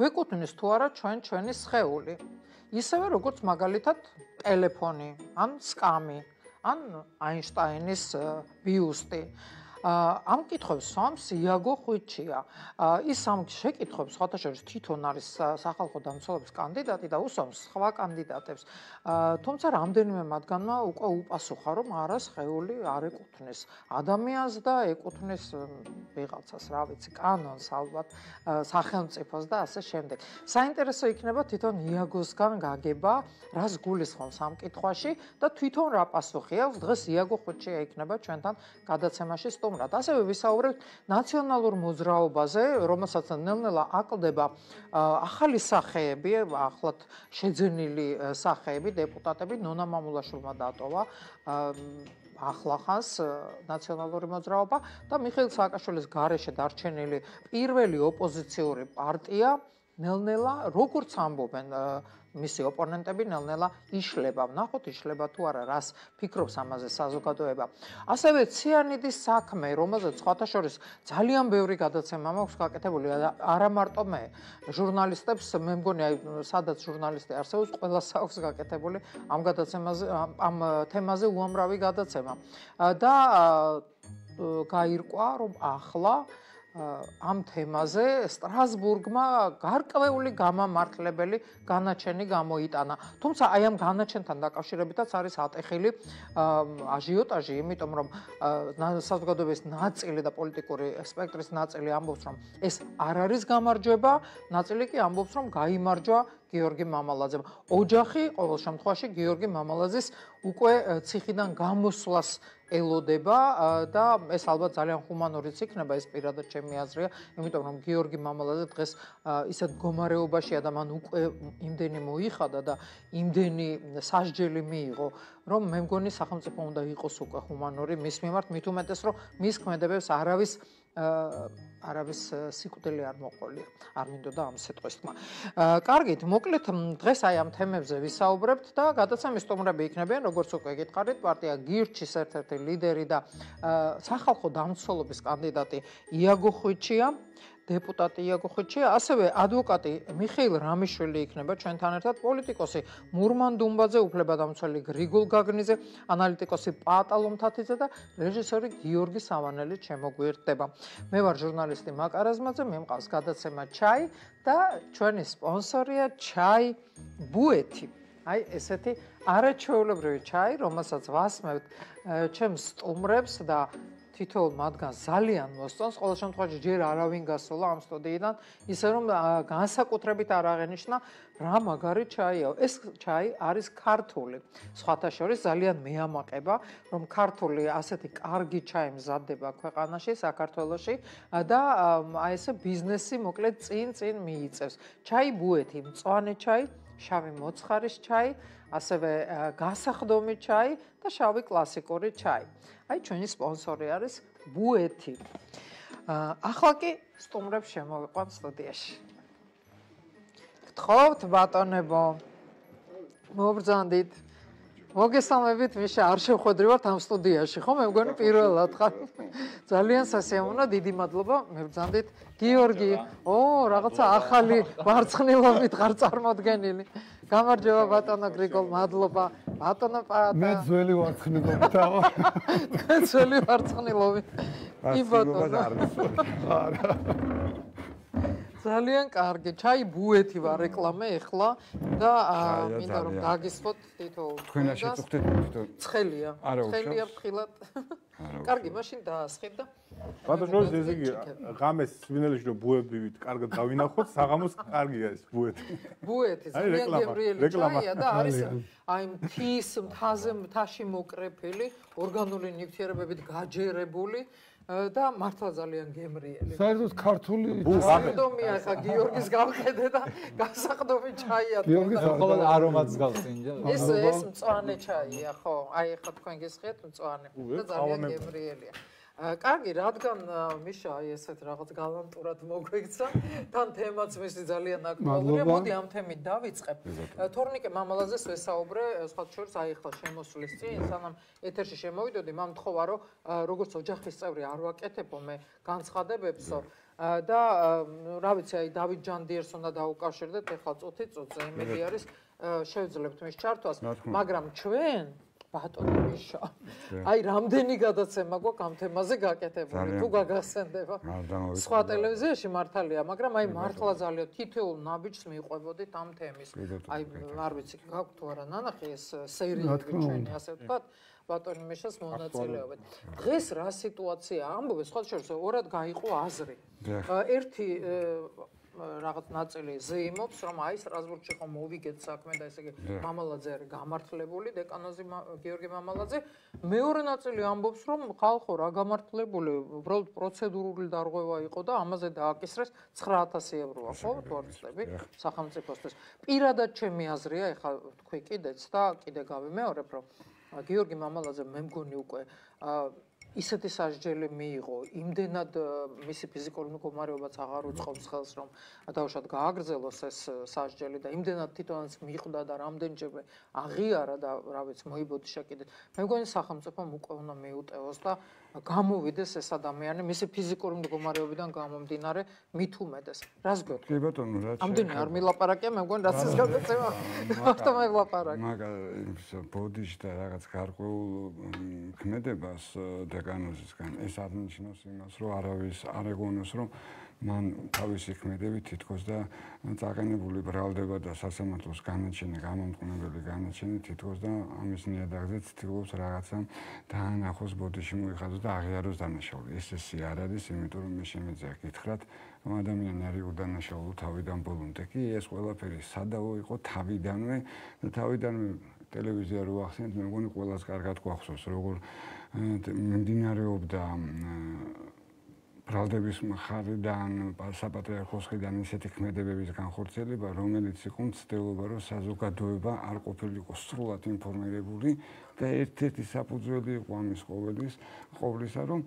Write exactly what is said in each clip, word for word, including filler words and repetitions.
გვეკუთვნის თუ არა ჩვენ ჩვენი სხეული. ისევე როგორც მაგალითად ტელეფონი, ან სკამი, ან აინშტაინის ბიუსტი. ამ კითხვებს სვამს იაგო ხვიჩია. ის ამ შეკითხვებს სხვათა შორის თვითონ არის სახალხო დამცველობის კანდიდატი და უსვამს სხვა კანდიდატებს. თუმცა რამდენიმე მათგანმა უკვე უპასუხა, რომ არა სხეული არ ეკუთვნის ადამიანს და ეკუთვნის ვიღაცას, რა ვიცი, კანონს ალბათ, სახელმწიფოს და ასე შემდეგ. საინტერესო იქნება თვითონ იაგოსგან გაგება, რას გულისხმობს ამ კითხვაში და თვითონ რა პასუხი აქვს. დღეს იაგო ხვიჩია იქნება ჩვენთან გადაცემაში სტუმრად. ასევე ვისაუბრებთ ნაციონალურ მოძრაობაზე, რომელსაც ნელ-ნელა აკლდება ახალი სახეები, ახლად შეძენილი სახეები, დეპუტატები. ნონა მამულაშვილმა დატოვა ახლახანს ნაციონალური მოძრაობა და მიხეილ სააკაშვილის გარეშე დარჩენილი პირველი ოპოზიციური პარტია ნელ-ნელა, როგორც ამბობენ მისი ოპონენტები, ნელ-ნელა იშლება. ვნახოთ იშლება თუ არა, რას ფიქრობს ამაზე საზოგადოება. ასევე ციანიდის საქმე, რომელზეც სხვათა შორის ძალიან ბევრი გადაცემა მაქვს გაკეთებული, არა მარტო მე, ჟურნალისტებს, მე მგონი, სადაც ჟურნალისტი არსებობს, ყველას აქვს გაკეთებული ამ გადაცემაზე, ამ თემაზე უამრავი გადაცემა. და გაირკვა, რომ ახლა ამ თემაზე სტრასბურგმა გარკვეული გამამართლებელი განაჩენი გამოიტანა. თუმცა აი ამ განაჩენთან დაკავშირებითაც არის ატეხილი აჟიოტაჟი, იმიტომ რომ საზოგადოების ნაწილი და პოლიტიკური სპექტრის ნაწილი ამბობს, რომ ეს არ არის გამარჯვება, ნაწილი კი ამბობს, რომ გაიმარჯვა გიორგი მამალაძემ. ოჯახი ყოველ შემთხვევაში გიორგი მამალაძის უკვე ციხიდან გამოსვლას ელოდება და ეს ალბათ ძალიან ჰუმანურიც იქნება, ეს პირადად ჩემი აზრია, იმიტომ რომ გიორგი მამალაძე დღეს ისეთ მდგომარეობაშია და მან უკვე იმდენი მოიხადა და იმდენი სასჯელი მიიღო, რომ მე მგონი სახელმწიფო უნდა იყოს უკვე ჰუმანური მის მიმართ, მით უმეტეს რომ მის ქმედებებს არავის არავის სიკვდილი არ მოყოლია. არ მინდოდა ამ სიტყვის თქმა. კარგით, მოკლედ დღეს აი ამ თემებზე ვისაუბრებთ და გადაცემის სტუმრები იქნებიან, როგორც უკვე გითხარით, პარტია გირჩის ერთ-ერთი ლიდერი და სახალხო დამცველობის კანდიდატი იაგო ხვიჩია, დეპუტატი იაგო ხვიჩია, ასევე ადვოკატი მიხეილ რამიშვილი იქნება ჩვენთან ერთად, პოლიტიკოსი მურმან დუმბაძე, უფლებადამცველი გრიგოლ გაგნიძე, ანალიტიკოსი პატალო მთათიძე და რეჟისორი გიორგი სავანელი ჩემოგვიერთდება. მე ვარ ჟურნალისტი მაკა რაზმაძე, მე მყავს გადაცემა ჩაი და ჩვენი სპონსორია ჩაი ბუეთი. აი ესეთი არაჩვეულებრივი ჩაი, რომელსაც ვასმევთ ჩემს სტუმრებს და თითოეულ მათგანს ძალიან მოსწონს, ყოველ შემთხვევაში ჯერ არავინ გასულა ამ სტუდიიდან, ისე რომ განსაკუთრებით არ აღენიშნა რა მაგარი ჩაია. ეს ჩაი არის ქართული. სხვათა შორის ძალიან მეამაყება, რომ ქართული ასეთი კარგი ჩაი მზადდება ქვეყანაში, საქართველოში და აი ესე ბიზნესი მოკლედ წინ-წინ მიიწევს. ჩაი ბუეთი, მწვანე ჩაი, შავი მოცხარის ჩაი, ასევე გასახდომი ჩაი და შავი კლასიკური ჩაი. აი ჩვენი სპონსორი არის ბუეთი. ახლა კი სტუმრებს შემოვიყვანთ სტუდიაში. გთხოვთ ბატონებო, მობრძანდით. მოგესალმებით, მიშა, არ შევხვედრივართ ამ სტუდიაში, ხო? მე მგონი პირველად ხარ. ძალიან სასიამოვნო, დიდი მადლობა, მებრძანდით. გიორგი, ო, რაღაცა ახალი ვარცხნილობით ხარ წარმოდგენილი. გამარჯობა ბატონო გრიგოლ, მადლობა. ბატონო პატა. მე ძველი ვარცხნილობითა. მე ძველი ვარცხნილობი. კი ბატონო. არა. ძალიან კარგი. ჩაი ბუეთი ვარ რეკლამე ეხლა და მინდა რომ დაგისვოთ თითოეულ. თქვენა შეწუხდეთ თვითონ. ცხელია. ცხელია ფრთხილად. კარგი, მაშინ დაასხებ და ბატონო, ესე იგი, ღამეს სვინელში რომ ბუებივით კარგად გავინახოთ, საღამოს კარგია ეს ბუეთი. ბუეთი, ძალიან გემრიელი ჩაია და არის აი მთის მთაზე მთაში მოკრეფილი, ორგანული ნივთიერებებით გაჯერებული და მართლა ძალიან გემრიელი. საერთოდ ქართული გასახდომია ხა გიორგის გავხედე და გასახდომი ჩაია. გიორგის ხოლმე არომატს გავს ინჯა. ეს ეს მწვანე ჩაია, ხო? აი ხა თქვენ გესხეთ მწვანე და ძალიან გემრიელია. კარგი, რადგან მიშა აი ესეთ რაღაც გალანტურად მოგვექცა, თან თემაც მისი ძალიან აქტუალურია. მოდი ამ თემით დავიწყებ. თორნიკე მამალაძეს ვესაუბრე, სხვა შორის აი ახლა შემოსვლის წინ, სანამ ეთერში შემოვიდოდი, მან მთხოვა, რომ როგორც ოჯახის წევრი არ ვაკეთებო მე განცხადებებსო და რა ვიცი, აი დავით ჯანდიერს უნდა დაუკავშირდეთ, ეხლა წუთი წუთზე იმედი არის შევძლებთ მის ჩართვას, მაგრამ ჩვენ ბატონო მიშა. აი რამდენი გადაცემა გვაქვს ამ თემაზე გაკეთებული, თუ გაგახსენდება. სხვა ტელევიზიაში მართალია, მაგრამ აი მართლა ძალიან თითოეულ ნაბიჯს მიყვებოდით ამ თემის. აი არ ვიცი, გაქვთ თუ არა ნანახი ეს სერიები ჩვენი, ასე ვთქვათ, ბატონი მიშას მონაწილეობით. დღეს რა სიტუაცია ამბობენ, სხვა შორის ორად გაიყო აზრი. ერთი რაღაც ნაწილი ზეიმობს, რომ აი სტრასბურგში ხომ მოვიგეთ საქმე და ესე იგი მამალაძე არის გამართლებული, დეკანოზი გიორგი მამალაძე. მეორე ნაწილი ამბობს, რომ ხალხო რა გამართლებული, უბრალოდ პროცედურული დარღვევა იყო და ამაზე დააკისრეს ცხრა ათასი ევროა, ხო, თუ არ ვცდები, სახელმწიფოსთვის. პირადად ჩემი აზრია, ეხლა თქვი კიდეც და კიდე გავიმეორებ, რომ გიორგი მამალაძე მე მგონი უკვე ისეთი სასჯელი მიიღო, იმდენად მისი ფიზიკური მდგომარეობაც აღარ უწყობს ხელს, რომ დაუშვათ გააგრძელოს ეს სასჯელი და იმდენად თვითონაც მიხვდა და რამდენჯერმე აღიარა და რა ვიცი, მოიბოდიშა კიდე. მე მგონი სახელმწიფომ უკვე უნდა მიუტევოს და გამოვიდეს ეს ადამიანი მისი ფიზიკური მდგომარეობიდან გამომდინარე მით უმეტეს. რას გეტყვი? კი ბატონო, რაც ამდენი არ მილაპარაკია, მე მგონი რაც ის გადაცემა მარტო მელაპარაკე. მაგა ბოდიში და რაღაც გარკვეულ ქმედებას დეკანოზისგან ეს აღნიშნავს იმას, რომ არავის არ ეგონოს, რომ მან თავისი ქმედებით თითქოს და წაყენებული ბრალდება და სასამართლოს განაჩენი, გამომწყნებელი განაჩენი თითქოს და ამის ნიადაგზე ცდილობს რაღაცა დაანახოს ბოდიში მოიხადოს და აღიაროს დანაშაული. ეს ესე არ არის, იმიტომ რომ მე შემეძია გითხრათ, რომ ადამიანი არის უდანაშაულო თავიდან ბოლომდე. კი ეს ყველაფერი სადავო იყო თავიდანვე და თავიდანვე ტელევიზია რო ახსენეთ, მე მგონი ყველას კარგად გვახსოვს, როგორ მიმდინარეობდა ბრალდების მხარიდან, საპატრიარქოს მხრიდან ისეთი ქმედებების განხორციელება, რომელიც იყო მცდელობა, რომ საზოგადოება არ ყოფილიყო სრულად ინფორმირებული და ერთ-ერთი საფუძველი იყო ამის ყოვლის, ყოვლისა, რომ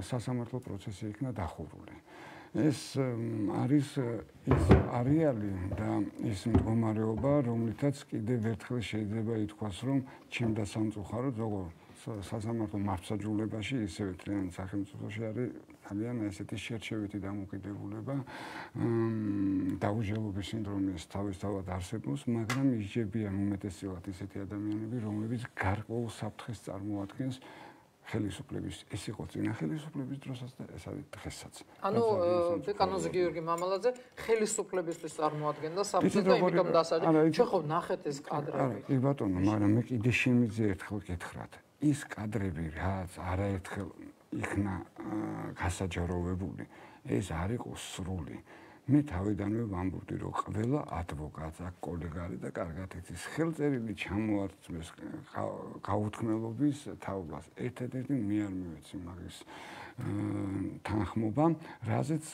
სასამართლო პროცესი იქნა დახურული. ეს არის ის არეალი და ის მდგომარეობა, რომლითაც კიდევ ერთხელ შეიძლება ითქვას, რომ ჩემდა სამწუხაროდ, როგორ სასამართლო მართლმსაჯულებაში, ისევე თლიანად სახელმწიფოში არის ძალიან ესეთი შერჩევითი დამოკიდებულება, დაუჟელობის სინდრომის თავისთავად არსებობს, მაგრამ ისჯებიან უმეტესწილად ისეთი ადამიანები, რომლებიც გარკვეულ საფრთხეს წარმოადგენს ხელისუფლების, ეს იყო წინა ხელისუფლების დროსაც და ეს არის დღესაც. ანუ დეკანოზი გიორგი მამალაძე ხელისუფლებისთვის წარმოადგენდა საფრთხეს და იმიტომ დასაჯა. ჩვენ ხო ნახეთ ეს კადრები. კი ბატონო, მაგრამ მე კიდე შემიძლია ერთხელ გითხრათ. ის კადრები, რაც არაერთხელ იქნა გასაჯაროვებული, ეს არ იყო სრული. მე თავიდანვე ვამბობდი, რომ ყველა ადვოკატს აქ კოლეგა არის და კარგად იცის ხელწერილი ჩამოართმეს გაუთქმელობის თაობას. ერთადერთი მე არ მივეცი მაგის თანხმობა, რაზეც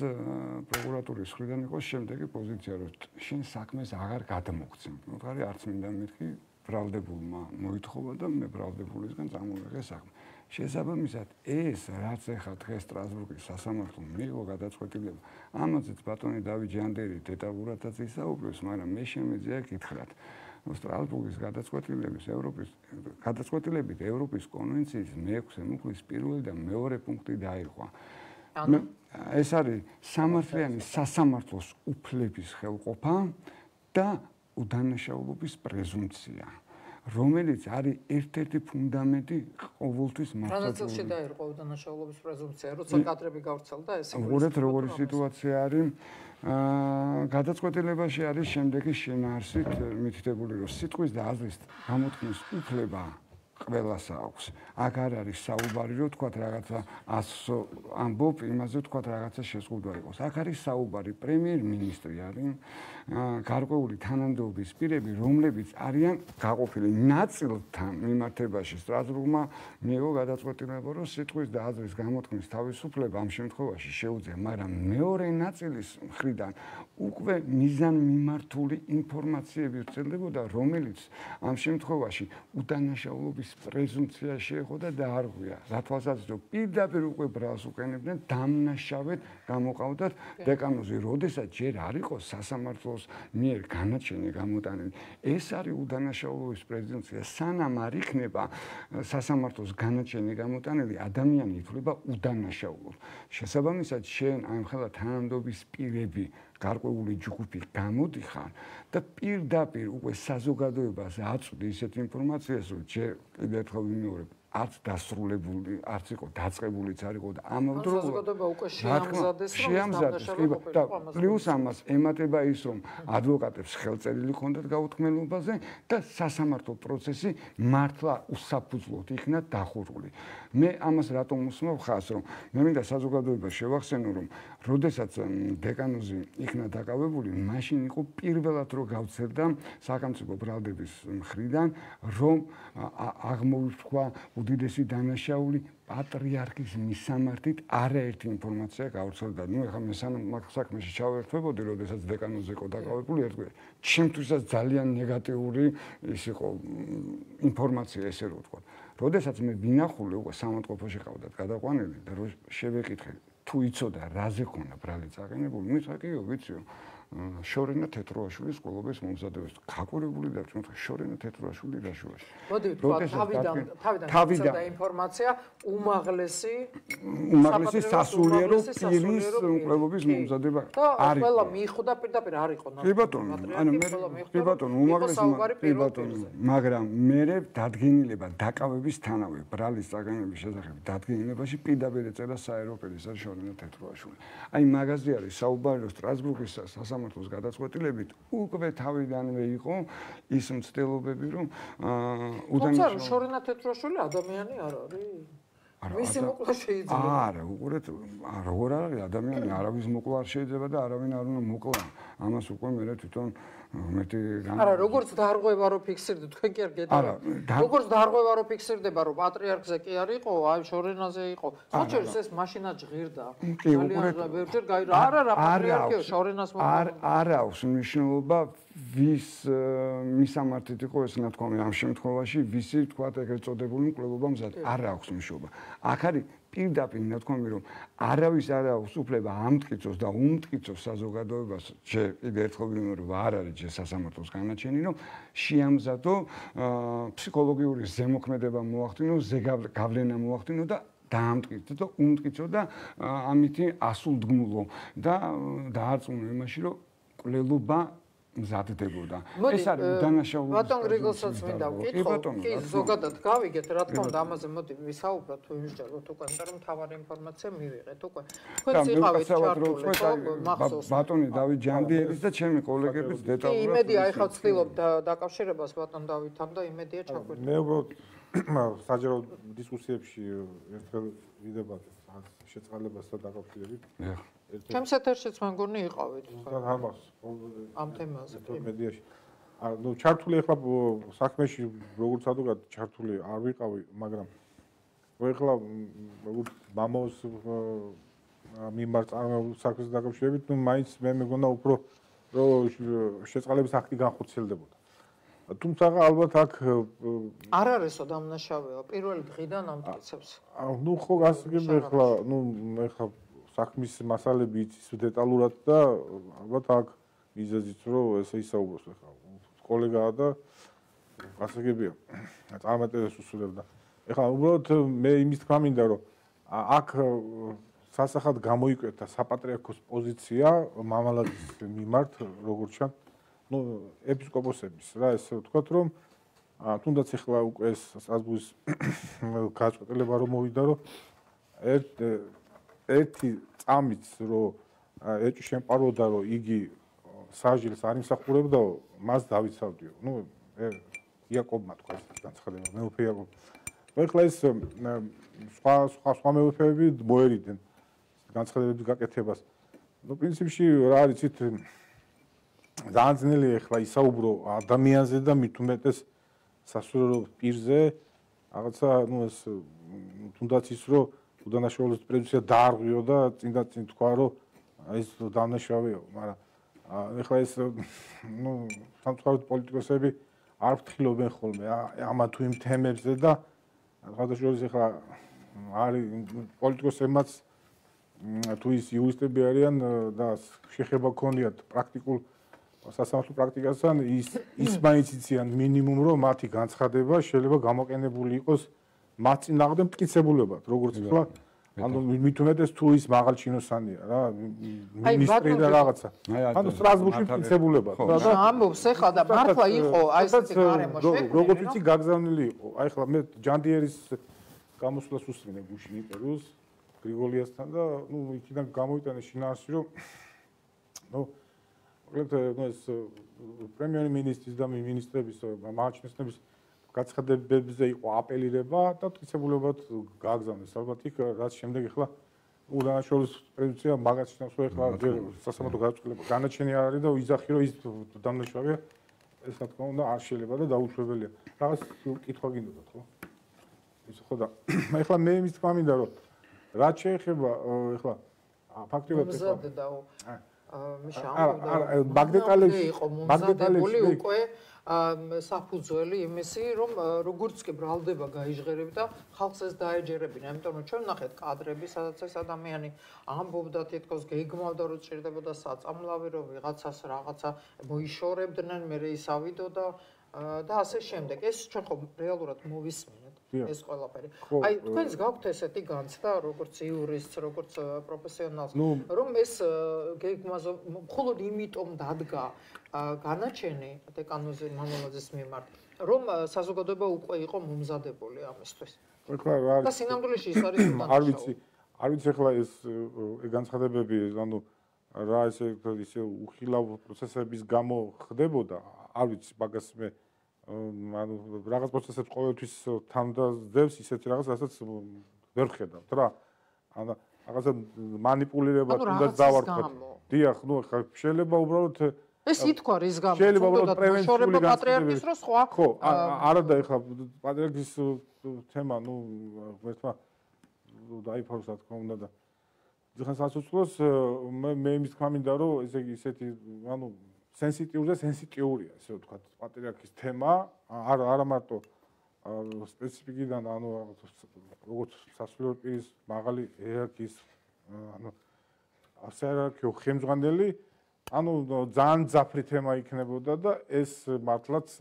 პროკურატურის მხრიდან იყო შემდეგი პოზიცია, რომ შენ საქმეს აღარ გადმოგცემ. მოთხარი არც მინდა მეთქი ბრალდებულმა მოითხოვა და მე ბრალდებულისგან წამოვიღე საქმე. შესაბამისად, ეს რაც ახლა დღეს სტრასბურგის სასამართლომ მიიღო გადაწყვეტილება, ამაზეც ბატონი დავით ჯანდიერი დეტალურადაც ისაუბრებს, მაგრამ მე შემეძია გითხრათ, რომ სტრასბურგის გადაწყვეტილების ევროპის გადაწყვეტილებით ევროპის კონვენციის მეექვსე მუხლის პირველი და მეორე პუნქტი დაირღვა. ეს არის სამართლიანი სასამართლოს უფლების ხელყოფა და უდანაშაულობის პრეზუმპცია, რომელიც არის ერთ-ერთი ფუნდამენტი ყოველთვის მართლმსაჯულების. რანაცილში დაირღვა უდანაშაულობის პრეზუმპცია, როცა კადრები გავრცელდა ეს. უყურეთ როგორი სიტუაცია არის. გადაწყვეტილებაში არის შემდეგი შენაარსით მითითებული, რომ სიტყვის და აზრის გამოთქმის უფლება ყველას აქვს. აქ არ არის საუბარი, რომ თქვათ რაღაცა ასო ამბობ, იმაზე თქვათ რაღაცა შეზღუდვა იყოს. აქ არის საუბარი, პრემიერ-მინისტრი არის, გარკვეული თანამდებობის პირები, რომლებიც არიან გაყოფილი ნაწილთან მიმართებაში. სტრასბურგმა მიიღო გადაწყვეტილება, რომ სიტყვის და აზრის გამოთქმის თავისუფლება ამ შემთხვევაში შეუძლია, მაგრამ მეორე ნაწილის მხრიდან უკვე მიზანმიმართული ინფორმაციები ვრცელდებოდა, რომელიც ამ შემთხვევაში უდანაშაულობის პრეზუმცია შეეხო და დაარღვია. რა თვალსაზრისით, პირდაპირ უკვე ბრალს უყენებდნენ, დამნაშავედ გამოყავდათ დეკანოზი, როდესაც ჯერ არ იყო სასამართლოს მიერ განაჩენი გამოტანილი. ეს არის უდანაშაულობის პრეზუმცია. სანამ არ იქნება სასამართლოს განაჩენი გამოტანილი, ადამიანი ითვლება უდანაშაულოდ. შესაბამისად, შენ ამ ხელა თანამდებობის პირები გარკვეული ჯგუფი გამოდიხარ და პირდაპირ უკვე საზოგადოებას აწვდი ისეთ ინფორმაციას, რომ ჯერ კიდევ ერთხელ ვიმეორებ, არც დასრულებული, არც იყო დაწყებულიც არ იყო და ამავდროულად საზოგადოება უკვე შეამზადეს, შეამზადეს და პლუს ამას ემატება ის, რომ ადვოკატებს ხელწერილი ჰქონდათ გაუთქმელობაზე და სასამართლო პროცესი მართლა უსაფუძვლოდ იქნა დახურული. მე ამას რატომ უსმევ ხაზს, რომ მე მინდა საზოგადოებას შევახსენო, რომ როდესაც დეკანოზი იქნა დაკავებული, მაშინ იყო პირველად რო გავცერდა სახელმწიფო ბრალდების მხრიდან, რომ აღმოითქვა უდიდესი დანაშაული პატრიარქის მისამართით არაერთი ინფორმაცია გავრცელდა. ნუ ეხლა მე სანამ მაგ საქმეში ჩავერთვებოდი, როდესაც დეკანოზი იყო დაკავებული, ერთგვარი ჩემთვისაც ძალიან ნეგატიური ის იყო ინფორმაცია, ესე რომ ვთქვა. როდესაც მე ვინახული უკვე სამონტყოფოში ყავდათ გადაყვანილი და რო შევეკითხე, თუ იცოდა რაზე ქონა ბრალი წაყენებული, მითხრა კიო, ვიციო. შორენა თეთროაშვილის სკოლობის მომზადებას გაკვირვებული დარჩა შორენა თეთროაშვილი რაშუაში. მოდი ვთქვა, თავიდან თავიდან და ინფორმაცია უმაღლესი უმაღლესი სასულიერო პირის მკვლელობის მომზადება არის. და ყველა მიხვდა პირდაპირ არ იყო ნახე. კი ბატონო, ანუ მე კი ბატონო, უმაღლესი კი ბატონო, მაგრამ მე დადგენილება დაკავების თანავე ბრალის წაგანების შესახებ დადგენილებაში პირდაპირ ეწერა საერო პირისა შორენა თეთროაშვილი. აი მაგაზე არის საუბარი, რომ სტრასბურგის სასამართლოს გადაწყვეტილებით უკვე თავიდანვე იყო ის მცდელობები, რომ უდანაშაულო. თუმცა შორენა თეთროაშვილი ადამიანი არ არის. მისი მოკლა შეიძლება. არა, უყურეთ, როგორ არის ადამიანი, არავის მოკლა არ შეიძლება და არავინ არ უნდა მოკლა. ამას უკვე მე თვითონ მეტი არა, როგორც დარღვევა რო ფიქსირდა, თქვენ კი არ გეტყვით. როგორც დარღვევა რო ფიქსირდება, რომ პატრიარქზე კი არ იყო, აი შორენაზე იყო. ხოჭერს ეს მაშინა ჟღირდა. ძალიან ბევრჯერ გაირა. არა, რა პატრიარქია შორენას მოკლა. არ არ აქვს მნიშვნელობა ვის მისამართით იყო ეს ნათქვამი ამ შემთხვევაში, ვისი თქვა ეგრეთ წოდებული მკვლელობა მზად. არ აქვს მნიშვნელობა. აქ არის პირდაპირ ნათქვამი, რომ არავის არ აქვს უფლება ამტკიცოს და უმტკიცოს საზოგადოებას, ჯერ კიდევ ერთხელ ვიმეორებ, არ არის ჯერ სასამართლოს განაჩენი, რომ შეამზადო ფსიქოლოგიური ზემოქმედება მოახდინო, ზეგავლენა მოახდინო და დაამტკიცო და უმტკიცო და ამითი ასულდგმულო და დაარწმუნო იმაში, რომ კვლელობა მზადდებოდა. ეს არის უდანაშაულობის. ბატონ გრიგოლსაც მინდა ვკითხო. კი, ზოგადად გავიგეთ, რა თქმა უნდა, ამაზე მოდი ვისაუბროთ, თუ იმსჯეროთ უკვე, იმიტომ რომ მთავარი ინფორმაცია მივიღეთ უკვე. თქვენც იყავით ჩართული, მახსოვს. ბატონი დავით ჯანდიერის და ჩემი კოლეგების დეტალურად. კი, იმედია, ახლა ვცდილობ დაკავშირებას ბატონ დავითთან და იმედია ჩაგვერდება. მე უბრალოდ საჯარო დისკუსიებში ერთხელ ვიდება შეწყალებასთან დაკავშირებით. ჩემს ეთერშიც მე მგონი იყავით. ამ თემაზე. მედიაში. ანუ ჩართული ახლა საქმეში როგორც ადვოკატ ჩართული არ ვიყავი, მაგრამ ახლა როგორც მამოს მიმართ წარმოებულ საქმეს დაკავშირებით, ნუ მაინც მე მეგონა უფრო რომ შეწყალების აქტი განხორციელდებოდა. თუმცა ალბათ აქ არ არისო დამნაშავეა, პირველი დღიდან ამტკიცებს. ნუ ხო გასაგები ახლა, ნუ ახლა საქმის მასალები იცის დეტალურად და ალბათ აქ მიზეზიც რომ ესე ისაუბროს ახლა კოლეგაა და გასაგებია წარმატებას უსურვებდა. ახლა უბრალოდ მე იმის თქმა მინდა რომ აქ სასახად გამოიკვეთა საპატრიარქოს პოზიცია მამალაძის მიმართ როგორც ჩანს ნუ ეპისკოპოსების რა ესე ვთქვათ რომ თუნდაც ახლა უკვე ეს სტრასბურგის გაწყვეტილება რომ მოვიდა რომ ერთ ერთი წამიც რომ ეჭვი შემყაროდა რომ იგი საჟილს არ იმსახურებდაო მას დავიცავდიო ნუ იაკობმა თქვა ეს განცხადება მეუფე იაკობ ახლა ეს სხვა სხვა სხვა მეუფეები მოერიდნენ განცხადებების გაკეთებას ნუ პრინციპში რა არის იცით ძალიან ძნელია ახლა ისაუბრო ადამიანზე და მით უმეტეს სასულიერო პირზე რაღაცა ნუ ეს თუნდაც ის რომ უდანაშაულობის პრეზუმცია დაარღვიო და წინ და წინ თქვა რომ ეს დანაშავეო, მაგრამ ეხლა ეს ნუ სამწუხაროდ პოლიტიკოსები არ ფრთხილობენ ხოლმე ამა თუ იმ თემებზე და ხადაშორის ახლა არის პოლიტიკოსებმაც თუ ის იურისტები არიან და შეხება ქონიათ პრაქტიკულ სასამართლო პრაქტიკასთან ის ის მაინც იციან მინიმუმ რომ მათი განცხადება შეიძლება გამოყენებული იყოს მათ წინააღმდეგ მტკიცებულებად როგორც თქვა ანუ მით უმეტეს თუ ის მაღალჩინოსანია რა მინისტრი და რაღაცა ანუ სტრასბურგში მტკიცებულებად და ამბობს ეხლა და მართლა იყო აი ესეთი გარემო შექმნილი როგორც ვიცი გაგზავნილი იყო აი ახლა მე ჯანდიერის გამოსვლას უსმინე გუშინ ინტერვიუს გრიგოლიასთან და ნუ იქიდან გამოვიტანე შინაარსი რომ ნუ მოკლედ ნუ ეს პრემიერ-მინისტრის და მინისტრების მაღალჩინოსნების გაცხადებებზე იყო აპელირება და მტკიცებულებად გააგზავნეს ალბათ იქ რაც შემდეგ ახლა უდანაშაულის პრეზიდენტია მაგას შნავს რომ ახლა სასამართლო გადაწყვეტილება განაჩენი არ არის და ვიზახი რომ ის დამნაშავეა ეს რა თქმა უნდა არ შეიძლება და დაუშვებელია რაღაც კითხვა გინდოდათ ხო ის ხო და ახლა მე იმის თქმა მინდა რომ რაც შეეხება ახლა ფაქტობრივად ახლა მე შამბობდა მაგდეტალებში იყო მომზადებული უკვე საფუძველი იმისი რომ როგორც კი ბრალდება გაიჟღერები და ხალხს ეს დაეჯერებინა იმიტომ რომ ჩვენ ნახეთ კადრები სადაც ეს ადამიანი ამბობდა თითქოს გეგმავდა რომ ჭირდებოდა საწამლავი რომ ვიღაცას რაღაცა მოიშორებდნენ მე ის ავიდოდა და ასე შემდეგ ეს ჩვენ ხო რეალურად მოვისმინეთ ეს ყველაფერი აი თქვენს გაქვთ ესეთი განცდა როგორც იურისტს როგორც პროფესიონალს რომ ეს გეგმაზე მხოლოდ იმიტომ დადგა განაჩენი დეკანოზი მამულაძის მიმართ რომ საზოგადოება უკვე იყო მომზადებული ამისთვის და სინამდვილეში ის არის არ ვიცი არ ვიცი ახლა ეს განცხადებები ანუ რა ესე ისე უხილავ პროცესების გამო ხდებოდა არ ვიცი მაგას მე ანუ რაღაც პროცესებს ყოველთვის თანდაძევს ისეთი რაღაც რასაც ვერ ხედავთ რა ანუ რაღაცა მანიპულირება თუნდაც დავარქვათ დიახ ნუ ხა შეიძლება უბრალოდ ეს ითქვა რის გამო თუნდაც პრევენციული პატრიარქის რო სხვა ხო არა და ეხლა პატრიარქის თემა ნუ ერთმა დაიფაროს რა თქმა უნდა და ძახან სასუცლოს მე იმის თქმა მინდა რომ ესე ისეთი ანუ სენსიტიურ და სენსიტიურია ესე ვთქვათ პატრიარქის თემა არ არა მარტო სპეციფიკიდან ანუ როგორც სასულიერო პირის მაღალი ერარქიის ანუ ასერარქიო ხელმძღვანელი ანუ ძალიან ძაფრი თემა იქნებოდა და ეს მართლაც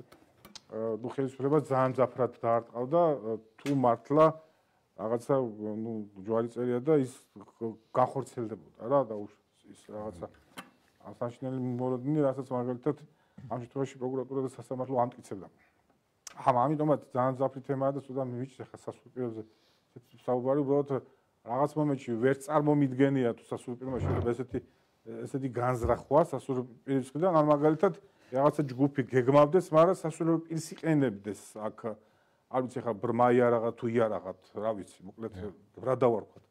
ნუ ხელისუფლება ძალიან ძაფრად დაარტყავდა თუ მართლა რაღაცა ნუ ჯვარი წერია და ის განხორციელდებოდა რა და ის რაღაცა ასაშნელი მოლოდინი რასაც მაგალითად ამ შემთხვევაში პროკურატურა და სასამართლო ამტკიცებდა. ახლა ამიტომაც ძალიან ძაფრი თემაა და სულ მივიჭრე ხა სასულიერო პირებზე საუბარი უბრალოდ რაღაც მომენტში ვერ წარმომიდგენია თუ სასულიერო პირმა შეიძლება ესეთი ესეთი განზრახვა სასულიერო პირის მხრიდან ან მაგალითად რაღაცა ჯგუფი გეგმავდეს, მაგრამ სასულიერო პირს იყენებდეს აქ არ ვიცი ხა ბრმაია რაღაც თუ იარაღად, რა ვიცი, მოკლედ რა დავარქვათ.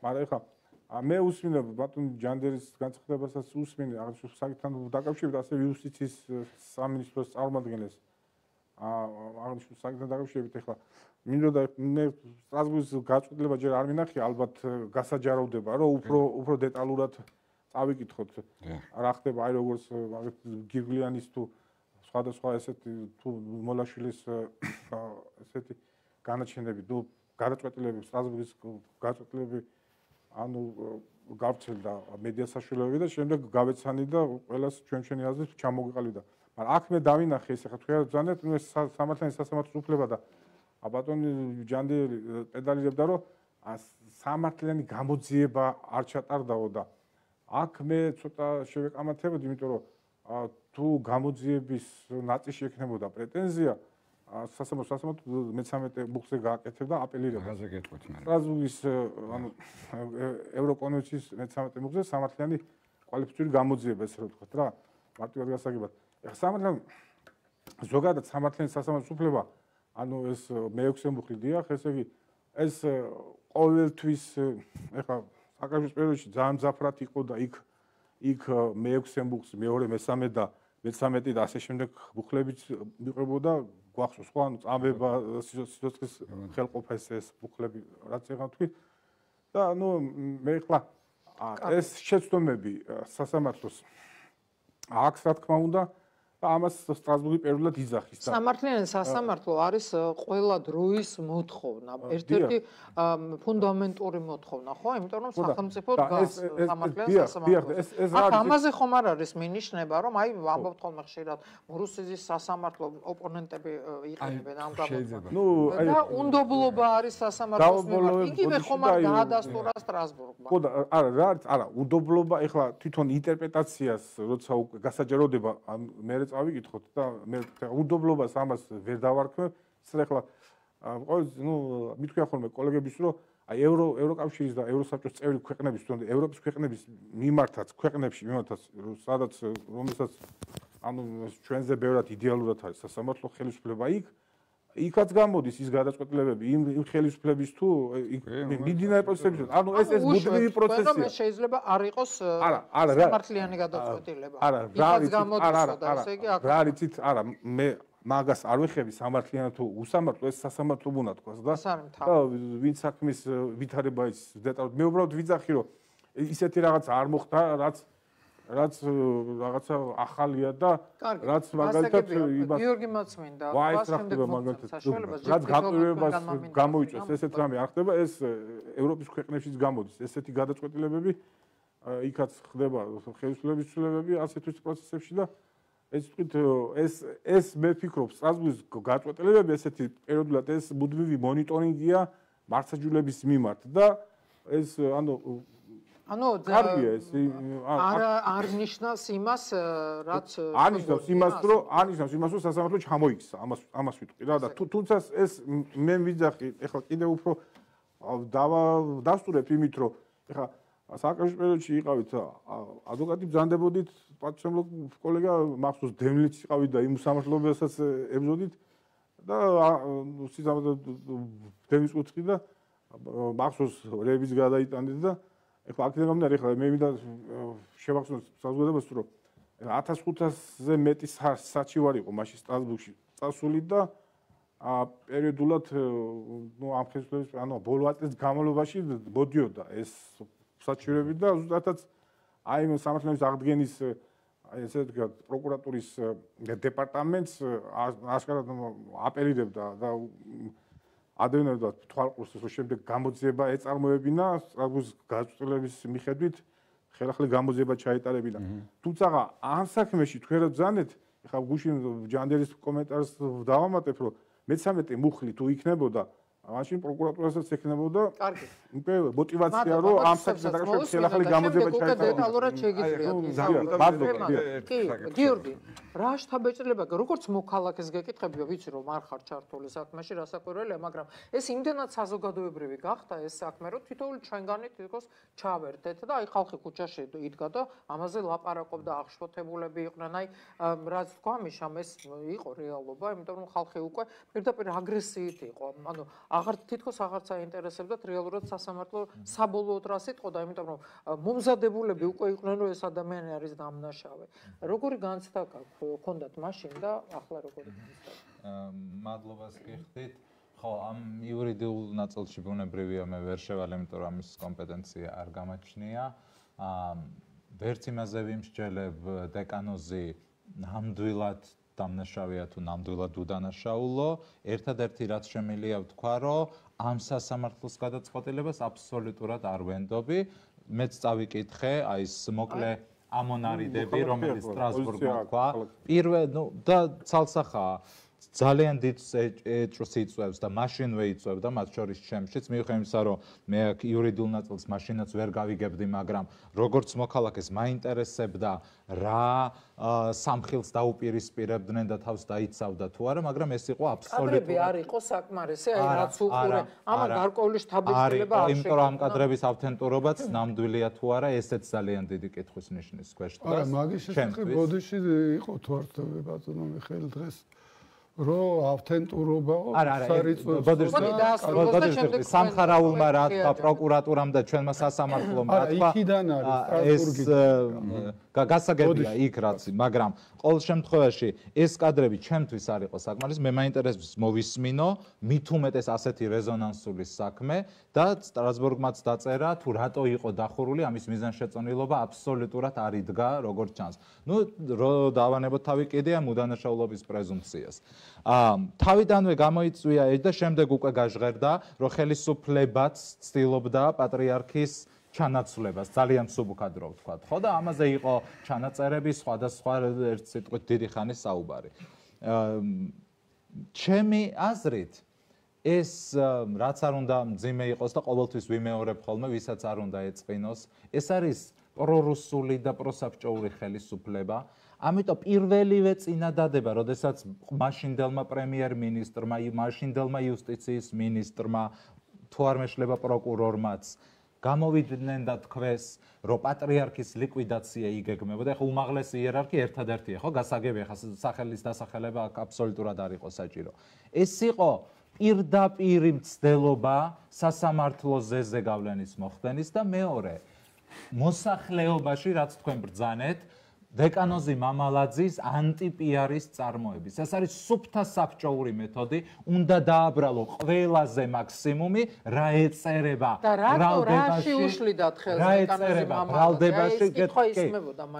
მაგრამ ხა მე usმინე ბატონ ჯანდერის განცხადებასაც usმინე აღნიშნულ საკითხთან დაკავშირებით ასევე იუსტიციის სამინისტროს წარმომადგენლებს აღნიშნულ საკითხთან დაკავშირებით ახლა მინდოდა მე სტრასბურგის გაწყვეტილება ჯერ არ მინახია ალბათ გასაჯაროვდება რომ უფრო უფრო დეტალურად წავიკითხოთ რა ხდება აი როგორც გირგლიანის თუ სხვადასხვა ესეთი თუ მოლაშვილის ესეთი განაჩენები თუ გადაწყვეტილებები სტრასბურგის გაწყვეტილებები ანუ გავრცელდა მედია საშუალებები და შემდეგ გავეცანი და ყველას ჩვენ ჩვენი აზრით ჩამოგიყალიბდა. მაგრამ აქ მე დავინახე ეს ახლა თქვენ ზანეთ ნუ ეს სამართლიანი სასამართლო უფლება და ბატონი ჯანდიერი პედალირებდა რომ სამართლიანი გამოძიება არ ჩატარდაო და აქ მე ცოტა შევეკამათებოდი იმიტომ რომ თუ გამოძიების ნაწილში ექნებოდა პრეტენზია სასამართლო სასამართლო მეთერთმეტე ბუხზე გააკეთებდა აპელირება. გაზე გეტყვით მე. სტრასბურგის ანუ ევროკონვენციის მეთერთმეტე ბუხზე სამართლიანი კვალიფიციური გამოძიება ესე რომ ვთქვათ რა. მარტივად გასაგებად. ეხლა სამართლიანი ზოგადად სამართლიანი სასამართლო უფლება ანუ ეს მეექვსე ბუხი დიახ, ესე იგი ეს ყოველთვის ეხლა საკავშირის პერიოდში ძალიან ძაფრად იყო და იქ იქ მეექვსე ბუხს მეორე მესამე და მეთერთმეტე და ასე შემდეგ ბუხლებიც მიყვებოდა გვახსოვს ხო ანუ წამება სიცოცხლის ხელყოფა ეს ბუხლები რაც ეხლა თქვი და ნუ მე ხლა ეს შეცდომები სასამართლოს აქვს რა თქმა უნდა ამას სტრასბურგი პირველად იძახის და სამართლიანი სასამართლო არის ყველა დროის მოთხოვნა, ერთ-ერთი ფუნდამენტური მოთხოვნა, ხო? იმიტომ რომ სახელმწიფო დგას სამართლიან სასამართლოზე. აქ ამაზე ხომ არ არის მინიშნება, რომ აი ამბობთ ხოლმე ხშირად რუსეთის სასამართლო ოპონენტები იყენებენ ამ გამოთქმას. ნუ აი და უნდობლობა არის სასამართლოს მიმართ. იგივე ხომ არ გაადასტურა სტრასბურგმა. ხო და არა რა არის არა უნდობლობა ეხლა თვითონ ინტერპრეტაციას როცა უკვე გასაჯაროდება მე წავიკითხოთ და მე უდობლობას ამას ვერ დავარქმევ. ეხლა ყოველთვის ნუ მithქვია ხოლმე კოლეგებს რომ აი ევრო ევროკავშირის და ევროსაბჭოს წევრი ქვეყნების თუნდაც ევროპის ქვეყნების მიმართაც ქვეყნებში მიმართაც სადაც რომელსაც ანუ ჩვენზე ბევრად იდეალურად არის სასამართლო ხელისუფლება იქ იქაც გამოდის ის გადაწყვეტილებები იმ ხელისუფლების თუ მიდინარე პროცესებში ანუ ეს ეს ბუდმივი პროცესია შეიძლება არ იყოს სამართლიანი გადაწყვეტილება არა რა არის არა არა რა არის არა მე მაგას არ ვეხები სამართლიანი თუ უსამართლო ეს სასამართლო უნდა თქვას და და ვინ საქმის ვითარება ის დეტალურად მე უბრალოდ ვიძახი რომ ისეთი რაღაც არ მოხდა რაც რაც რაღაცა ახალია და რაც მაგალითად იმას გიორგი მოცმინდა ვაის რა ხდება მაგალითად რაც გაყრევებას გამოიწვევს ესეთ რამე არ ხდება ეს ევროპის ქვეყნებშიც გამოდის ესეთი გადაწყვეტილებები იქაც ხდება ხელისუფლების ცვლილებები ასეთ პროცესებში და ეს თქვით ეს ეს მე ვფიქრობ სტრასბურგის გადაწყვეტილებები ესეთი პერიოდულად ეს მუდმივი მონიტორინგია მართლმსაჯულების მიმართ და ეს ანუ ანუ არ არ ნიშნავს იმას რაც არნიშნავს იმას რომ არნიშნავს იმას რომ სასამართლო ჩამოიქცა ამას ამას ვიტყვი რა და თუნდაც ეს მე ვიძახი ეხლა კიდევ უფრო დავსტურებ იმით რომ ეხლა საკავშირო პერიოდში იყავით ადვოკატი ბრძანდებოდით პატრიოტულ კოლეგა მახსოვს დემლიც იყავით და იმ სამართლებასაც ებრძოდით და სიზამთრე დემის კუთხე და მახსოვს რების გადაიტანდით და ეხლა აქედან გამომდინარე ეხლა მე მინდა შევახსენოთ საზოგადოებას რომ ათას ხუთასზე მეტი საჩივარი იყო მაშინ სტრასბურგში წასული და პერიოდულად ნუ ამ ხელისუფლების ანუ ბოლო ათი წლის განმავლობაში მოდიოდა ეს საჩივრები და ზუსტადაც აი ამ სამართლების აღდგენის აი ესე ვთქვათ პროკურატურის დეპარტამენტს აშკარად აპელირებდა და ადევნებდა თვალყურს რომ შემდეგ გამოძიება ეწარმოებინა სტრასბურგის გადაწყვეტილების მიხედვით ხელახალი გამოძიება ჩაეტარებინა თუმცა ამ საქმეში თქვენ რა ბრძანეთ ეხლა გუშინ ჯანდერის კომენტარს დავამატებ რომ მეცამეტე მუხლი თუ იქნებოდა მაშინ პროკურატურასაც ექნებოდა კარგი უკვე мотиваცია რომ ამ საქმეს დაკავშირებით ხელახალი გამოძიება ჩაეტარებინა დეტალურად შეგიძლიათ კი გიორგი რა შთაბეჭდილება როგორც მოქალაქეს გეკითხები ვიცი რომ არ ხარ ჩართული საქმეში რასაკვირველია მაგრამ ეს იმდენად საზოგადოებრივი გახდა ეს საქმე რომ თითოეული ჩვენგანი თითქოს ჩავერთეთ და აი ხალხი ქუჩაში იდგა და ამაზე ლაპარაკობდა აღშფოთებულები იყვნენ აი რაც თქვა მიშამ ეს იყო რეალობა იმიტომ რომ ხალხი უკვე პირდაპირ აგრესიით იყო ანუ აღარ თითქოს აღარც აინტერესებდათ რეალურად სასამართლო საბოლოოდ რას იტყოდა იმიტომ რომ მომზადებულები უკვე იყვნენ რომ ეს ადამიანი არის დამნაშავე როგორი განცდა გქონდათ მაშინ და ახლა როგორი განცდა მადლობას გიხდით ხო ამ იურიდიულ ნაწილში ბუნებრივია მე ვერ შევალ იმიტომ რომ ამის კომპეტენცია არ გამაჩნია ვერც იმაზე ვიმსჯელებ დეკანოზი ნამდვილად დამნაშავეა თუ ნამდვილად უდანაშაულო ერთადერთი რაც შემიძლია ვთქვა რომ ამ სასამართლოს გადაწყვეტილებას აბსოლუტურად არ ვენდობი მეც წავიკითხე აი ეს მოკლე ამონარიდები რომელიც სტრასბურგმა თქვა პირველ ნუ და ცალსახაა ძალიან დიდ ეჭვს იწვევს და მაშინვე იწვევდა მათ შორის ჩემშიც მიუხედავად იმისა რომ მე აქ იურიდიულ ნაწილს მაშინაც ვერ გავიგებდი მაგრამ როგორც მოქალაქეს მაინტერესებდა რა სამხილს დაუპირისპირებდნენ და თავს დაიცავდა თუ არა მაგრამ ეს იყო აბსოლუტურად კადრები არ იყო საკმარისი აი რაც უყურე ამან გარკვეული შთაბეჭდილება არ იმიტომ რომ ამ კადრების ავთენტურობაც ნამდვილია თუ არა ესეც ძალიან დიდი კითხვის ნიშნის ქვეშ დგას არა მაგის შესახებ ბოდიში იყო თვარწები ბატონო მიხეილ დღეს რო ავთენტურობა სარიწმუნოა სამხარაულმა რა თქვა პროკურატურამ და ჩვენმა სასამართლომ რა თქვა იქიდან არის სტრასბურგის გასაგებია იქ რაც, მაგრამ ყოველ შემთხვევაში ეს კადრები ჩემთვის არ იყო საკმარის, მე მაინტერესებს მოვისმინო, მით უმეტეს ასეთი რეზონანსული საქმე და სტრასბურგმაც დაწერა თუ რატო იყო დახურული, ამის მიზანშეწონილობა აბსოლუტურად არ იდგა როგორც ჩანს. ნუ რო დავანებოთ თავი კიდე ამ უდანაშაულობის პრეზუმპციას. აა თავიდანვე გამოიწვია ეს და შემდეგ უკვე გაჟღერდა, რომ ხელისუფლებაც ცდილობდა პატრიარქის ჩანაცვლებას, ძალიან მსუბუქად რო ვთქვათ, ხო და ამაზე იყო ჩანაწერები სხვადასხვა ერთ სიტყვით დიდი ხანის საუბარი. ჩემი აზრით ეს რაც არ უნდა მძიმე იყოს და ყოველთვის ვიმეორებ ხოლმე, ვისაც არ უნდა ეწყინოს, ეს არის პრორუსული და პროსაბჭოური ხელისუფლება. ამიტომ პირველივე წინადადება, როდესაც მაშინდელმა პრემიერ-მინისტრმა, მაშინდელმა იუსტიციის მინისტრმა, თუ არ მეშლება პროკურორმაც გამოვიდნენ და თქვეს, რომ პატრიარქის ლიკვიდაცია იგეგმებოდა. ეხლა უმაღლესი იერარქია ერთადერთია, ხო, გასაგებია, ხა სახელის დასახელება აბსოლუტურად არ იყო საჭირო. ეს იყო პირდაპირი მცდელობა სასამართლოს ზეზე გავლენის მოხდენის და მეორე მოსახლეობაში, რაც თქვენ ბრძანეთ, დეკანოზი მამალაძის ანტიპიარის წარმოების. ეს არის სუფთა საბჭოური მეთოდი, უნდა დააბრალო ყველაზე მაქსიმუმი, რა ეწერება ბრალდებაში. რა ეწერება ბრალდებაში,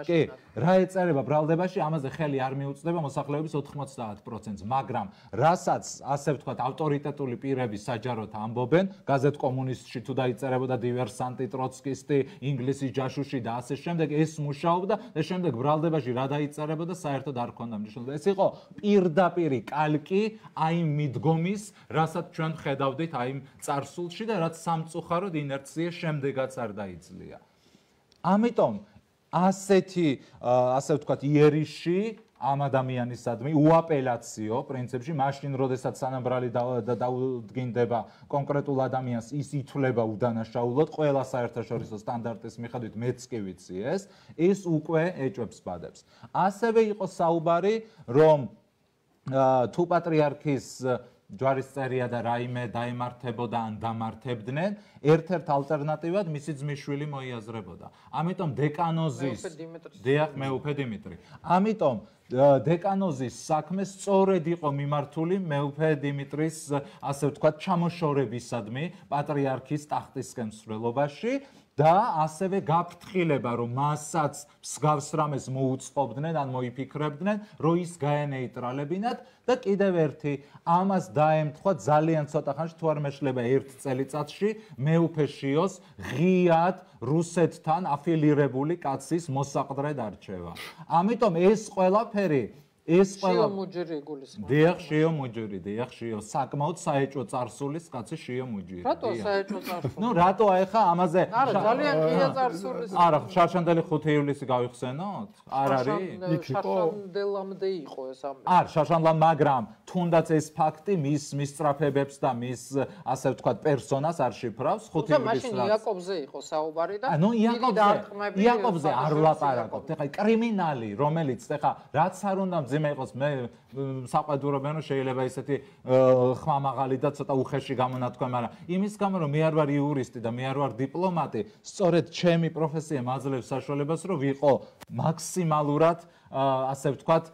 კი, რა ეწერება ბრალდებაში, ამაზე ხელი არ მიუწვდება მოსახლეობის ოთხმოცდაათ პროცენტს, მაგრამ რასაც ასე ვთქვათ, ავტორიტეტული პირები საჯაროდ ამბობენ, გაზეთ კომუნისტში თუ დაიწერებოდა დივერსანტი, ტროცკისტი, ინგლისის ჯაშუში და ასე შემდეგ, ეს მუშაობდა და შემდეგ ბრალდებაში რა დაიწერებოდა საერთოდ არ ქონდა მნიშვნელობა. ეს იყო პირდაპირი კალკი აი მიდგომის, რასაც ჩვენ ხედავდით აი წარსულში და რაც სამწუხაროდ ინერცია შემდეგაც არ დაიძლია. ამიტომ ასეთი ასე ვთქვათ იერიში ამ ადამიანისადმი უაპელაციო პრინციპში მაშინ როდესაც სანამბრალი დაუდგინდება კონკრეტულ ადამიანს ის ითვლება უდანაშაულოდ ყველა საერთაშორისო სტანდარტის მიხედვით მეც კი ვიცი ეს ეს უკვე ეჭვებს ბადებს. ასევე იყო საუბარი რომ თუ პატრიარქის ჯვარისწერია და რაიმე დაემართებოდა ან დამართებდნენ, ერთ-ერთ ალტერნატივად მისი ძმისშვილი მოიაზრებოდა. ამიტომ დეკანოზის დიახ, მეუფე დიმიტრი. ამიტომ დეკანოზის საქმე სწორედ იყო მიმართული მეუფე დიმიტრის, ასე ვთქვათ, ჩამოშორებისადმი პატრიარქის ტახტისკენ მსვლელობაში და ასევე გაფრთხილება, რომ მასაც მსგავს რამეს მოუწყობდნენ ან მოიფიქრებდნენ, რომ ის გაენეიტრალებინათ და კიდევ ერთი ამას დაემთხვა ძალიან ცოტა ხანში, თუ არ მეშლება ერთ წელიწადში, მეუფე შიოს ღიად რუსეთთან აფილირებული კაცის მოსაყდრედ არჩევა. ამიტომ ეს ყველაფერი ეს ყველა შიო მუჯირი იგულისხმება. დიახ, შიო მუჯირი, დიახ, შიო, საკმაოდ საეჭვო წარსულის კაცი შიო მუჯირი. რატო საეჭვო წარსული? ნუ რატო ახლა ამაზე არა, ძალიან ღია წარსულის. არა, შარშანდელი ხუთი ივლისი გავიხსენოთ? არ არის? შარშანდელამდე იყო ეს ამბავი. არ, შარშანდლამ, მაგრამ თუნდაც ეს ფაქტი მის მის სწრაფებებს და მის ასე ვთქვათ პერსონას არ შიფრავს ხუთი ივლის. მაშინ იაკობზე იყო საუბარი და ნუ იაკობზე იაკობზე არ ვლაპარაკობთ. ეხლა კრიმინალი, რომელიც ეხლა რაც არ უნდა ძიმე იყოს მე საყვედურობენ რომ შეიძლება ისეთი ხმამაღალი და ცოტა უხეში გამონათქვა, მაგრამ იმის გამო რომ მე არ ვარ იურისტი და მე არ ვარ დიპლომატი, სწორედ ჩემი პროფესია მაძლევს საშუალებას რომ ვიყო მაქსიმალურად ასე ვთქვათ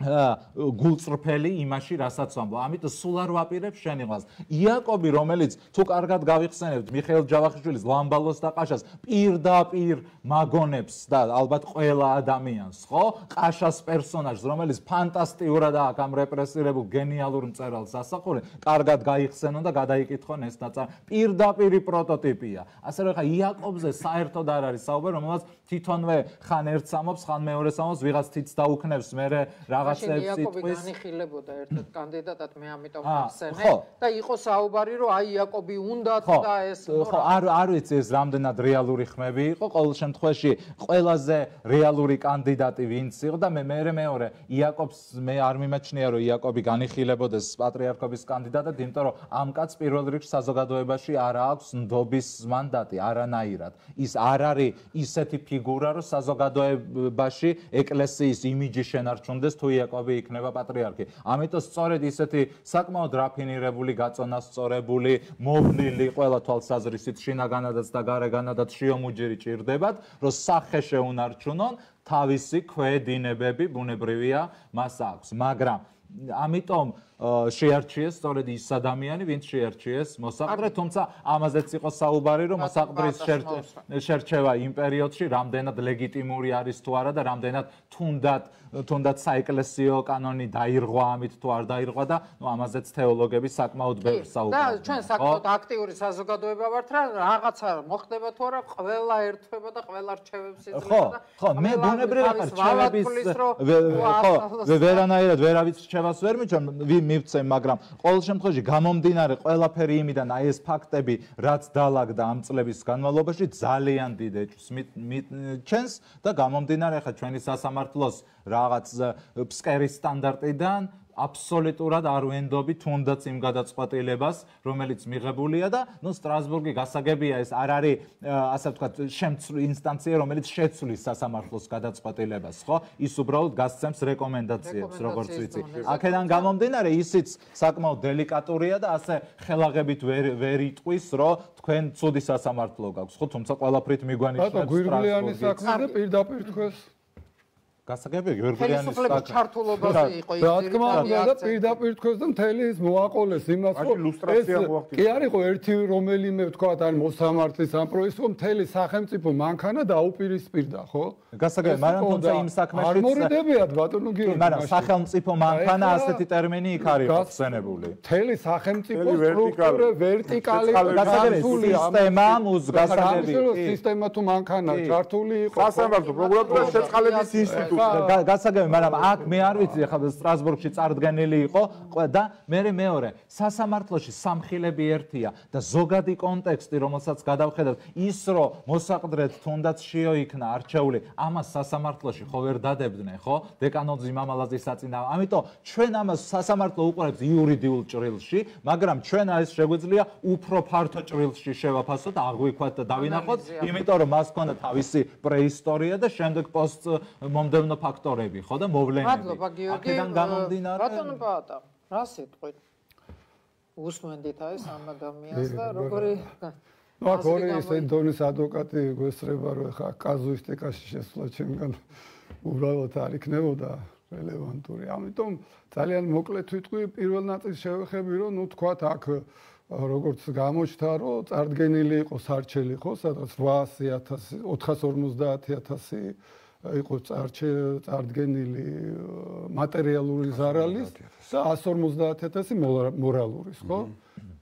გულწრფელი იმაში, რასაც ვამბობ. ამიტომ სულ არ ვაპირებ შენიღავს. იაკობი, რომელიც თუ კარგად გავიხსენებთ, მიხეილ ჯავახიშვილის ლამბალოს და ყაშას პირდაპირ მაგონებს და ალბათ ყველა ადამიანს, ხო? ყაშას პერსონაჟს, რომელიც ფანტასტიურად აქვს ამ რეპრესირებულ გენიალურ მწერალს ასახული, კარგად გაიხსენონ და გადაიკითხონ ეს ნაწარმი. პირდაპირი პროტოტიპია. ასე რომ ხა იაკობზე საერთოდ არ არის საუბარი, რომელსაც თვითონვე ხან ერთს ამობს, ხან მეორეს ამობს, ვიღაც თიც დაუქნევს, მერე რაღაც მაშინ იაკობი განიხილებოდა ერთ-ერთ კანდიდატად, მე ამიტომ ვახსენე და იყო საუბარი, რომ აი იაკობი უნდათ და ეს ხო, არ არ ვიცი ეს რამდენად რეალური ხმები იყო, ყოველ შემთხვევაში ყველაზე რეალური კანდიდატი ვინც იყო და მე მე მეორე იაკობს მე არ მიმაჩნია, რომ იაკობი განიხილებოდეს პატრიარქობის კანდიდატად, იმიტომ რომ ამ კაცს პირველ რიგში საზოგადოებაში არ აქვს ნდობის მანდატი, არანაირად. ის არ არის ისეთი ფიგურა, რომ საზოგადოებაში ეკლესიის იმიჯი შენარჩუნდეს თუ იაკობი იქნება პატრიარქი. ამიტომ სწორედ ისეთი საკმაოდ რაფინირებული, გაწონასწორებული, მოვლილი ყველა თვალსაზრისით შინაგანადაც და გარეგანადაც შიომუჯირი ჭირდებათ, რომ სახე შეუნარჩუნონ, თავისი ქვედინებები ბუნებრივია მას აქვს, მაგრამ ამიტომ შეარჩიეს სწორედ ის ადამიანი, ვინც შეარჩიეს მოსაყდრე, თუმცა ამაზეც იყო საუბარი, რომ მოსაყდრის შერჩევა იმ პერიოდში რამდენად ლეგიტიმური არის თუ არა და რამდენად თუნდაც თუნდაც საეკლესიო კანონი დაირღვა ამით თუ არ დაირღვა და ნუ ამაზეც თეოლოგები საკმაოდ ბევრს საუბრობენ. და ჩვენ საკმაოდ აქტიური საზოგადოება ვართ რა, რაღაცა მოხდება თუ არა, ყველა ერთვება და ყველა რჩევებს იძლევა და ხო, მე ბუნებრივია რჩევების ხო, ვერანაირად ვერავის რჩევას ვერ მიჩვენ, მივცემ, მაგრამ ყოველ შემთხვევაში გამომდინარე ყველაფერი იმიდან აი ეს ფაქტები, რაც დაალაგდა ამ წლების განმავლობაში, ძალიან დიდ ეჭვს მიჩენს და გამომდინარე ხა ჩვენი სასამართლოს რაღაც ფსკერის სტანდარტიდან აბსოლუტურად არ ვენდობი თუნდაც იმ გადაწყვეტილებას, რომელიც მიღებულია და ნუ სტრასბურგი გასაგებია ეს არ არის ასე ვთქვათ შემცვლი ინსტანცია, რომელიც შეცვლის სასამართლოს გადაწყვეტილებას, ხო? ის უბრალოდ გასცემს რეკომენდაციებს, როგორც ვიცი. აქედან გამომდინარე ისიც საკმაოდ დელიკატურია და ასე ხელაღებით ვერ ვერ იტყვის, რომ თქვენ ცუდი სასამართლო გაქვს, ხო? თუმცა ყველაფრით მიგვანიშნებს სტრასბურგი. გვირგვლიანი საქმე და პირდაპირ თქვენს გასაგებია გიორგიანის ხელისუფლების ჩართულობაზე იყო ის. რა თქმა უნდა და პირდაპირ თქვენს და მთელი ის მოაყოლეს იმას, რომ ეს კი არ იყო ერთი რომელიმე ვთქვათ ან მოსამართლის ამ პროექტს, რომ მთელი სახელმწიფო მანქანა დაუპირისპირდა, ხო? გასაგებია, მაგრამ თუმცა იმ საქმეშიც არ მორიდებიათ ბატონო გიორგი. მაგრამ სახელმწიფო მანქანა ასეთი ტერმინი იქ არის ხსენებული. მთელი სახელმწიფო სტრუქტურა ვერტიკალი გასაგებია სისტემა მუზ გასაგებია სისტემა თუ მანქანა ჩართული იყო სასამართლო პროკურატურა შეწყალების ინსტიტუტი გასაგებია, მაგრამ აქ მე არ ვიცი, ხა სტრასბურგში წარდგენილი იყო და მე მეორე სასამართლოში სამხილები ერთია და ზოგადი კონტექსტი, რომელსაც გადავხედავთ, ის რომ მოსაყდრეთ თუნდაც შეოიქნა არჩეული, ამას სასამართლოში ხო ვერ დადებდნენ, ხო? დეკანოზი მამალაძის საწინააღმდეგო. ამიტომ ჩვენ ამას სასამართლო უყურებს იურიდიულ ჭრილში, მაგრამ ჩვენ ეს შეგვიძლია უფრო ფართო ჭრილში შევაფასოთ, აღვიქვათ და დავინახოთ, იმიტომ რომ მას ჰქონდა თავისი პრეისტორია და შემდეგ პოსტ მომდევნო ფაქტორები, ხო და მოვლენები. მადლობა გიორგი. აქედან გამომდინარე. ბატონო პაატა, რა სიტყვით? უსმენდით ეს ამ ადამიანს და როგორი ნუ აქ ორი ისეთი დონის ადვოკატი გვესწრება, რომ ხა კაზუისტიკაში შესვლა ჩემგან უბრალოდ არ იქნებოდა რელევანტური. ამიტომ ძალიან მოკლედ ვიტყვი, პირველ ნაწილს შევეხები, რომ ნუ თქვათ აქ როგორც გამოჩნდა, რომ წარდგენილი იყო სარჩელი, ხო, სადღაც ოთხასი ათასი, ოთხას ორმოცდაათი ათასი იყო წარდგენილი მატერიალური ზარალის და ასი ორმოცდაათი ათასი მორალურის, ხო?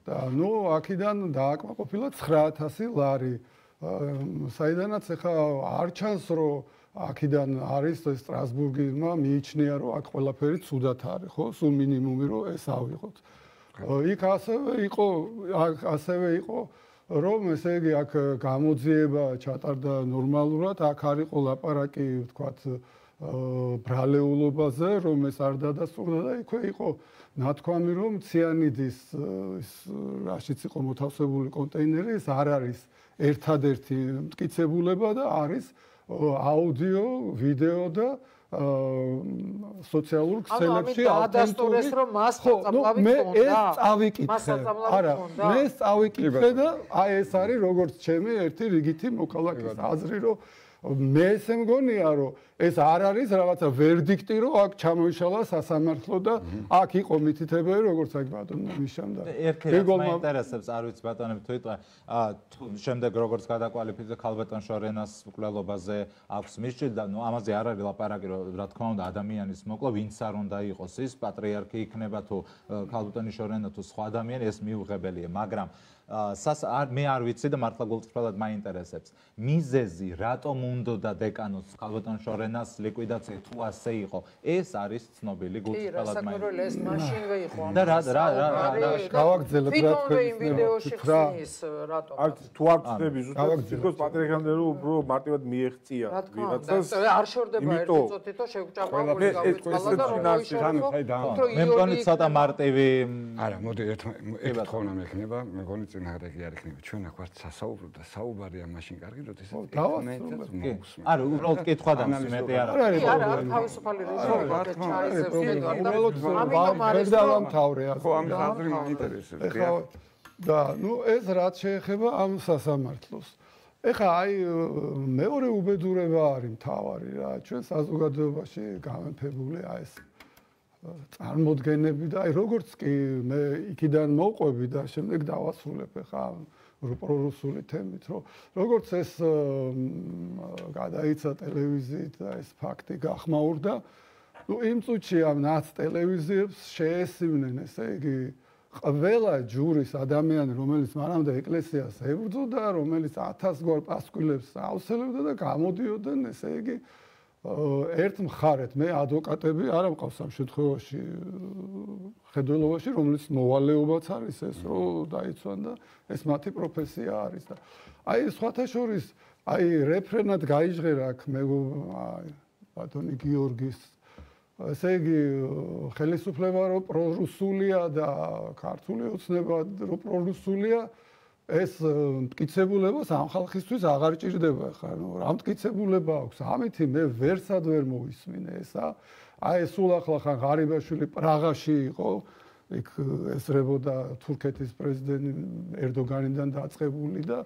და ნუ აქედან დააკმაყოფილა ცხრა ათასი ლარი. საიდანაც ახლა არ ჩანს, რომ აქედან არის სტრასბურგმა მიიჩნია, რომ აქ ყველაფერი ცუდად არის, ხო? სულ მინიმუმი რომ ეს ავიღოთ. იქ ასევე იყო, ასევე იყო რომ ესე იგი აქ გამოძიება ჩატარდა ნორმალურად, აქ არ იყო ლაპარაკი, ვთქვათ, ბრალეულობაზე, რომ ეს არ დადასტურდა და იქვე იყო ნათქვამი, რომ ციანიდის ის რაშიც იყო მოთავსებული კონტეინერი, ეს არ არის ერთადერთი მტკიცებულება და არის აუდიო, ვიდეო და სოციალურ ქსელებში ადასტურეს რომ მას წამლავი ხონდა. მე ეს წავიკითხე. არა, მე ეს წავიკითხე და აი ეს არის როგორც ჩემი ერთი რიგითი მოქალაქის აზრი, რომ მე ესე მგონია, რომ ეს არ არის რაღაცა ვერდიქტი, რომ აქ ჩამოიშალა სასამართლო და აქ იყო მითითებელი, როგორც აქ ბატონო მიშამ და ერქერს მაინტერესებს, არ ვიცი ბატონები თუ იტყვე, შემდეგ როგორც გადაკვალიფიცირდა ქალბატონ შორენას მკვლელობაზე აქვს მისჭი და ნუ ამაზე არ არის ლაპარაკი, რომ რა თქმა უნდა ადამიანის მოკლა ვინც არ უნდა იყოს ის პატრიარქი იქნება თუ ქალბატონი შორენა თუ სხვა ადამიანი, ეს მიუღებელია, მაგრამ სას მე არ ვიცი და მართლა გულწრფელად მაინტერესებს. მიზეზი რატომ უნდოდა დეკანოს ქალბატონ შორენას ლიკვიდაცია თუ ასე იყო? ეს არის ცნობილი გულწრფელად მაინტერესებს. ეს მაშინვე იყო. და რა რა რა რა გავაგრძელებ რა თქვენ ვიდეოში ხსნის რატომ? არ თუ არ ვწდები ზუსტად თვითონ პატრიარქამდე რომ უფრო მარტივად მიეღწია ვიღაცას. არ შორდება ერთი წუთითო შევჭამავული გავიწყალა და რომ მოიშალო. მე მგონი ცოტა მარტივი არა, მოდი ერთ ერთ თხოვნა მექნება, მე მგონი წინააღმდეგი არ იქნება. ჩვენ აქ ვართ სასაუბრო და საუბარია მაშინ კარგი, როდესაც დავასრულებ. არა, უბრალოდ კითხვა და მეტი არ არის. არა, არა, თავისუფალი რეზოლუცია ჩაისებს უბრალოდ ვერ დავამთავრე ასე. ხო, ამის აზრი მაინტერესებს. და ნუ ეს რაც შეეხება ამ სასამართლოს. ეხა აი მეორე უბედურება არის მთავარი რა. ჩვენ საზოგადოებაში გამეფებული აი ეს წარმოდგენები და აი როგორც კი მე იქიდან მოვყვები და შემდეგ დავასრულებ ეხა პრორუსული თემით, რომ როგორც ეს გადაიცა ტელევიზიით და ეს ფაქტი გახმაურდა, ნუ იმ წუთში ამ ნაც ტელევიზიებს შეესივნენ, ესე იგი ყველა ჯურის ადამიანი, რომელიც მანამდე ეკლესიას ებრძოდა, რომელიც ათას გვარ პასკვილებს აუცელებდა და გამოდიოდნენ, ესე იგი ერთ მხარეთ მე ადვოკატები არ ამყავს ამ შემთხვევაში ხედველობაში, რომელიც მოვალეობაც არის ეს, რომ დაიცვან და ეს მათი პროფესია არის და აი სხვათა შორის აი რეფრენად გაიჟღერა აქ მე ბატონი გიორგის ესე იგი ხელისუფლება რომ პრორუსულია და ქართული ოცნება რომ პრორუსულია ეს მტკიცებულებას ამ ხალხისთვის აღარ ჭირდება ხა ნუ რა მტკიცებულება აქვს ამითი მე ვერსად ვერ მოვისმინე ესა აი სულ ახლა ხან ღარიბაშვილი პრაღაში იყო იქ ესრებოდა თურქეთის პრეზიდენტი ერდოგანიდან დაწყებული და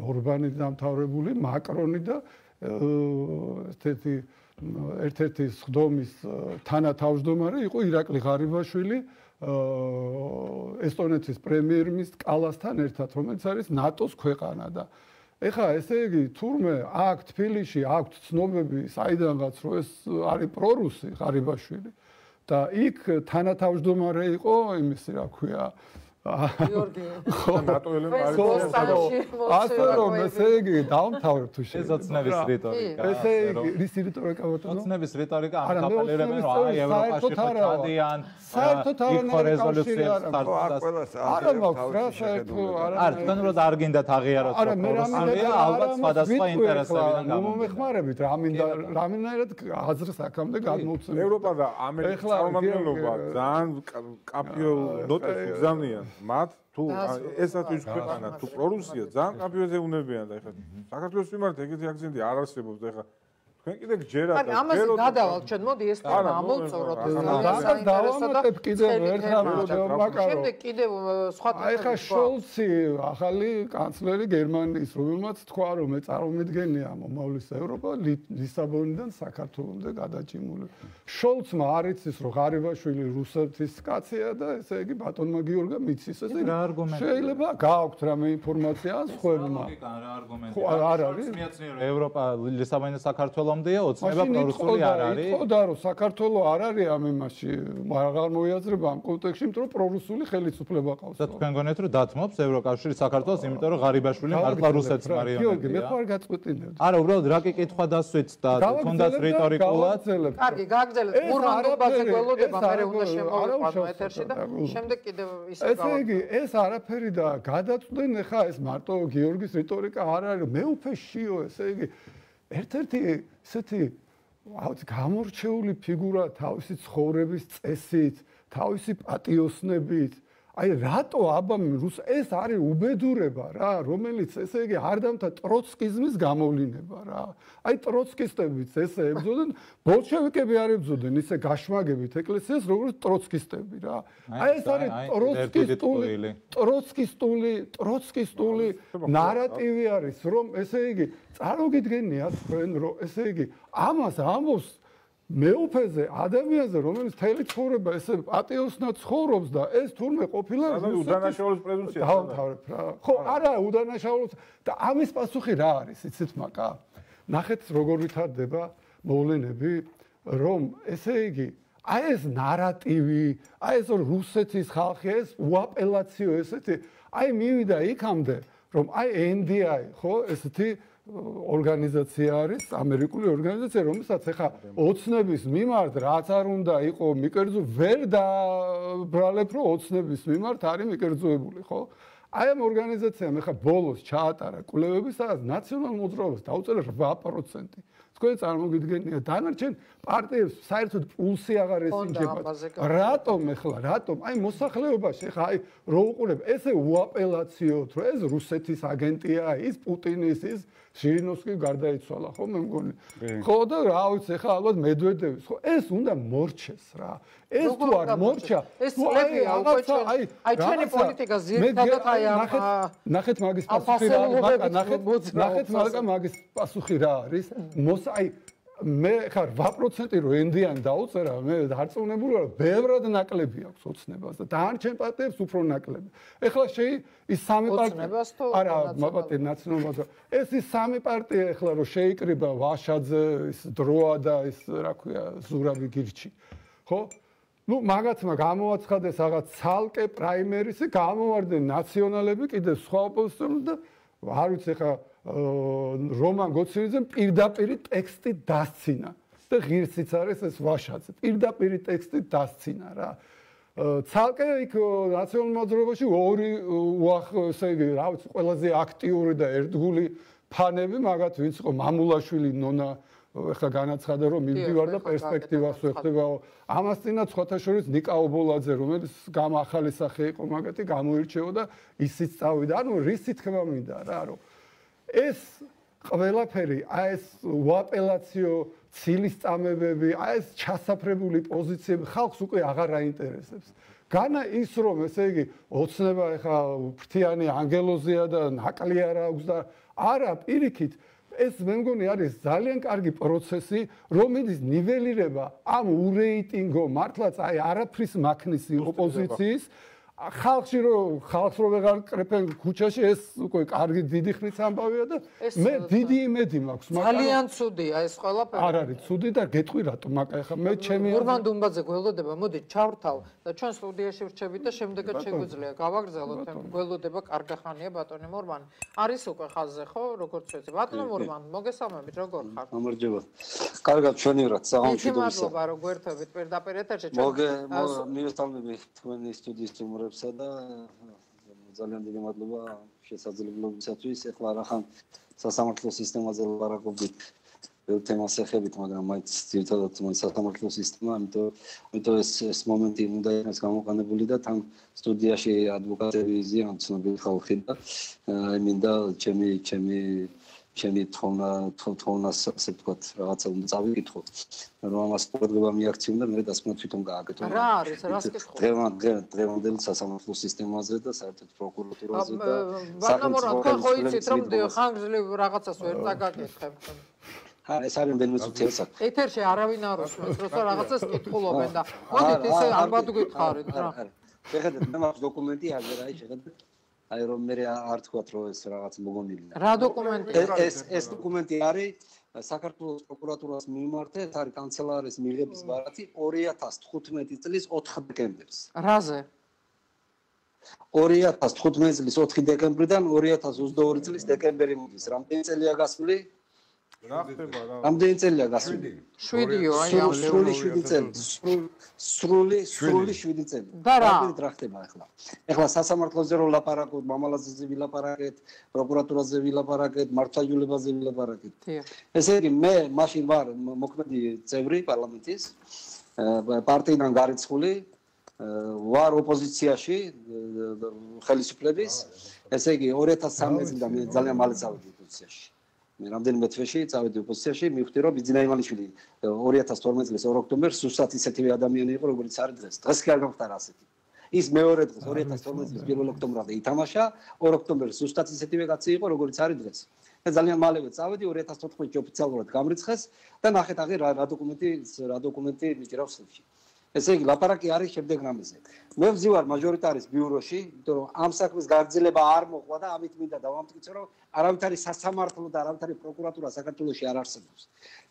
ორბანი დამთავრებული მაკრონი და ესეთი ერთ-ერთი სხდომის თანათავმჯდომარე იყო ირაკლი ღარიბაშვილი ესტონეთის პრემიერ-მინისტრ კალასთან ერთად, რომელიც არის ნატოს ქვეყანა და ეხლა ესე იგი თურმე აქ თბილისში აქვთ ცნობები საიდანღაც რომ ეს არის პრორუსი ღარიბაშვილი და იქ თანათავმჯდომარე იყო იმისი რა ქვია გიორგი ნატოელემ არის ასე რომ ესე იგი დავამთავრებ თუ შეიძლება ოცნების რიტორიკა ესე იგი რის რიტორიკა ბატონო ოცნების რიტორიკა ამ კაპელერებენ რომ აი ევროპაში ხადიან საერთოდ არ რეზოლუციებს ხარჯავს არა მაქვს რა საერთო არა არ თქვენ რომ არ გინდათ აღიაროთ რომ პრორუსულია ალბათ სხვადასხვა ინტერესებიდან გამომეხმარებით რამინდა რამინაირად აზრს აქამდე გადმოვცემ ევროპა და ამერიკის წარმომადგენლობა ძალიან კაფიო ნოტებს უგზავნიან მათ თუ ესაც ის ქვეყანა თუ პრორუსია ძალიან კაფიოზე უნებიან და ეხლა საქართველოს მიმართ ეგეთი აქცენტი არ არსებობს და ეხლა თქვენ კიდე გჯერათ და ამაზე გადავალთ ჩვენ მოდი ეს თემა ამოვწოროთ დავამატებ კიდევ ერთხელ მაკარო შემდეგ კიდევ სხვა აი ხა შოლცი ახალი კანცლერი გერმანიის რომელმაც თქვა რომ მე წარმომედგენია მომავლის ევროპა ლისაბონიდან საქართველომდე გადაჭიმული შოლცმა არ იცის რომ ღარიბაშვილი რუსეთის კაცია და ესე იგი ბატონმა გიორგა მიცის ესე შეიძლება გააქვთ რამე ინფორმაცია ან სხვებმა რა არგუმენტი ხო არ არის მიაცნია რომ ევროპა ლისაბონიდან საქართველოს ოცნება პრორუსული არ არის. იცოდა რომ საქართველოს არ არის ამ იმაში, აღარ მოიაზრება ამ კონტექსტში, იმიტომ რომ პრორუსული ხელისუფლება ყავს. და თქვენ გონიათ რომ დათმობს ევროკავშირი საქართველოს, იმიტომ რომ ღარიბაშვილი მართლა რუსეთს მარიონეტია. გიორგი, მე ხარ გაწყვეტინებ. არა, უბრალოდ რა კი კითხვა დასვით და თუნდაც რიტორიკულად. კარგი, გააგრძელეთ. მურმანდობაზე გველოდება, მე უნდა შემოვიყვანო ეთერში და შემდეგ კიდევ ისე გავაკეთე. ესე იგი, ეს არაფერი და გადაწყვეტენ ხა ეს მარტო გიორგის რიტორიკა არ არის, მე უფე შიო, ესე იგი ერთ-ერთი ესეთი გამორჩეული ფიგურა თავისი ცხოვრების წესით, თავისი პატიოსნებით. აი რატო აბამ რუს ეს არის უბედურება რა, რომელიც ესე იგი არ დამთა ტროცკიზმის გამოვლინება რა. აი ტროცკისტებიც ესე ებრძოდნენ, ბოლშევიკები არ ებრძოდნენ ისე გაშმაგებით ეკლესიას, როგორც ტროცკისტები რა. აი ეს არის ტროცკისტული, ტროცკისტული, ტროცკისტული ნარატივი არის, რომ ესე იგი წარმოგიდგენიათ თქვენ, რომ ესე იგი ამას ამბობს მეუფეზე ადამიანზე რომელიც თელი ცხოვრება ესე პატიოსნად ცხოვრობს და ეს თურმე ყოფილა უდანაშაულოს პრეზუმპცია დავთავრებ რა ხო არა უდანაშაულოს და ამის პასუხი რა არის იცით მაკა ნახეთ როგორ ვითარდება მოვლენები რომ ესე იგი აი ეს ნარატივი აი ეს რუსეთის ხალხი ეს უაპელაციო ესეთი აი მივიდა იქამდე რომ აი ენ დი აი ხო ესეთი ორგანიზაცია არის ამერიკული ორგანიზაცია რომელსაც ახლა ოცნების მიმართ რაც არ უნდა იყო მიკერძო ვერ დაბრალებ რომ ოცნების მიმართ არის მიკერძოებული ხო აი ამ ორგანიზაციამ ახლა ბოლოს ჩაატარა კვლევები, სადაც ნაციონალურ მოძრაობას დაუწერა რვა პროცენტი. თქვენ წარმოგიდგენია, დანარჩენ პარტიებს საერთოდ პულსი აღარ ესინჯებათ. რატომ ახლა, რატომ? აი მოსახლეობაში ახლა აი რო უყურებ, ესე უაპელაციოთ, რომ ეს რუსეთის აგენტია, ის პუტინის, ის ჟირინოვსკი გარდაიცვალა, ხო მე მგონი. ხო და რა ვიცი, ახლა ალბათ მედვედევის, ხო ეს უნდა მორჩეს რა. ეს თუ არ მორჩა, ეს წლებია უკვე აი აი ჩვენი პოლიტიკა ზირთადად აი ამ ნახეთ მაგის პასუხი რა, ნახეთ ნახეთ მაგის პასუხი რა არის. მოს აი მე ხა რვა პროცენტი რო ენდიანი დაუწერა, მე დარწმუნებული ვარ, ბევრად ნაკლები აქვს ოცნებას და დანარჩენ პარტიებს უფრო ნაკლები. ეხლა შეი ის სამი პარტია არა, მაპატი ნაციონალურობა. ეს ის სამი პარტია ეხლა რო შეიკრიბა ვაშაძე, ის დროა და ის რა ქვია, ზურაბი გირჩი. ხო? ну მაგაცმა გამოაცხადეს რაღაც ცალკე პრაიმერისი, გამოვარდნენ ნაციონალები, კიდე სხვა ოპოზიციონერი და არ ვიცი ხა რომან გოცინიძემ პირდაპირ ტექსტი დასცინა და ღირსიც არის ეს ვაშაძე. პირდაპირ ტექსტი დასცინა რა. ცალკე იქ ნაციონალურ მოძრაობაში ორი უახ ესე იგი რა ვიცი ყველაზე აქტიური და ერთგული ფანები მაგათ ვინც იყო მამულაშვილი ნონა ეხლა განაცხადა რომ მივდივარ და პერსპექტივას ვეხებაო. ამას წინათ სხვათა შორის ნიკა ობოლაძე რომელიც გამახალი სახე იყო მაგათი გამოირჩევა და ისიც წავიდა. ანუ რისი თქმა მინდა რა რომ ეს ყველაფერი აი ეს უაპელაციო ცილის წამებები, აი ეს ჩასაფრებული პოზიციები ხალხს უკვე აღარ აინტერესებს. განა ის რომ ესე იგი ოცნება ეხა ფრთიანი ანგელოზია და ნაკლი არ აქვს და არა პირიქით ეს მე მგონი არის ძალიან კარგი პროცესი, რომელიც ნიველირება ამ ურეიტინგო მართლაც აი არაფრის მაქნის ოპოზიციის ხალხში რომ ხალხს რო ვეღარ კრეფენ ქუჩაში ეს უკვე კარგი დიდი ხნის ამბავია და მე დიდი იმედი მაქვს მაგრამ ძალიან ცუდია ეს ყველაფერი არ არის ცუდი და გეტყვი რატომ მაკა ხა მე ჩემი ურმან დუმბაძე გველოდება მოდი ჩავრთავ და ჩვენ სტუდიაში ვრჩებით და შემდეგაც შეგვიძლია გავაგრძელოთ გველოდება კარგახანია ბატონი მურმანი არის უკვე ხაზზე ხო როგორც ვიცი ბატონო მურმან მოგესალმებით როგორ ხარ გამარჯობა კარგად ჩვენივრად საღამოში მადლობა რომ გვერდებით პირდაპირ ეთერში ჩვენ მოგე მივესალმები თქვენი სტუდიის სტუმრებსა და ძალიან დიდი მადლობა შესაძლებლობისათვის ეხლა რახან სასამართლო სისტემაზე ლაპარაკობთ ბევრ თემას ეხებით მაგრამ მაინც ძირითადად სასამართლო სისტემა ამიტომ ამიტომ ეს ეს მომენტი უნდა იყოს გამოყენებული და თან სტუდიაში ადვოკატები ზიან ცნობილი ხალხი და აი მინდა ჩემი ჩემი ჩემი თხოვნა თხოვნას ასე ვთქვათ რაღაცა უნდა წავიკითხო რომ ამას პრობლემა მიაქციონ და მე დასკვნა თვითონ გააკეთო რა არის რას კითხო დღევანდელი სასამართლო სისტემაზე და საერთოდ პროკურატურაზე და ბანამორან თქვენ ხო იცით რომ ხანგრძლივ რაღაცას ვერ წაგაკითხებ ა ეს არის მდენმე წუთია საქმე ეთერში არავინ არ უსმენს როცა რაღაცას კითხულობენ და მოდით ისე ალბათ გითხარით რა შეხედეთ მე მაქვს დოკუმენტი აგერ აი შეხედეთ აი რომ მე არ თქვათ რომ ეს რაღაც მოგონილია რა დოკუმენტია ეს ეს დოკუმენტი არის საქართველოს პროკურატურას მიმართეთ არის კანცელარიის მიღების ბარათი ორი ათას თხუთმეტი წლის ოთხი დეკემბერს რაზე ორი ათას თხუთმეტი წლის ოთხი დეკემბრიდან ორი ათას ოცდაორი წლის დეკემბერი მოდის რამდენი წელია გასული რა ხდება რა რამდენი წელია გასული შვიდიო აი ამ სრული შვიდი წელი სრული სრული შვიდი წელი რამდენით რა ხდება ახლა ახლა სასამართლოზე რო ლაპარაკობთ მამალაძეზე ვილაპარაკეთ პროკურატურაზე ვილაპარაკეთ მართლმსაჯულებაზე ვილაპარაკეთ ესე იგი მე მაშინ ვარ მოქმედი წევრი პარლამენტის პარტიიდან გარიცხული ვარ ოპოზიციაში ხელისუფლების ესე იგი ორი ათას სამი წლიდან მე ძალიან მალე წავედი ოპოზიციაში მე რამდენიმე თვეში წავედი ოპოზიციაში მივხვდი რომ ბიძინა ივანიშვილი ორი ათას თორმეტი წლის ორ ოქტომბერს სუსტად ისეთივე ადამიანი იყო როგორც არის დღეს დღეს კი არ გამხდარა ასეთი ის მეორე დღეს ორი ათას თორმეტი წლის პირველ ოქტომბერამდე ითამაშა ორ ოქტომბერს სუსტად ისეთივე კაცი იყო როგორც არის დღეს და ძალიან მალევე წავედი ორი ათას თოთხმეტში ოფიციალურად გამრიცხეს და ნახეთ აღი რა დოკუმენტი რა დოკუმენტი მიჭრავს ხელში ესე იგი ლაპარაკი არის შემდეგ რამეზე მე ვზივარ მაჟორიტარის ბიუროში იმიტომ რომ ამ საქმის გაგრძელება არ მოყვა და ამით მინდა დავამტკიცო რომ არავითარი სასამართლო და არავითარი პროკურატურა საქართველოში არ არსებობს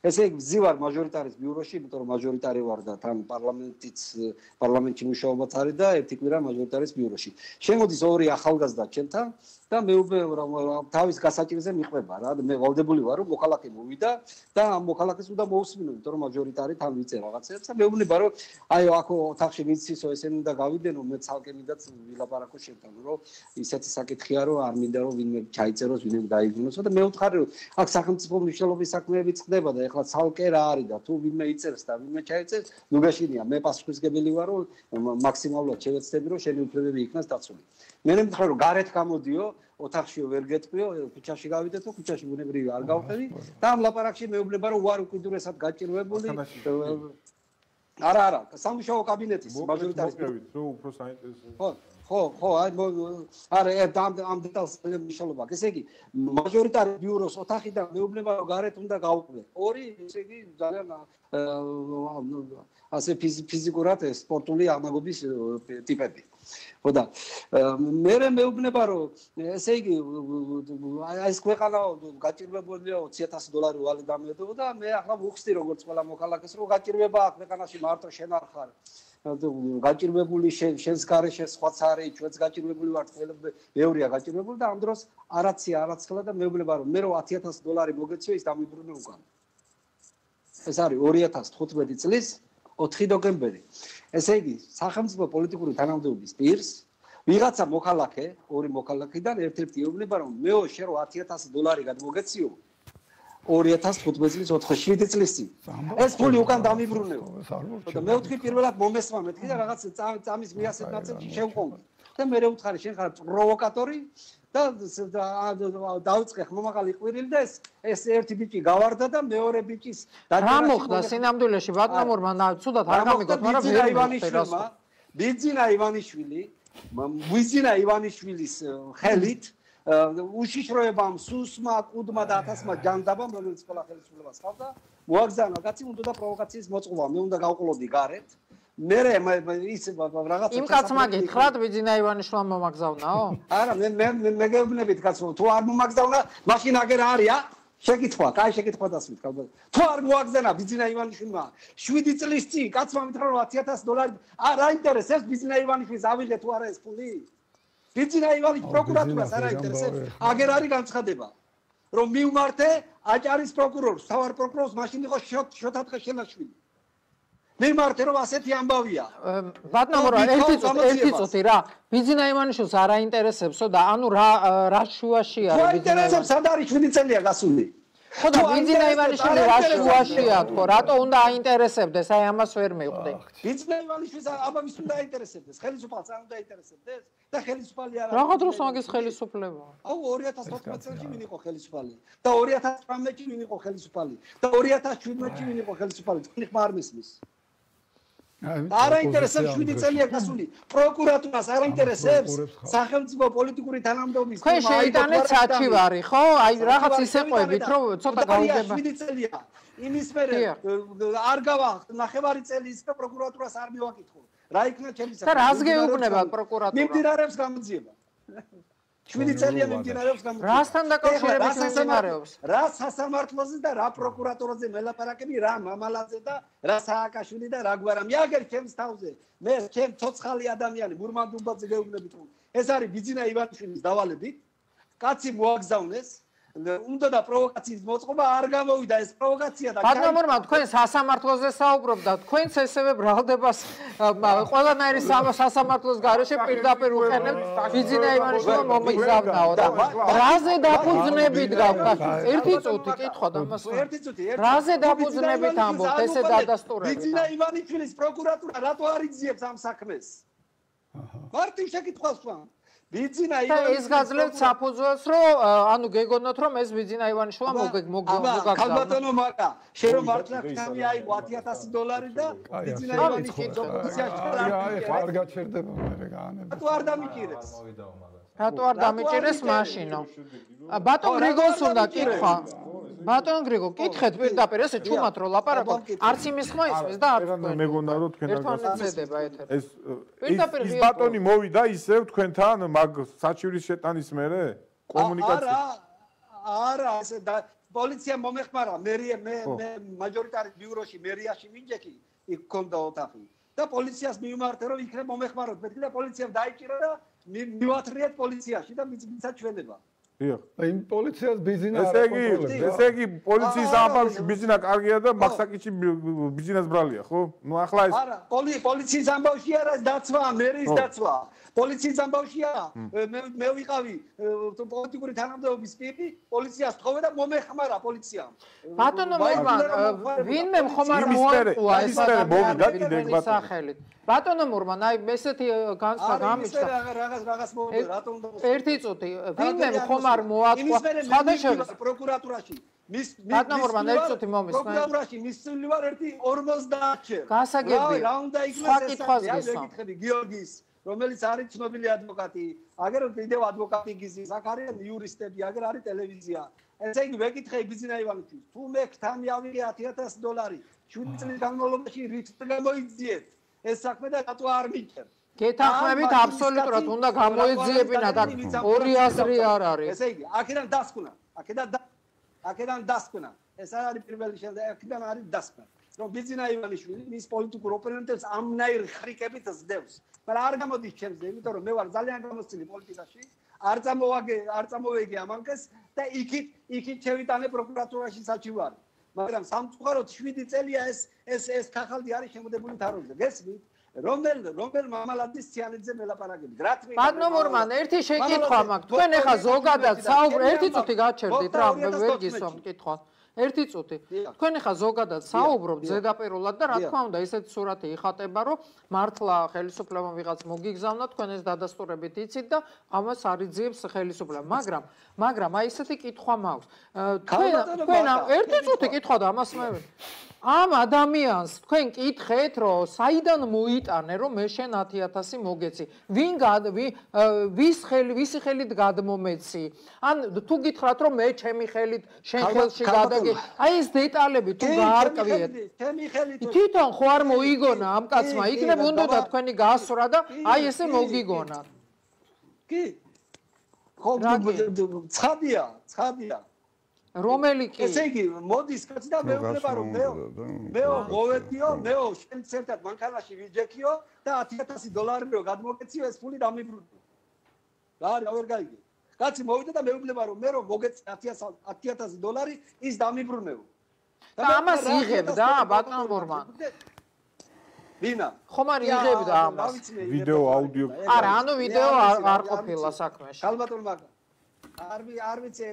ესე იგი ვზივარ მაჟორიტარის ბიუროში იმიტომ რომ მაჟორიტარი ვარ და თან პარლამენტიც პარლამენტში მუშაობაც არის და ერთი კვირა მაჟორიტარის ბიუროში შემოდის ორი ახალგაზრდა ჩემთან და მე უკვე თავის გასაჭირზე მიყვება რა მე ვალდებული ვარ რომ მოქალაქე მოვიდა და ამ მოქალაქეს უნდა მოусმინო იმიტომ რომ მაჟორიტარი თან ვიწე რაღაცებს და მე ვუნება რომ აი აქ ოთახში ვიცისო ესენი უნდა გავი გავიდენო, მე ცალკე მინდაც ვილაპარაკო შენთან, რომ ისეთი საკითხია, რომ არ მინდა რომ ვინმე ჩაიწეროს, ვინმე დაიბრუნოს და მე ვთხარი, რომ აქ სახელმწიფო მნიშვნელობის საქმეები წყდება და ეხლა ცალკე რა არის და თუ ვინმე იწერს და ვინმე ჩაიწერს, ნუ გაშინია, მე პასუხისგებელი ვარ, რომ მაქსიმალურად შევეცდები, რომ შენი უფლებები იქნას დაცული. მე მითხრა, რომ გარეთ გამოდიო, ოთახშიო ვერ გეტყვიო, ქუჩაში გავიდეთო, ქუჩაში ბუნებრივი არ გავხდები და ამ ლაპარაკში მეუბნება, რომ ვარ უკიდურესად გაჭირვებული. არა, არა, სამუშაო კაბინეტის მაჟორიტარის რო უფრო საინტერესო. ხო, ხო, ხო, აი არა, ამ ამ დეტალს მნიშვნელობა. ესე იგი, მაჟორიტარი ბიუროს ოთახიდან მეუბნება, რომ გარეთ უნდა გავყვე. ორი, ესე იგი, ძალიან ასე ფიზიკურად სპორტული აღნაგობის ტიპები. ხო და მე მეუბნება, რომ ესე იგი, აი ეს ქვეყანა გაჭირვებულია ოცი ათასი დოლარი ვალე დამედო და მე ახლა ვუხსდი როგორც ყველა მოქალაქეს, რომ გაჭირვება აქ ქვეყანაში მარტო შენ არ ხარ. გაჭირვებული შენს გარეშე სხვაც არის, ჩვენც გაჭირვებული ვართ, მეორეა გაჭირვებული და ამ დროს არაცია არაცხელა და მეუბნება, რომ მე რო ათი ათასი დოლარი მოგეციო, ის დამიბრუნე უკან. ეს არის ორი ათას თხუთმეტი წლის ოთხი ნოემბერი. ესე იგი, სახელმწიფო პოლიტიკური თანამდებობის პირს ვიღაცა მოქალაქე, ორი მოქალაქიდან ერთ-ერთი ეუბნება, რომ მეო შენ რო ათი ათასი დოლარი გადმოგეციო ორი ათას თხუთმეტი წლის შვიდი წლის წინ. ეს ფული უკან დამიბრუნეო. და მე ვთქვი პირველად მომესმა მეთქი და რაღაც წამის მიასეთ ნაწილში შევყოვდი. და მე ვუთხარი შენ ხარ პროვოკატორი და დაუწყე ხმამაღალი ყვირილი და ეს ეს ერთი ბიჭი გავარდა და მეორე ბიჭის რა მოხდა სინამდვილეში ბატონურმა ცუდად არ გამიგოთ, მაგრამ ვერ ივანიშვილმა, ბიძინა ივანიშვილი, ბიძინა ივანიშვილის ხელით უშიშროებამ, სუსმა, კუდმა და ათასმა ჯანდაბამ, რომელიც ყველა ხელისუფლებას ჰყავდა, მოაგზავნა კაცი, უნდა და პროვოკაციის მოწყობა, მე უნდა გავყოლოდი გარეთ. მე ის რაღაც იმ კაცმა გითხრათ ბიძინა ივანიშვილმა მომაგზავნაო? არა, მე მე მე გეუბნებით კაცო, თუ არ მომაგზავნა, მაშინ აგერ არია? შეკითხვა, კაი შეკითხვა დასვით, კაბა. თუ არ მოაგზავნა ბიძინა ივანიშვილმა, შვიდი წლის წინ კაცმა მითხრა რომ ათი ათასი დოლარი არ აინტერესებს ბიძინა ივანიშვილს ავიღე თუ არა ეს ფული? ბიძინა ივანიშვილი პროკურატურას არ აინტერესებს, აგერ არის განცხადება, რომ მივმართე აჭარის პროკურორს, თავარ პროკურორს მაშინ იყო შოთათხე შენაშვილი. მივმართე რომ ასეთი ამბავია. ბატონო რა, ერთი წუთი, ერთი წუთი რა. ბიძინა ივანიშვილს არ აინტერესებსო და ანუ რა რა შუაში არის ბიძინა? აინტერესებს, სად არის შვიდი წელია გასული? ხო და ბიძინა ივანიშვილი რა შუაშია თქო, რატო უნდა აინტერესებდეს? აი ამას ვერ მივხვდი. ბიძინა ივანიშვილს აბა ვის უნდა აინტერესებდეს? ხელისუფალს არ უნდა აინტერესებდეს? და ხელისუფალი არა. რაღა დროს მაგის ხელისუფლება? აუ ორი ათას თოთხმეტ წელს ვინ იყო ხელისუფალი? და ორი ათას თვრამეტში ვინ იყო ხელისუფალი? და ორი ათას შვიდმეტში ვინ იყო ხელისუფალი? თქვენი ხმა არ მისმის. არ აინტერესებს შვიდი წელია გასული. პროკურატურას არ აინტერესებს სახელმწიფო პოლიტიკური თანამდებობის. თქვენ შეიტანეთ საჩივარი, ხო? აი რაღაც ისე ყვებით, რომ ცოტა გავიგება. შვიდი წელია. იმის მერე არ გავა ნახევარი წელი ის პროკურატურას არ მივაკითხო. რა იქნა ჩემი და რას გეუბნება პროკურატურა? მიმდინარეობს გამოძიება. შვიდი წელია მიმდინარეობს გამოძიება. რასთან დაკავშირებით მიმდინარეობს? რა სასამართლოზე და რა პროკურატურაზე მელაპარაკები, რა მამალაძე და რა სააკაშვილი და რა გვარა. მე აგერ ჩემს თავზე, მე ჩემ ცოცხალი ადამიანი მურმანდუბაძე გეუბნებით, რომ ეს არის ბიძინა ივანიშვილის დავალებით. კაცი მოაგზავნეს. უნდა და პროვოკაციის მოწყობა არ გამოვიდა ეს პროვოკაცია და ბატონურმა თქვენ სასამართლოზე საუბრობ და თქვენც ესევე ბრალდებას ყველანაირი სასამართლოს გარეშე პირდაპირ უყენებთ ბიძინა ივანიშვილმა მომიგზავნაო და რაზე დაფუძნებით გავხარ? ერთი წუთი კითხვა და მას ერთი წუთი რაზე დაფუძნებით ამბობთ ესე დადასტურებით? ბიძინა ივანიშვილის პროკურატურა რატო არ იძიებს ამ საქმეს? მარტივ შეკითხვას ვამ. ბიძინა ივანიშვილის ეს გაძლევთ საფუძველს, რომ ანუ გეგონოთ, რომ ეს ბიძინა ივანიშვილმა მოგაგზავნა. ქალბატონო მაკა, შენ რომ მართლა ხთამი აიღო ათი ათასი დოლარი და ბიძინა ივანიშვილის ოპოზიციაში არ გაჩერდება მე გაანებ. რატო არ დამიჭირებს? რატო არ დამიჭირეს მაშინო? ბატონ გრიგოლს უნდა კითხვა. ბატონ გრიგო, კითხეთ პირდაპირ, ესე ჩუმად რო ლაპარაკობ, არც იმის ხმა ისმის და არც თქვენ. მეგონა რომ თქვენ ერთმანეთსედება ეთერი. ეს ის ბატონი მოვიდა ისევ თქვენთან მაგ საჩივრის შეტანის მერე კომუნიკაცია. არა, არა, ესე და პოლიცია მომეხმარა, მე მე მე მაჟორიტარი ბიუროში მერიაში მინჯექი, იქ ქონდა ოთახი. და პოლიციას მივმართე რომ იქნებ მომეხმაროთ, მეთქი და პოლიციამ დაიჭირა და მივათრიეთ პოლიციაში და მიცაჩვენება. დიახ. იმ პოლიციას ბიზინა ესე იგი, ესე იგი პოლიციის ამბავში ბიზინა კარგია და მაქსაკიჩი ბიზინას ბრალია, ხო? ნუ ახლა ეს არა, პოლიციის ამბავში არა, დაცვა, მერის დაცვა. პოლიციის ამბავშია, მე მე ვიყავი პოლიტიკური თანამდებობის პირი, პოლიციას თხოვე და მომეხმარა პოლიციამ. ბატონო მურმან, ვინმე ხომ არ მოაყვა ეს ადამიანის სახელით. ბატონო მურმან, აი ესეთი განსხვავება გამიჩნდა. რაღაც რაღაც მომდა, რატომ და ერთი წუთი, ვინმე ხომ არ მოაყვა სხვადასხვა პროკურატურაში. მის ბატონო მურმან, ერთი წუთი მომისმენ. პროკურატურაში მისული ვარ ერთი ორმოცდაათი. გასაგებია. რა უნდა იქნას ეს? გეკითხები გიორგის რომელიც არის ცნობილი ადვოკატი, აგერ კიდევ ადვოკატი გიზის, აქ არიან იურისტები, აგერ არის ტელევიზია. ესე იგი ვეკითხე ბიზინა ივანიშვილს, თუ მე ქთამი ავიღე ათი ათასი დოლარი, შვიდი წლის განმავლობაში რით გამოიძიეთ ეს საქმე და რატო არ მიჭერ? გეთანხმებით აბსოლუტურად უნდა გამოეძიებინათ, აქ ორი აზრი არ არის. ესე იგი, აქედან დასკვნა, აქედან აქედან დასკვნა. ეს არის პირველი შედეგი, აქედან არის დასკვნა. რომ ბიზინა ივანიშვილი მის პოლიტიკურ ოპონენტებს ამნაირ ხრიკებით ზდევს. მაგრამ არ გამოდის ჩემზე, იმიტომ რომ მე ვარ ძალიან გამოცილი პოლიტიკაში, არ წამოვაგე, არ წამოვეგი ამანკეს და იქით, იქით შევიტანე პროკურატურაში საჩივარი. მაგრამ სამწუხაროდ შვიდი წელია ეს ეს ეს ხახალდი არის შემოდებული თაროზე. გესმით? რომელ რომელ მამალაძის ციანიძე მელაპარაკებით. რა თქმა უნდა. ბატონო მურმან, ერთი შეკითხვა მაქვს. თქვენ ახლა ზოგადად საუბრობთ, ერთი წუთი გაჩერდით რა, ვერ გისვამ კითხვა. ერთი წუთი. თქვენ ახლა ზოგადად საუბრობთ ზედაპირულად და რა თქმა უნდა, ესეთი სურათი იხატება, რომ მართლა ხელისუფლებამ ვიღაც მოგიგზავნა, თქვენ ეს დადასტურებით იცით და ამას არიძიებს ხელისუფლება. მაგრამ, მაგრამ აი ესეთი კითხვა მაქვს. თქვენ თქვენ ერთი წუთი კითხვა და ამას მე ამ ადამიანს თქვენ კითხეთ, რომ საიდან მოიტანე, რომ მე შენ ათი ათასი მოგეცი? ვინ ვის ხელი, ვისი ხელით გადმომეცი? ან თუ გითხრათ, რომ მე ჩემი ხელით შენ ხელში გადაგე, აი ეს დეტალები თუ გაარკვიეთ. ჩემი ხელით. თვითონ ხო არ მოიგონა ამ კაცმა, იქნებ უნდა თქვენი გასვრა და აი ესე მოგიგონა. კი. ხო, ცხადია, ცხადია. რომელი კი? ესე იგი, მოდის კაცი და მეუბნება რომ მეო, მეო მოვედიო, მეო შენ ცენტრად მანქანაში ვიჯექიო და ათი ათასი დოლარიო გადმოგეციო ეს ფული დამიბრუნო. რა არის, ვერ გაიგე. კაცი მოვიდა და მეუბნება რომ მე რომ მოგეცი ათი ათასი დოლარი ის დამიბრუნეო. და ამას იღებდა ბატონო მურმან. ვინა? ხომ არ იღებდა ამას? ვიდეო, აუდიო. არა, ანუ ვიდეო არ ყოფილა საქმეში. ალბათ მაგა არ არ ვიცი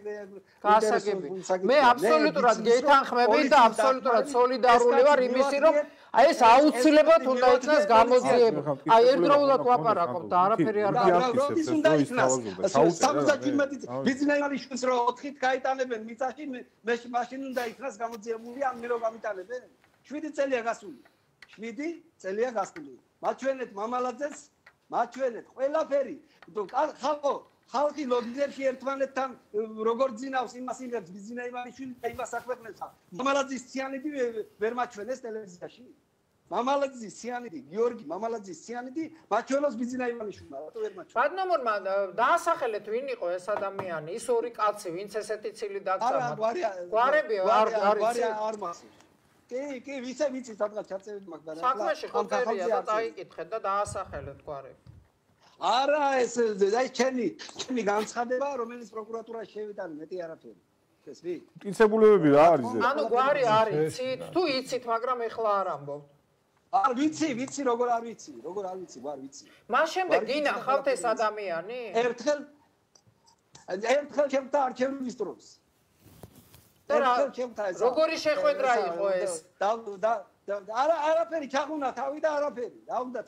გასაგები. მე აბსოლუტურად გეთანხმებით და აბსოლუტურად სოლიდარული ვარ იმისი, რომ აი ეს აუცილებლად უნდა იქნას გამოძიება. აი ერთდროულად ვაპარაკობ და არაფერი არ გაქვს. უნდა იქნას. სამოცდაჩვიდმეტი ბიზნეს ივალიშვილს რო ოთხით გაიტანებენ მიწაში, მე მაშინ უნდა იქნას გამოძიებული ან მე რო გამიტანებენ. შვიდი წელია გასული. შვიდი წელია გასული. მაჩვენეთ მამალაძეს, მაჩვენეთ ყველაფერი. ხალხო ხალხი ლოგინებში ერთმანეთთან როგორ ძინავს იმას იმებს ბიზინა ივანიშვილი და იმას აქვეყნებს. მამალაძის ციანიდი ვერ მაჩვენეს ტელევიზიაში. მამალაძის ციანიდი, გიორგი მამალაძის ციანიდი მაჩვენოს ბიზინა ივანიშვილმა, რატო ვერ მაჩვენეს? ბატონო მურმან, დაასახელეთ ვინ იყო ეს ადამიანი, ის ორი კაცი, ვინც ესეთი ცილი დაგწამათ. არა, გვარია. გვარები არ არის. არ მასის. კი, კი, ვიცე, ვიცი, სადღაც ჩაწევით მაგ და რა. საქმეში ხო წერია და დაიკითხეთ და დაასახელეთ გვარები. არა ეს აი ჩემი ჩემი განცხადება რომელიც პროკურატურაში შევიტანე მეტი არაფერი ესმი მტკიცებულებები რა არის ეს ანუ გვარი არის იცით თუ იცით მაგრამ ეხლა არ ამბობთ არ ვიცი ვიცი როგორ არ ვიცი როგორ არ ვიცი გვარ ვიცი მას შემდეგ გინახავთ ეს ადამიანი ერთხელ ერთხელ ჩემთან არჩევნების დროს ერთხელ ჩემთან ეს როგორი შეხვედრა იყო ეს და არა არაფერი ჩაღუნა თავი და არაფერი რა უნდა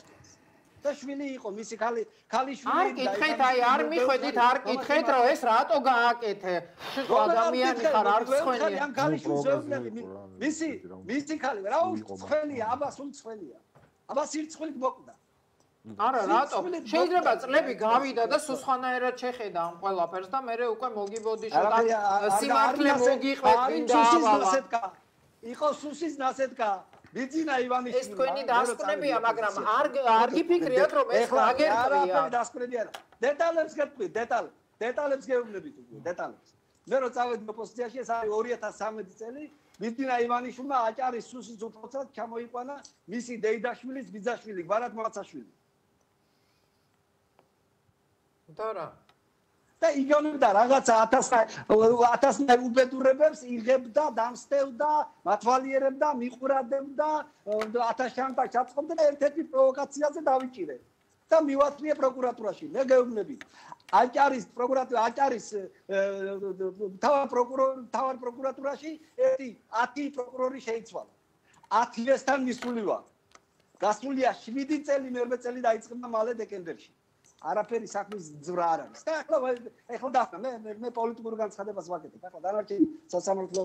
და შვილი იყო მისი ხალი ხალიშვილი არ კითხეთ აი არ მიხვედით არ კითხეთ რომ ეს რატო გააკეთე შეხო ადამიანი ხარ არ ცხენია ამ ხალიშვილს ვეუბნები მისი მისი ხალი რა უცხელია აბა სულ ცხელია აბა სირცხვილით მოკვდა არა რატო შეიძლება წლები გავიდა და სულ სხვანაირად შეხედა ამ ყველაფერს და მე უკვე მოგიბოდი შეგა სიმართლე მოგიყვეთ ვინდა იყო სუსის ნასეთკა ბიზინა ივანიშვილი ეს თქვენი დასკვნებია მაგრამ არ არ გიფიქრიათ რომ ეს აგერტყია არა დასკვნები არა დეტალებს გეტყვი დეტალ დეტალებს გეუბნებით უკვე დეტალებს მე რო წავედი ოპოზიციაში ეს არის ორი ათას სამი წელი ბიზინა ივანიშვილმა აჭარის სუსის უცხოთად ჩამოიყვანა მისი დეიდაშვილის ბიძაშვილი გვარად მოცაშვილი და რა და და იგონებდა რაღაცა ათასნაირ უბედურებებს იღებდა, დამსდევდა, მათვალიერებდა, მიყურადებდა, ათასშანტა ჩაწყობდა და ერთ-ერთი პროვოკაციაზე დავიჭირე. და მივაწვიე პროკურატურაში. მე გეუბნები. აჭარის პროკურატურა, აჭარის თავარ პროკურორ, თავარ პროკურატურაში ერთი ათი პროკურორი შეიცვალა. ათივესთან მისული ვარ. გასულია შვიდი წელი, მეერვე წელი დაიწყება მალე დეკემბერში. არაფერი საქმის ძვრა არ არის. და ახლა ახლა დახნა მე მე პოლიტიკურ განცხადებას ვაკეთებ. ახლა დანარჩენი სასამართლო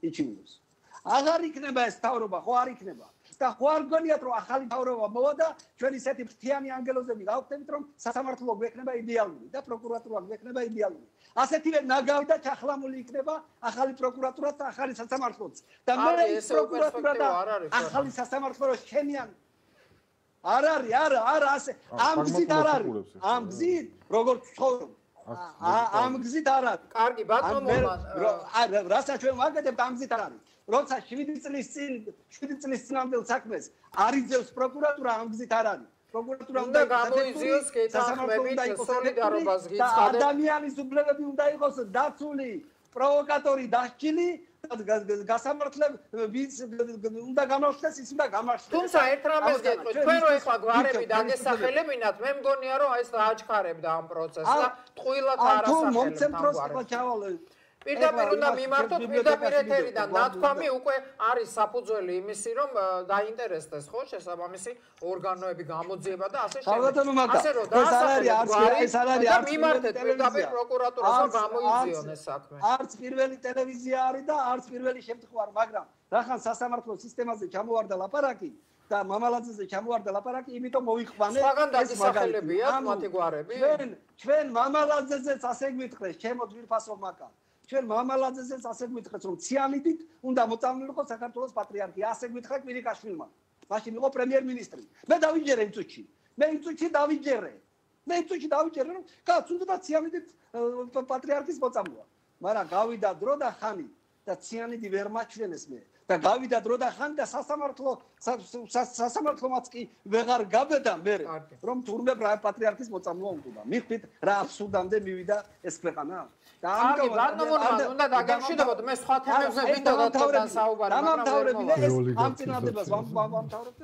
იჩივლებს. აღარ იქნება ეს თავრობა, ხო არ იქნება. და ხო არ გონიათ რომ ახალი თავრობა მოვა და ჩვენ ისეთი ფრთიანი ანგელოზები გავხდებით რომ სასამართლო გვექნება იდეალური და პროკურატურა გვექნება იდეალური. ასეთივე ნაგავი და ჩახლამული იქნება ახალი პროკურატურა და ახალი სასამართლოც. და მე ეს პროკურატურა და ახალი სასამართლო შენიან არ არის, არა, არა, ასე ამ გზით არ არის. ამ გზით როგორც ცხოვრობ. ამ გზით არ არის. კარგი, ბატონო მურმან. რასაც ჩვენ ვაკეთებთ ამ გზით არ არის. როცა შვიდი წლის წინ, შვიდი წლის წინამდელ საქმეს არიძევს პროკურატურა ამ გზით არ არის. პროკურატურა უნდა გამოიძიოს კეთახმებით სოლიდარობას გიცხადეთ. ადამიანის უფლებები უნდა იყოს დაცული, პროვოკატორი დასჯილი გასამართლებ ვის უნდა გამარჯვდეს ის უნდა გამარჯვდეს. თუმცა ერთ რამეს გეტყვით, ჩვენ რო ეხლა გვარები დაგესახელებინათ, მე მგონია რომ ეს დააჩქარებდა ამ პროცესს და ტყუილად არასახელებთ ამ გვარებს. პირდაპირ უნდა მიმართოთ პირდაპირ ეთერიდან ნათქვამი უკვე არის საფუძველი იმისი რომ დაინტერესდეს ხო შესაბამისი ორგანოები გამოძიება და ასე შემდეგ. ასე რომ დაასახელეთ ეს არ არის არც მიმართეთ პირდაპირ პროკურატურას რომ გამოიძიონ ეს საქმე. არც პირველი ტელევიზია არის და არც პირველი შემთხვევა, მაგრამ რახან სასამართლო სისტემაზე ჩამოვარდა ლაპარაკი და მამალაძეზე ჩამოვარდა ლაპარაკი, იმიტომ მოვიყვანე ეს მაგალითია მათი გვარები. ჩვენ ჩვენ მამალაძეზეც ასე გვითხრეს, ჩემო ძვირფასო მაკა. ჩვენ მამალაძესაც ასე გვითხრეს რომ ციანიდით უნდა მოწამლულიყო საქართველოს პატრიარქი. ასე გვითხრა კვირიკაშვილმა. მაშინ იყო პრემიერ-მინისტრი. მე დავიჯერე იმ წუთში. მე იმ წუთში დავიჯერე. მე იმ წუთში დავიჯერე რომ კაც უნდა ციანიდით პატრიარქის მოწამლა. მაგრამ გავიდა დრო და ხანი და ციანიდი ვერ მაჩვენეს მე. და გავიდა დრო და ხანი და სასამართლო სასამართლომაც კი ვეღარ გაბედა მე რომ თურმე პატრიარქის მოწამლა უნდა. მიხვდით რა აბსურდამდე მივიდა ეს ქვეყანა. და ამიტომ ბატონო უნდა დაგემშვიდობოთ მე სხვა თემებზე მინდოდა თქვენ საუბარი მაგრამ დამთავრებინა ეს ამ წინადებას ვამთავრებთ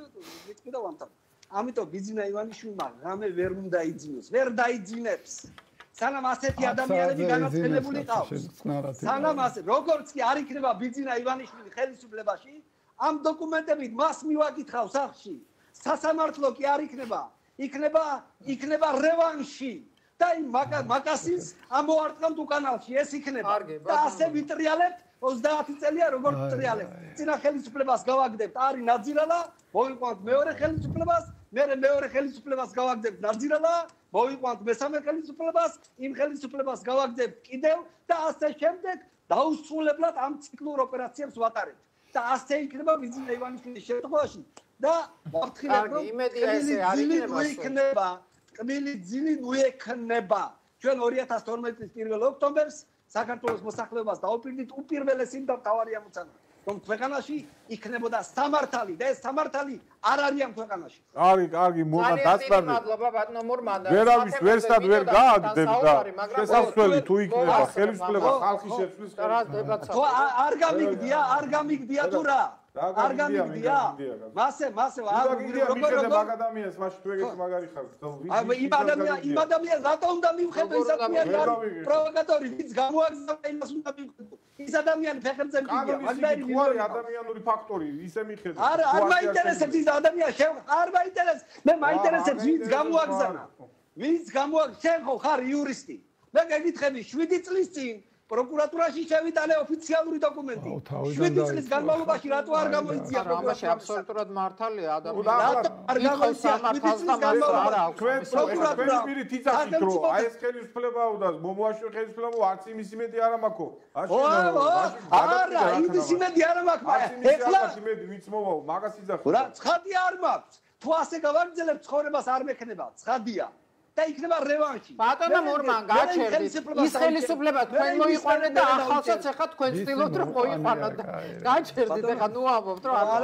ვიტყვი და ვამთავრებ. ამიტომ ბიძინა ივანიშვილმა რამე ვერ უნდა იძინოს, ვერ დაიძინებს. სანამ ასეთი ადამიანები განაცხენებული ყავს. სანამ ასე როგორც კი არ იქნება ბიძინა ივანიშვილი ხელისუფლებაში, ამ დოკუმენტებით მას მივაკითხავ სახში. სასამართლო კი არ იქნება, იქნება იქნება რევანში. და იმ მაკასის ამოარტყამთ უკანალში ეს იქნება და ასე ვიტრიალებთ ოცდაათი წელია როგორც ვიტრიალებთ. წინა ხელისუფლებას გავაგდებთ არის ნაძირალა, მოვიყვანთ მეორე ხელისუფლებას, მე მეორე ხელისუფლებას გავაგდებთ ნაძირალა, მოვიყვანთ მესამე ხელისუფლებას, იმ ხელისუფლებას გავაგდებთ კიდევ და ასე შემდეგ დაუსრულებლად ამ ციკლურ ოპერაციებს ვატარებთ. და ასე იქნება ბიძინა ივანიშვილის შემთხვევაში და ვაფრთხილებ რომ იმედია იქნება კმილი ძილი უექნება. ჩვენ ორი ათას თორმეტი წლის პირველ ოქტომბერს საქართველოს მოსახლეობას დაუპირდით უპირველესი და მთავარი ამოცანა, რომ ქვეყანაში იქნებოდა სამართალი და ეს სამართალი არ არის ამ ქვეყანაში. კარგი, კარგი, მურმან დაწნაბი. მადლობა ბატონო მურმან. ვერავის ვერსად ვერ გააგდებდა და შესაძლებელი თუ იქნება ხელისუფლება ხალხის შეცვლის ხო არ გამიგდია, არ გამიგდია თუ რა? არ გამიგდია? მასე, მასე როგორ როგორ მაგ ადამიანს მაშინ თუ ეგეთი მაგარი ხარ. იმ ადამიანს, იმ ადამიანს რატო უნდა მივხედო ის ადამიანი პროვოკატორი, ვინც გამოაგზავნა იმას უნდა მივხედო. ის ადამიანი ფეხებზე მიდია, მაგდაი მივარი ადამიანური ფაქტორი, ისე მიხედო. არ არ მაინტერესებს ის ადამიანი, არ მაინტერესებს. მე მაინტერესებს ვინც გამოაგზავნა. ვინც გამოაგზავნა, შენ ხო ხარ იურისტი. მე გეკითხები შვიდი წლის წინ პროკურატურაში შევიტანე ოფიციალური დოკუმენტი. შვიდი წლის განმავლობაში რატო არ გამოიწია პროკურატურაში? აბსოლუტურად მართალია ადამიანი. რატო არ გამოიწია შვიდი წლის განმავლობაში? ჩვენ პროკურატურა პირით იცახით რომ აი ეს ხელისუფლებაა და მომოაშორე ხელისუფლება არც იმის იმედი არ ამაქო. არა, იმის იმედი არ ამაქ. ეხლა იმედი ვინც მოვაო, მაგას იძახით. რა, ცხადი არ მაქვს. თუ ასე გავაგრძელებ ცხოვრებას არ მექნება, ცხადია. და იქნება რევანში. ბატონო მურმან, გაჩერდით. ის ხელისუფლება თქვენ მოიყვანეთ და ახალსაც ახლა თქვენ ცდილობთ რომ მოიყვანოთ. გაჩერდით, ახლა ნუ ამბობთ რომ არა,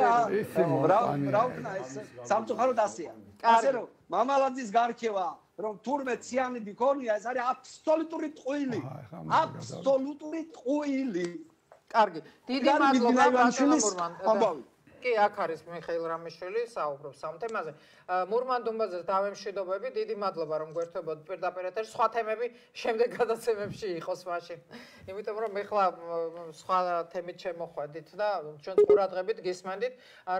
რა რა ვქნა ეს სამწუხაროდ ასეა. ასე რომ მამალაძის გარჩევა რომ თურმე ციანიდი ქონია ეს არის აბსოლუტური ტყუილი აბსოლუტური ტყუილი კარგი დიდი მადლობა ბატონო კი აქ არის მიხეილ რამიშვილი საუბრობს ამ თემაზე მურმან დუმბაძეს დავემშვიდობები დიდი მადლობა რომ გვერდებოდ პირდაპირ ეთერში სხვა თემები შემდეგ გადაცემებში იყოს მაშინ იმიტომ რომ ეხლა სხვა თემით შემოხვედით და ჩვენ ყურადღებით გისმენდით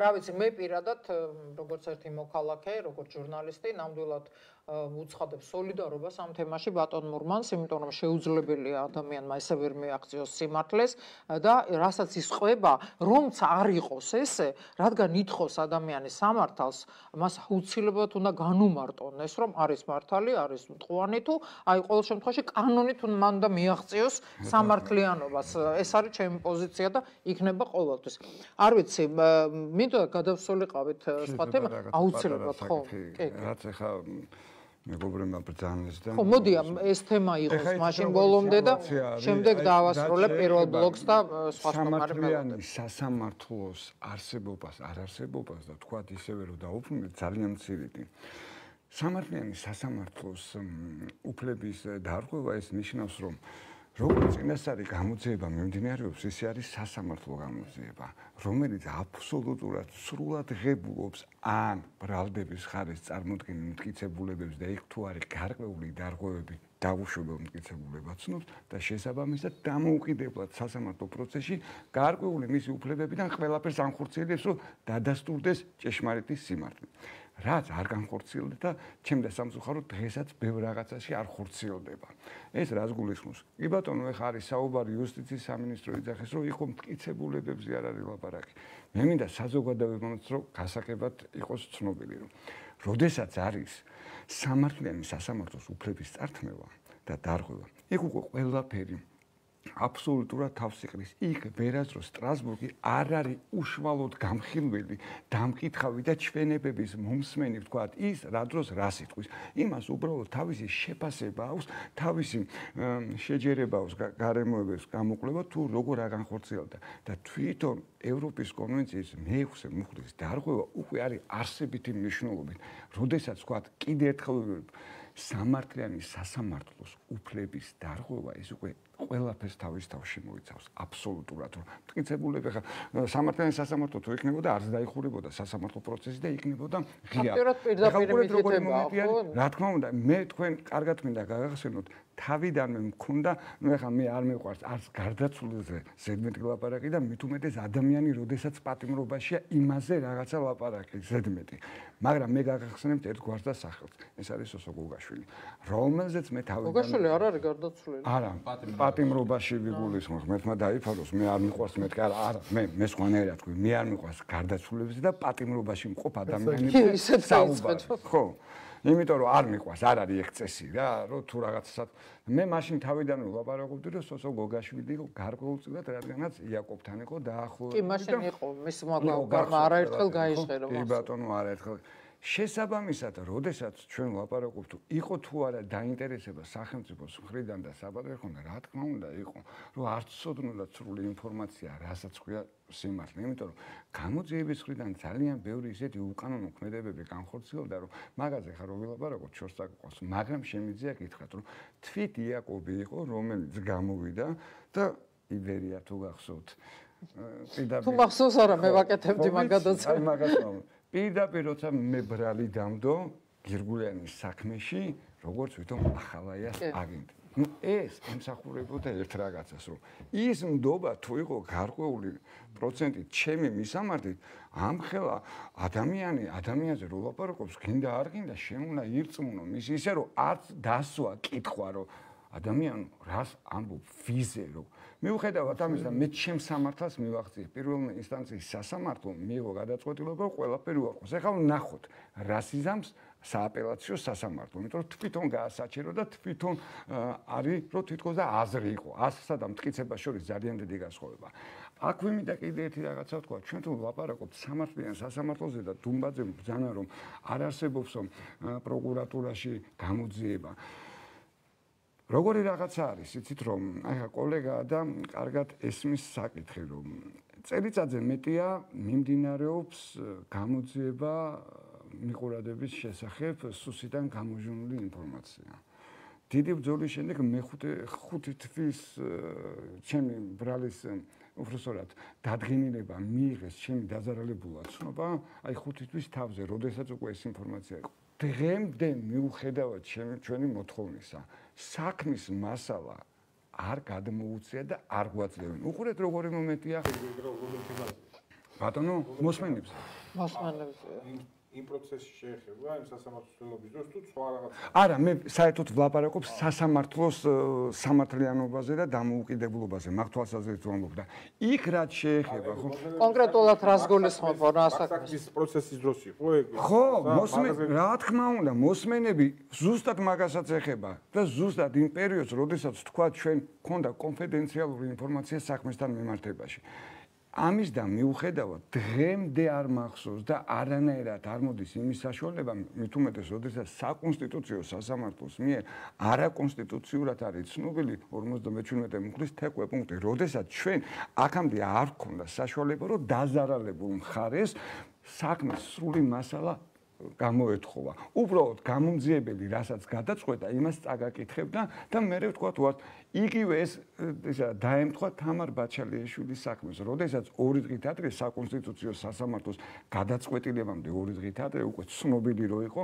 რა ვიცი მე პირადად როგორც ერთი მოქალაქე როგორც ჟურნალისტი ნამდვილად უცხადებ სოლიდარობას ამ თემაში ბატონ მურმანს, იმიტომ რომ შეუძლებელია ადამიანმა ესე ვერ მიაღწიოს სიმართლეს და რასაც ის ყვება, რომც არ იყოს ესე, რადგან ითხოვს ადამიანის სამართალს, მას აუცილებლად უნდა განუმარტონ ეს, რომ არის მართალი, არის მტყუანი თუ აი ყოველ შემთხვევაში კანონით უნდა მან და მიაღწიოს სამართლიანობას. ეს არის ჩემი პოზიცია და იქნება ყოველთვის. არ ვიცი, მინდოდა გადავსულიყავით სხვა თემა, აუცილებლად ხო? კი, რაც ახლა მეგობრებმა ბრძანეს და ხო მოდი ეს თემა იყოს მაშინ ბოლომდე და შემდეგ დავასრულებ პირველ ბლოკს და სხვა სამართლიანი სასამართლოს არსებობას არ არსებობას და თქვათ ისევე რომ დაუბრუნდეთ ძალიან მცირედი სამართლიანი სასამართლოს უფლების დარღვევა ეს ნიშნავს რომ როგორც წინასწარი გამოძიება მიმდინარეობს, ისე არის სასამართლო გამოძიება, რომელიც აბსოლუტურად სრულად ღებულობს ან ბრალდების ხარეს წარმოქმნილ მტკიცებულებებს და იქ თუ არის გარკვეული დარღვევები დაუშვებელ მტკიცებულებად ცნობს და შესაბამისად დამოუკიდებლად სასამართლო პროცესში გარკვეული მისი უფლებებიდან ყველაფერს ანხორციელებს, რომ დადასტურდეს ჭეშმარიტი სიმართლე. რაც არ განხორციელდა და ჩემ და სამწუხაროდ დღესაც ბევრ რაღაცაში არ ხორციელდება. ეს რას გულისხმობს? კი ბატონო, ეხა არის საუბარი იუსტიციის სამინისტრო იძახის, რომ იყო მტკიცებულებებზე არ არის ლაპარაკი. მე მინდა საზოგადოებამაც რომ გასაგებად იყოს ცნობილი, რომ როდესაც არის სამართლიანი სასამართლოს უფლების წართმევა და დარღვევა, იქ უკვე ყველაფერი აბსოლუტურად თავს იყრის. იქ ვერასდროს სტრასბურგი არ არის უშუალოდ გამხილველი, დამკითხავი და ჩვენებების მომსმენი, ვთქვათ, ის რა დროს რას იტყვის. იმას უბრალოდ თავისი შეფასება აქვს, თავისი შეჯერება აქვს გარემოებებს გამოკვლევა თუ როგორ აგანხორციელდა და თვითონ ევროპის კონვენციის მეექვსე მუხლის დარღვევა უკვე არის არსებითი მნიშვნელობით. როდესაც ვთქვათ, კიდე ერთხელ სამართლიანი სასამართლოს უფლების დარღვევა ის უკვე ყველაფერს თავის თავში მოიცავს აბსოლუტურად რომ მტკიცებულები ხა სამართლიანი სასამართლო თუ იქნებოდა არც დაიხურებოდა სასამართლო პროცესი და იქნებოდა ღია. რა თქმა უნდა მე თქვენ კარგად მინდა გაგახსენოთ თავიდანვე მქონდა ნუ ეხლა მე არ მეყვარს არც გარდაცვლილზე ზედმეტი ლაპარაკი და მით უმეტეს ადამიანი როდესაც პატიმრობაშია იმაზე რაღაცა ლაპარაკი ზედმეტი მაგრამ მე გაგახსენებთ ერთ გვარს და სახელს ეს არის სოსო გოგაშვილი რომელზეც მე თავიდანვე გოგაშვილი არ არის გარდაცვლილი არა პატიმრობაში ვიგულისხმობ მერთმა დაიფაროს მე არ მიყვარს მეთქი არა არა მე მე სხვანაირად თქვი მე არ მიყვარს გარდაცვლილებზე და პატიმრობაში მყოფ ადამიანებზე საუბარი ხო იმიტომ რომ არ მიყვარს არ არის ეგ წესი რა რომ თუ რაღაცას მე მაშინ თავიდანვე ვლაპარაკობდი რომ სოსო გოგაშვილი იყო გარკვეულწილად რადგანაც იაკობთან იყო დაახლოებით კი მაშინ იყო მის მაგალითად არაერთხელ გაიჟღერა კი ბატონო არაერთხელ შესაბამისად, როდესაც ჩვენ ვლაპარაკობთ, იყო თუ არა დაინტერესება სახელმწიფოს მხრიდან და საბადოხონდა, რა თქმა უნდა, იყო, რომ არც ცოდნოდა სრული ინფორმაცია, რასაც ქვია სიმართლე, იმიტომ რომ გამოძიების მხრიდან ძალიან ბევრი ისეთი უკანონო ქმედებები განხორციელდა, რომ მაგაზე ხარ რომ ვილაპარაკოთ შორს აკყვას, მაგრამ შემიძლია გითხრათ, რომ თვით იაკობი იყო, რომელიც გამოვიდა და იბერია თუ გახსოვთ. თუ მახსოვს არა, მე ვაკეთებდი მაგადაც. აი მაგას პირდაპირ როცა მე ბრალი დამდო გირგულიანის საქმეში, როგორც ვითომ ახალაიას აგენტი. ნუ ეს ემსახურებოდა ერთ რაღაცას, რომ ის ნდობა თუ იყო გარკვეული პროცენტით ჩემი მისამართით, ამხელა ადამიანი ადამიანზე რო ლაპარაკობს, გინდა არ გინდა, შემუნა ირწმუნო მის ისე რომ არც დასვა კითხვა რომ ადამიანი რას ამბობ ვიზე რომ მიუხედავად ამისა მე ჩემ სამართალს მივახციე პირველ ინსტანციის სასამართლომ მიიღო გადაწყვეტილება ყველაფერი უარყოს. ეხლა ვნახოთ რას იზამს სააპელაციო სასამართლო, იმიტომ რომ თვითონ გაასაჩერო და თვითონ არის რომ თვითონ და აზრი იყო. აზრსა და მტკიცებას შორის ძალიან დიდი განსხვავება. აქ ვიმინდა კიდე ერთი რაღაცა ვთქვა, ჩვენ თუ ვლაპარაკობთ სამართლიან სასამართლოზე და დუმბაძემ ბრძანა რომ არ არსებობს პროკურატურაში გამოძიება. როგორი რაღაცა არის, იცით რომ აი ხა კოლეგა და კარგად ესმის საკითხი რომ წელიწადზე მეტია მიმდინარეობს გამოძიება მიყურადების შესახებ სუსიდან გამოჟონული ინფორმაცია. დიდი ბრძოლის შემდეგ მეხუთე ხუთი თვის ჩემი ბრალის უბრალოდ დადგენილება მიიღეს ჩემი დაზარალებულად ცნობა, აი ხუთი თვის თავზე, როდესაც უკვე ეს ინფორმაცია იყო. დღემდე მიუხედავად ჩვენი მოთხოვნისა, საქმის მასალა არ გადმოუწია და არ გვაძლევენ. უყურეთ როგორი მომენტია. ბატონო, მოსმენებს. მოსმენებს. იმ პროცესში შეეხება იმ სასამართლოს ცდილობის დროს თუ სხვა რაღაც. არა, მე საერთოდ ვლაპარაკობ სასამართლოს სამართლიანობაზე და დამოუკიდებლობაზე, მაგ თვალსაზრისით ვამბობ და იქ რაც შეეხება, ხო? კონკრეტულად რას გულისხმობ რა საქმეს? ის პროცესის დროს იყო ეგ. ხო, მოსმენ, რა თქმა უნდა, მოსმენები ზუსტად მაგასაც ეხება და ზუსტად იმ პერიოდს, როდესაც თქვა ჩვენ გქონდა კონფიდენციალური ინფორმაცია საქმესთან მიმართებაში. ამის და მიუხედავად დღემდე არ მახსოვს და არანაირად არ მოდის იმის საშუალება, მით უმეტეს, როდესაც საკონსტიტუციო სასამართლოს მიერ არაკონსტიტუციურად არის ცნობილი ორმოცდამეჩვიდმეტე მუხლის თექვე პუნქტი, როდესაც ჩვენ აქამდე არ გქონდა საშუალება, რომ დაზარალებულ მხარეს საქმის სრული მასალა გამოეთხოვა. უბრალოდ გამომძიებელი, რასაც გადაწყვეტა, იმას წაგაკითხებდა და მე ვთქვათ, ვარ იგივე ეს ისა დაემთხვა თამარ ბაჩალიშვილის საქმეს, როდესაც ორი დღით ადრე საკონსტიტუციო სასამართლოს გადაწყვეტილებამდე ორი დღით ადრე უკვე ცნობილი რო იყო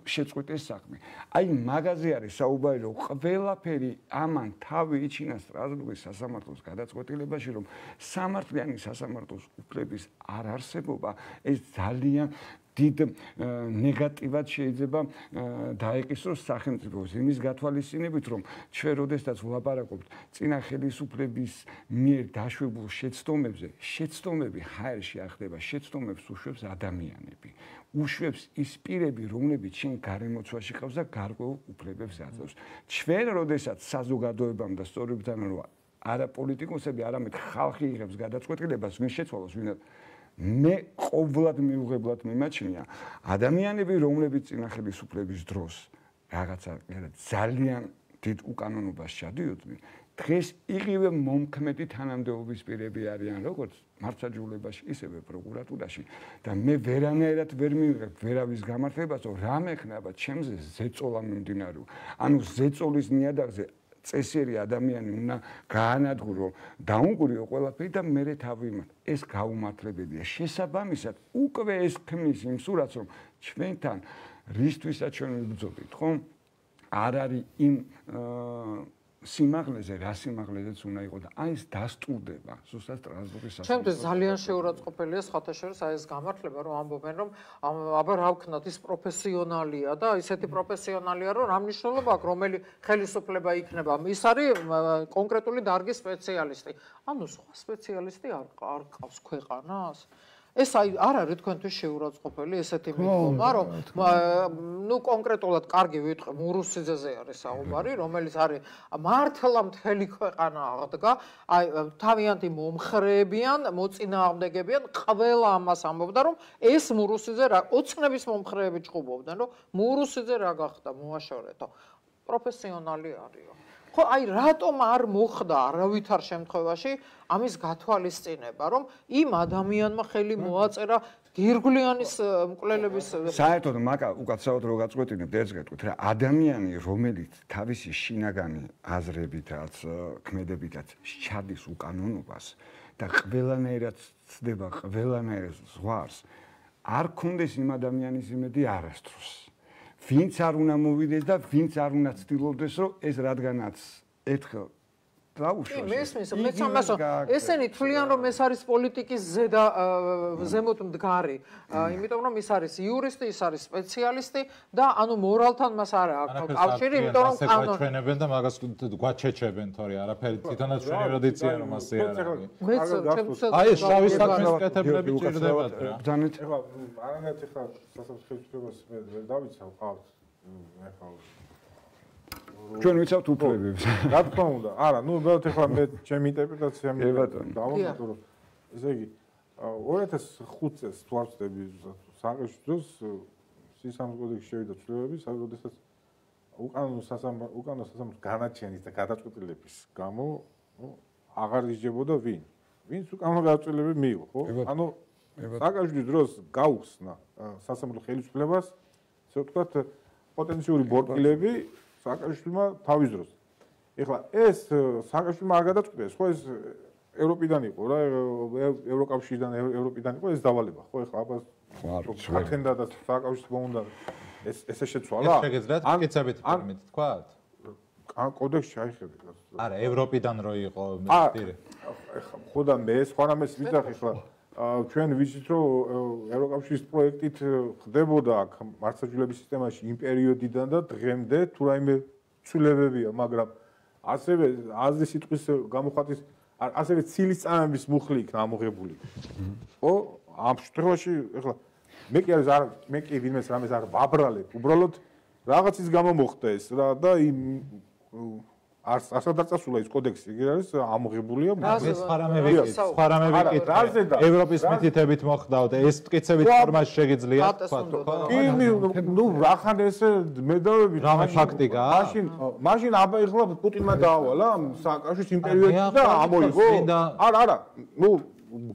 შეწყვეტეს საქმე. აი მაგაზე არის საუბარი, რომ ყველაფერი ამან თავი იჩინა სტრასბურგის სასამართლოს გადაწყვეტილებაში, რომ სამართლიანი სასამართლოს უფლების არ არსებობა ეს ძალიან დიდ ნეგატივად შეიძლება დაეკისროს სახელმწიფოს იმის გათვალისწინებით, რომ ჩვენ როდესაც ვლაპარაკობთ წინა ხელისუფლების მიერ დაშვებულ შეცდომებზე, შეცდომები ჰაერში ახდება, შეცდომებს უშვებს ადამიანები. უშვებს ის პირები, რომლებიც შენ გარემოცვაში ყავს და გარკვეულ უფლებებს აძლევს. ჩვენ როდესაც საზოგადოებამ და სწორებთან რომ არა პოლიტიკოსები, არამედ ხალხი იღებს გადაწყვეტილებას, ვინ შეცვალოს, ვინ მე ყოვლად მიუღებლად მიმაჩნია ადამიანები, რომლებიც წინა ხელისუფლების დროს რაღაცა ძალიან დიდ უკანონობას ჩადიოდნენ, დღეს იგივე მომქმედი თანამდებობის პირები არიან, როგორც მართლმსაჯულებაში, ისევე პროკურატურაში და მე ვერანაირად ვერ მივიღებ ვერავის გამართლებას, რომ რამე ხნება ჩემზე ზეწოლა მიმდინარეო. ანუ ზეწოლის ნიადაგზე წესიერი ადამიანი უნდა გაანადგურო, დაუნგურიო ყველაფერი და მერე თავი იმათ. ეს გაუმართლებელია. შესაბამისად, უკვე ეს ქმნის იმ სურათს, რომ ჩვენთან რისთვისაც ჩვენ ვიბრძოდით, ხო? არ არის იმ სიმაღლეზე, რა სიმაღლეზეც უნდა იყოს და აი ეს დასტურდება ზუსტად სტრასბურგის სასამართლოს. ჩემთვის ძალიან შეურაცხყოფელია სხვათა შორის აი ეს გამართლება, რომ ამბობენ, რომ აბა რა ვქნათ, ის პროფესიონალია და ისეთი პროფესიონალია, რომ რა მნიშვნელობა აქვს, რომელი ხელისუფლება იქნება. ის არის კონკრეტული დარგის სპეციალისტი. ანუ სხვა სპეციალისტი არ არ ყავს ქვეყანას. ეს აი არ არის თქვენთვის შეურაცხყოფელი ესეთი მიდგომა, რომ ნუ კონკრეტულად კარგი ვიტყვი, მურუსიძეზე არის საუბარი, რომელიც არის მართლა მთელი ქვეყანა აღდგა, აი თავიანთი მომხრეებიან, მოწინააღმდეგებიან, ყველა ამას ამბობდა, რომ ეს მურუსიძე რა ოცნების მომხრეები ჭუბობდნენ, რომ მურუსიძე რა გახდა, მოაშორეთო. პროფესიონალი არისო. ხო, აი რატომ არ მოხდა არავითარ შემთხვევაში ამის გათვალისწინება, რომ იმ ადამიანმა ხელი მოაწერა გირგვლიანის მკვლელების საერთოდ მაგა უკაცრავად რო გაწყვეტინებთ, ერთ გეტყვით რა, ადამიანი, რომელიც თავისი შინაგანი აზრებითაც, ქმედებითაც შედის უკანონობას და ყველანაირად ცდება, ყველანაირად ზღვარს, არ კონდეს იმ ადამიანის იმედი არასდროს. ვინც არ უნდა მოვიდეს და ვინც არ უნდა ცდილობდეს, რომ ეს რადგანაც ერთხელ დაუშვას. მესმის, მეც ამას ესენი თვლიან, რომ ეს არის პოლიტიკის ზედა ზემოთ მდგარი, იმიტომ რომ ის არის იურისტი, ის არის სპეციალისტი და ანუ მორალთან მას არ აქვს კავშირი, იმიტომ რომ კანონი ჩვენებენ და მაგას გვაჩეჩებენ, თორე არაფერი თვითონაც ჩვენი როდიცია რომ ასე არ არის. მეც ჩემს აი ეს შავი საქმის კეთებლები ჭირდებათ რა. ბრძანეთ. ეხლა არანაირად ეხლა სასამართლოს მე ვერ დავიცავ ყავს ეხლა ჩვენ ვიცავთ უფლებებს. რა თქმა უნდა. არა, ნუ უბრალოდ ეხლა მე ჩემი ინტერპრეტაცია დავამატო, რომ ესე იგი ორი ათას ხუთ წელს ვარწდები საყეში დროს სისამართლოს კოდექსში შევიდა ცვლილებები, სადაც უკანონო სასამართლო უკანონო სასამართლოს განაჩენის და გადაწყვეტილების გამო აღარ ისჯებოდა ვინ? ვინც უკანონო გადაწყვეტილები მიიღო, ხო? ანუ სააკაშვილის დროს გაუხსნა სასამართლო ხელისუფლებას, ასე ვთქვათ, პოტენციური ბორტილები სააკაშვილმა თავის დროს. ეხლა ეს სააკაშვილმა არ გადაწყვიტეს, ხო ეს ევროპიდან იყო რა, ევროკავშირიდან, ევროპიდან იყო ეს დავალება, ხო ეხლა აბა ათენდა და სააკაშვილს მოუნდა ეს ესე შეცვალა? ეს შეგეძლოთ კიცებით ფორმით თქვათ? ან კოდექსში აიხედეთ. არა, ევროპიდან რო იყო პირი. ეხლა ხო და მე სხვანაირად ვიძახი ხლა ჩვენ ვიცით რომ ევროკავშირის პროექტით ხდებოდა აქ მართლმსაჯულების სისტემაში იმ პერიოდიდან და დღემდე თუ რაიმე ცვლილებებია, მაგრამ ასევე აზრი სიტყვის გამოხატვის ასევე ცილისწამების მუხლი იქნა ამოღებული. ხო, ამ შემთხვევაში ეხლა მე კი არ მე კი ვინმეს რამეს არ ვაბრალებ, უბრალოდ რაღაცის გამო მოხდა ეს რა და იმ არ ასადარწასულა ის კოდექსი, იგი არის ამოღებულია. მე სხვა რამე ვიკითხე, სხვა რამე ვიკითხე. ევროპის მითითებით მოხდაო და ეს მტკიცებით ფორმაში შეგიძლია თქვა ხო? კი, ნუ რახან ესე მედავები რამე ფაქტიკაა? მაშინ მაშინ აბა ეხლა პუტინმა დაავალა სააკაშვილის იმ პერიოდში და ამოიღო. არა, არა, ნუ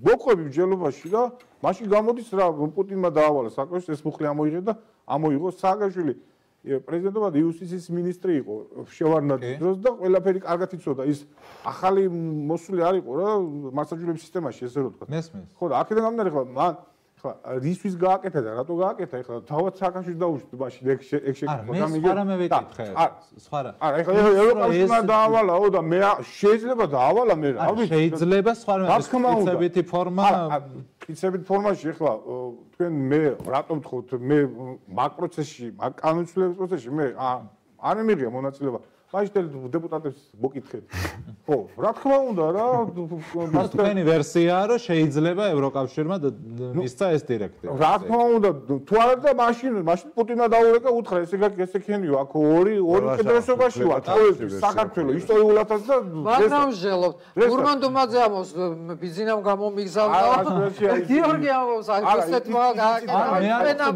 მოყვები მსჯელობაში და მაშინ გამოდის რა პუტინმა დაავალა სააკაშვილს ეს მუხლი ამოიღე და ამოიღო სააკაშვილი პრეზიდენტობა იუსტიციის მინისტრი იყო შევარდნაძის დროს და ყველაფერი კარგად იცოდა ის ახალი მოსული არ იყო რა მართლმსაჯულების სისტემაში ესე რომ ვთქვა. მესმის. ხო და აქედან გამომდინარე ხლა მან ხლა რისთვის გააკეთა და რატო გააკეთა ეხლა თავად სააკაშვილს დაუშვით მაშინ ეგ ეგ შეკითხვა. არა, მე სხვა რამე ვიკითხე. სხვა რა. არა, ეხლა ევროკავშირმა დაავალაო და მე შეიძლება დაავალა მე რა ვიცი. შეიძლება სხვა რამე კიცებითი ფორმა კიცებით ფორმაში ეხლა თქვენ მე რატომ თქოთ მე მაგ პროცესში, მაგ კანონმდებლობის პროცესში მე არ მიღია მონაწილეობა. მაშინ დეპუტატებს მოკითხეთ. ხო, რა თქმა უნდა რა, მას თქვენი ვერსიაა რომ შეიძლება ევროკავშირმა მისცა ეს დირექტივა. რა თქმა უნდა, თუ არა და მაშინ მაშინ პუტინმა დაურეკა უთხრა ესე ესე ქენიო, აქ ორი ორი კედრესობაში ვარ, საქართველოს ისტორიულადაც და მაგრამ ჟელობთ. გურმან დუმაძეამოს ბიზინამ გამომიგზავნა. გიორგი ამბობს, აი ესეთ მაგ გააკეთა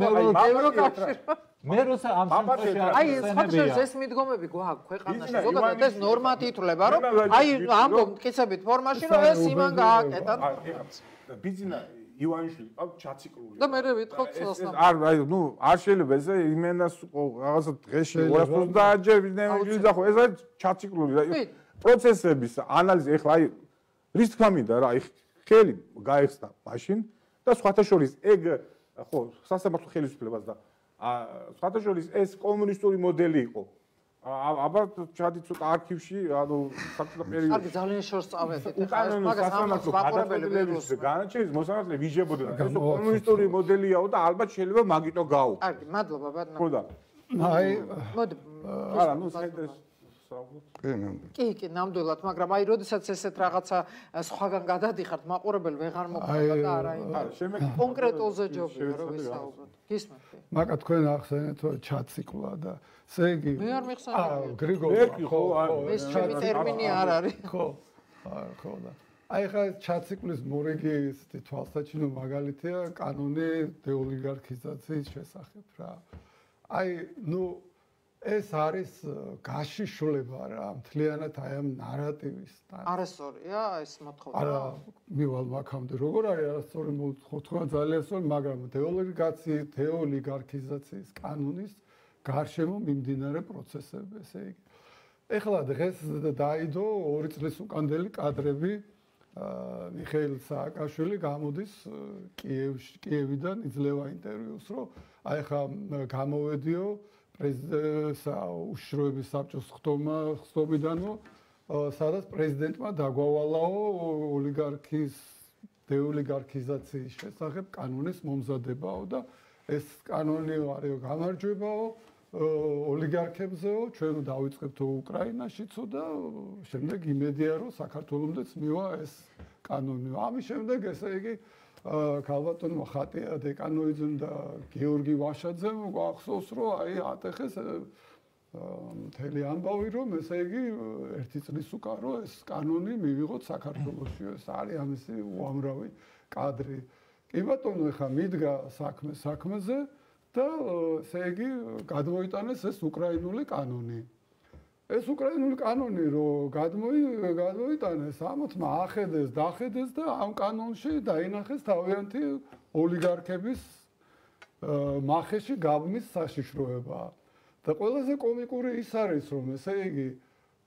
ევროკავშირმა. მე როცა ამ შემთხვევაში აი ეს ხალხს ეს მიდგომები გვაქვს ქვეყანაში ზოგადად ეს ნორმად ითვლება რომ აი ამბობ მტკიცებით ფორმაში რომ ეს იმან გააკეთა ბიზინა ივანიშვილი ყავ ჩაციკლული და მე ვიტყობ ცელსნა არ აი ნუ არ შეიძლება ესე იმენას რაღაცა დღეში ორას ოცდაათ ჯერ ბიზნესში და ხო ეს არის ჩაციკლული რა პროცესების ანალიზი ეხლა აი რის თქმა მინდა რა აი ხელი გაიხსნა მაშინ და სხვათა შორის ეგ ხო სასამართლო ხელისუფლებას და სხვათა შორის ეს კომუნისტური მოდელი იყო. აბა ჩადი ცოტა არქივში, ანუ საბჭოთა პერიოდში. კარგი, ძალიან შორს წავედით. მაგას სასამართლო გადაწყვეტილების განაჩენის მოსამართლე ვიჟებოდა. ეს კომუნისტური მოდელიაო და ალბათ შეიძლება მაგიტო გაუ. კარგი, მადლობა ბატონო. ხო და. აი, მოდი. არა, ნუ საერთოდ კი, კი, ნამდვილად, მაგრამ აი, როდესაც ესეთ რაღაცა სხვაგან გადადიხართ, მაყურებელი ვეღარ მოხდება და არა იმ კონკრეტულზე ჯობია რომ ვისაუბროთ. გისმენთ? მაგა თქვენ ახსენეთ რომ ჩაციკლა და ესე იგი მე არ მიხსენე. აა, გრიგორი, ხო, ეს ჩემი ტერმინი არ არის. ხო. აა, ხო და. აი ხა ჩაციკლის მორიგი ისეთი თვალსაჩინო მაგალითია კანონი დეოლიგარქიზაციის შესახებ რა. აი, ნუ ეს არის გაშიშვლება რა მთლიანად აი ამ ნარატივის არასწორია ეს მოთხოვნა არა მივალ მაგამდე როგორ არის არასწორი მოთხოვნა ძალიან სწორი მაგრამ დეოლიგაციის დეოლიგარქიზაციის კანონის გარშემო მიმდინარე პროცესები ესე იგი ეხლა დღეს დაიდო ორი წლის უკანდელი კადრები მიხეილ სააკაშვილი გამოდის კიევში კიევიდან იძლევა ინტერვიუს რომ აი ხა გამოვედიო პრეზიდენტსა უშიშროების საბჭოს ხტომა ხტობიდანო სადაც პრეზიდენტმა დაგვავალაო ოლიგარქის დეოლიგარქიზაციის შესახებ კანონის მომზადებაო და ეს კანონი არისო გამარჯვებაო ოლიგარქებზეო ჩვენ დავიწყებთ უკრაინაშიცო და შემდეგ იმედია რომ საქართველოსმდეც მივა ეს კანონი ამის შემდეგ ესე იგი ქალბატონმა ხატია დეკანოიძემ და გიორგი ვაშაძემ გვახსოვს რომ აი ატეხეს მთელი ამბავი რომ ესე იგი ერთი წლის უკან რომ ეს კანონი მივიღოთ საქართველოში ეს არის ამისი უამრავი კადრი კი ბატონო ეხა მიდგა საქმე საქმეზე და ესე იგი გადმოიტანეს ეს უკრაინული კანონი ეს უკრაინული კანონი რო გადმოიტანეს, ამათმა ახედეს, დახედეს და ამ კანონში დაინახეს თავიანთი ოლიგარქების მახეში გაბმის საშიშროება. და ყველაზე კომიკური ის არის, რომ ესე იგი,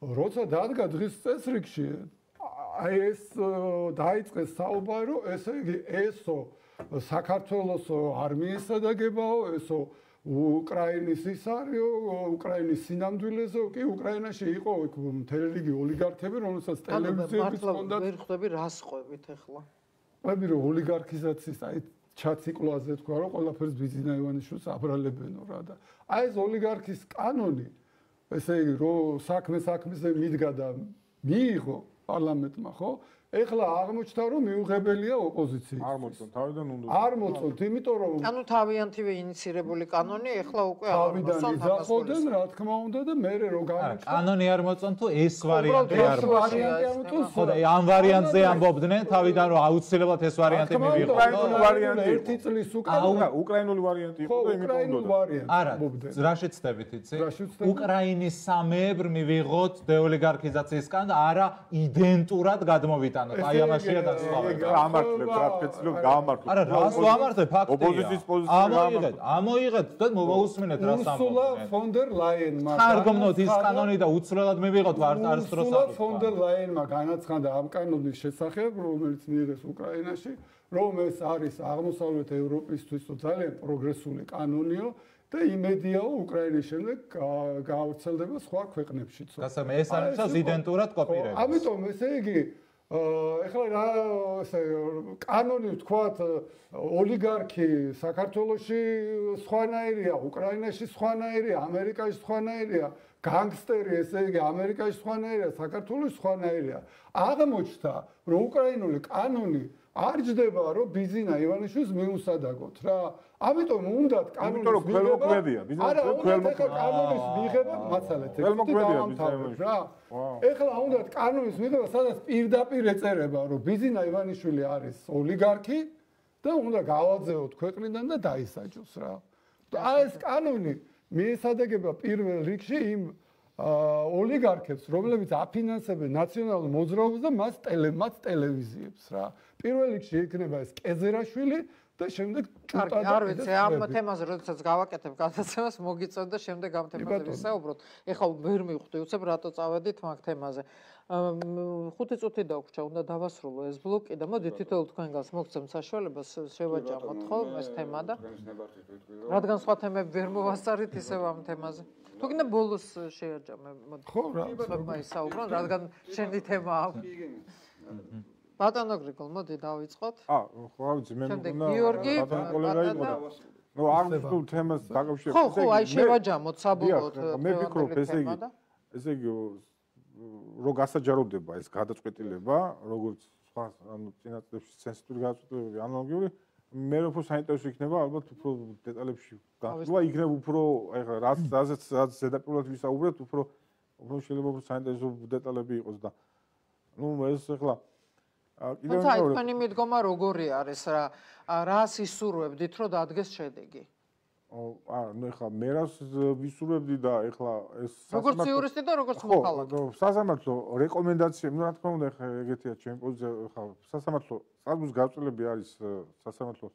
როცა დადგა დღის წესრიგში, აი ეს დაიწყეს საუბარი, ესე იგი, ესო საქართველოს არმიის სადაგებაო, ესო უკრაინის ის არისო, უკრაინის სინამდვილეზე, კი უკრაინაში იყო მთელი რიგი ოლიგარქები, რომელსაც ტელევიზიებიც ჰქონდათ. ვერ ხვდები რას ყვებით ახლა? ყვები რომ ოლიგარქიზაციის აი ჩაციკლაზე თქვა რომ ყველაფერს ბიზინა ივანიშვილს აბრალებენო რა და აი ეს ოლიგარქის კანონი ესე იგი რომ საქმე საქმეზე მიდგა და მიიღო პარლამენტმა ხო ეხლა აღმოჩნდა რომ მიუღებელია ოპოზიციის არ მოწონ თავიდან უნდა არ მოწონთ იმიტომ რომ ანუ თავიანთივე ინიცირებული კანონი ეხლა უკვე არ მოწონთ izახოდნენ რა თქმა უნდა და მე რო გამოჩნდა კანონი არ მოწონთ თუ ეს ვარიანტი არ მოწონთ ხო და ამ ვარიანტზე ამბობდნენ თავიდან რომ აუცილებლად ეს ვარიანტი მივიღო უკრაინული ვარიანტი ერთი წლის უკან უკრაინული ვარიანტი იყო და იმით უნდა არა რა შეცდებით იცი უკრაინის სამეებრ მივიღოთ დეოლიგარქიზაციის კანონი არა იდენტურად გადმოვიტანოთ აი ამაშია დასწავლება ამართლებ რა ფეცლობ გაამართლებ არა რას ვამართლებ ფაქტია ოპოზიციის პოზიცია ამოიღეთ ამოიღეთ და მოусმინეთ რას ამბობთ უსულა ფონ დერ ლაიენმა ხარგმნოთ ის კანონი და უცვლელად მივიღოთ არც დროს უსულა ფონ დერ ლაიენმა განაცხადა ამ კანონის შესახებ რომელიც მიიღეს უკრაინაში რომ ეს არის აღმოსავლეთ ევროპისთვის ძალიან პროგრესული კანონიო და იმედიაო უკრაინის შემდეგ გავრცელდება სხვა ქვეყნებშიც. გასაგებია ეს არ ნიშნავს იდენტურად კოპირებას. ამიტომ ესე იგი ეხლა რა ესე კანონი ვთქვათ ოლიგარქი საქართველოში სხვანაირია, უკრაინაში სხვანაირია, ამერიკაში სხვანაირია, განგსტერი ესე იგი ამერიკაში სხვანაირია, საქართველოში სხვანაირია. აღმოჩნდა რომ უკრაინული კანონი არ ჯდება რომ ბიზინა ივანიშვილს მიუსადაგოთ რა. ამიტომ უნდათ კანონის მიღება. არა, უნდათ კანონის მიღება მაცალეთ. რა. ეხლა უნდათ კანონის მიღება, სადაც პირდაპირ ეწერება რომ ბიზინა ივანიშვილი არის ოლიგარქი და უნდა გავაძეოთ ქვეყნიდან და დაისაჯოს რა. აი ეს კანონი მიესადაგება პირველ რიგში იმ ოლიგარქებს, რომლებიც აფინანსებენ ნაციონალურ მოძრაობას და მას ტელემაც ტელევიზიებს რა. პირველ რიგში იქნება ეს კეზერაშვილი და შემდეგ ჭუტა და არ ვიცი ამ თემაზე როდესაც გავაკეთებ გადაცემას მოგიწევ და შემდეგ ამ თემაზე ვისაუბროთ. ეხლა ვერ მივხვდი უცებ რატო წავედით მაგ თემაზე. ხუთი წუთი დაგვჭა, უნდა დავასრულო ეს ბლოკი და მოდი თითოეულ თქვენგანს მოგცემ საშუალებას შევაჯამოთ ხო ეს თემა და რადგან სხვა თემები ვერ მოვასწარით ისევ ამ თემაზე. თუ გინდა ბოლოს შეაჯამე მოდი. ხო რა, ხება ისაუბრონ, რადგან შენი თემა აქვს. ბატონო გრიგოლ, მოდი დავიწყოთ. აა, ხო, ვიცი, მე მგონა ბატონო კოლეგა იყო და ნუ არ ვსულ თემას დაკავშირებით. ხო, ხო, აი შევაჯამოთ საბოლოოდ. მე ვფიქრობ, ესე იგი, ესე იგი რო გასაჯაროდება ეს გადაწყვეტილება, როგორც სხვა ანუ წინა წლებში სენსიტური გადაწყვეტილებები ანალოგიური, მე უფრო საინტერესო იქნება ალბათ უფრო დეტალებში გასვლა, იქნება უფრო აი ხა რაც რაზეც რაც ზედაპირულად ვისაუბრეთ, უფრო უფრო შეიძლება უფრო საინტერესო დეტალები იყოს და ნუ ეს ახლა კიდევ თუმცა თქვენი მიდგომა როგორი არის რა რას ისურვებდით რომ დადგეს შედეგი? აა ნუ ეხლა მე რას ვისურვებდი და ეხლა ეს როგორც იურისტი და როგორც მოქალაქე. ხო, სასამართლო რეკომენდაციები, ნუ რა თქმა უნდა ეხლა ეგეთია ჩემი პოზიცია, ეხლა სასამართლო საზღვის გაწოლები არის სასამართლოს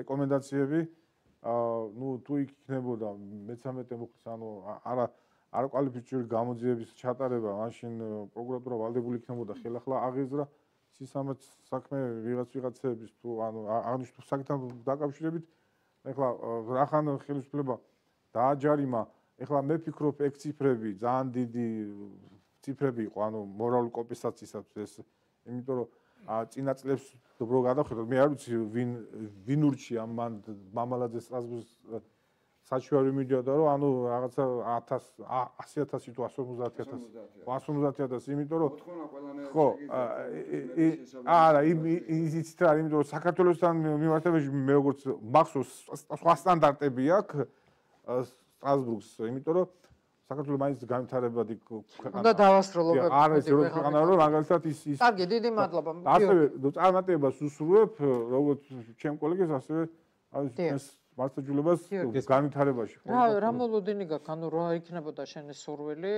რეკომენდაციები. აა ნუ თუ იქ იქნებოდა მეცამეტე მუხლის ანუ არა არ კვალიფიციური გამოძიების ჩატარება, მაშინ პროკურატურა ვალდებული იქნებოდა ხელახლა აღეზრა სისამაც საქმე ვიღაც ვიღაცების თუ ანუ აღნიშნულ საკითხთან დაკავშირებით. ეხლა რახან ხელისუფლება დააჯარიმა, ეხლა მე ვფიქრობ ეგ ციფრები ძალიან დიდი ციფრები იყო, ანუ მორალური კომპენსაციისათვის ეს, იმიტომ რომ წინა წლებს დრო გადავხედოთ, მე არ ვიცი ვინ ვინ ურჩია მან მამალაძე სტრასბურგის საჩუარი მიდიოდა რომ ანუ რაღაცა ათასი ათასი თუ ასი ორმოცდაათი ათასი ასი ორმოცდაათი ათასი იმიტომ რომ ხო არა იცით რა იმიტომ რომ საქართველოსთან მიმართებაში მე როგორც მახსოვს სხვა სტანდარტები აქვს სტრასბურგს იმიტომ რომ საქართველოს მაინც განვითარებადი ქვეყანა უნდა დავასრულოთ არა ეს რო ქვეყანა რომ მაგალითად ის ის კარგი დიდი მადლობა ასევე წარმატებას უსურვებ როგორც ჩემ კოლეგებს ასევე აი მართლმსაჯულებას განვითარებაში. რა რა მოლოდინი გაქვს, ანუ რა იქნებოდა შენი სურვილი,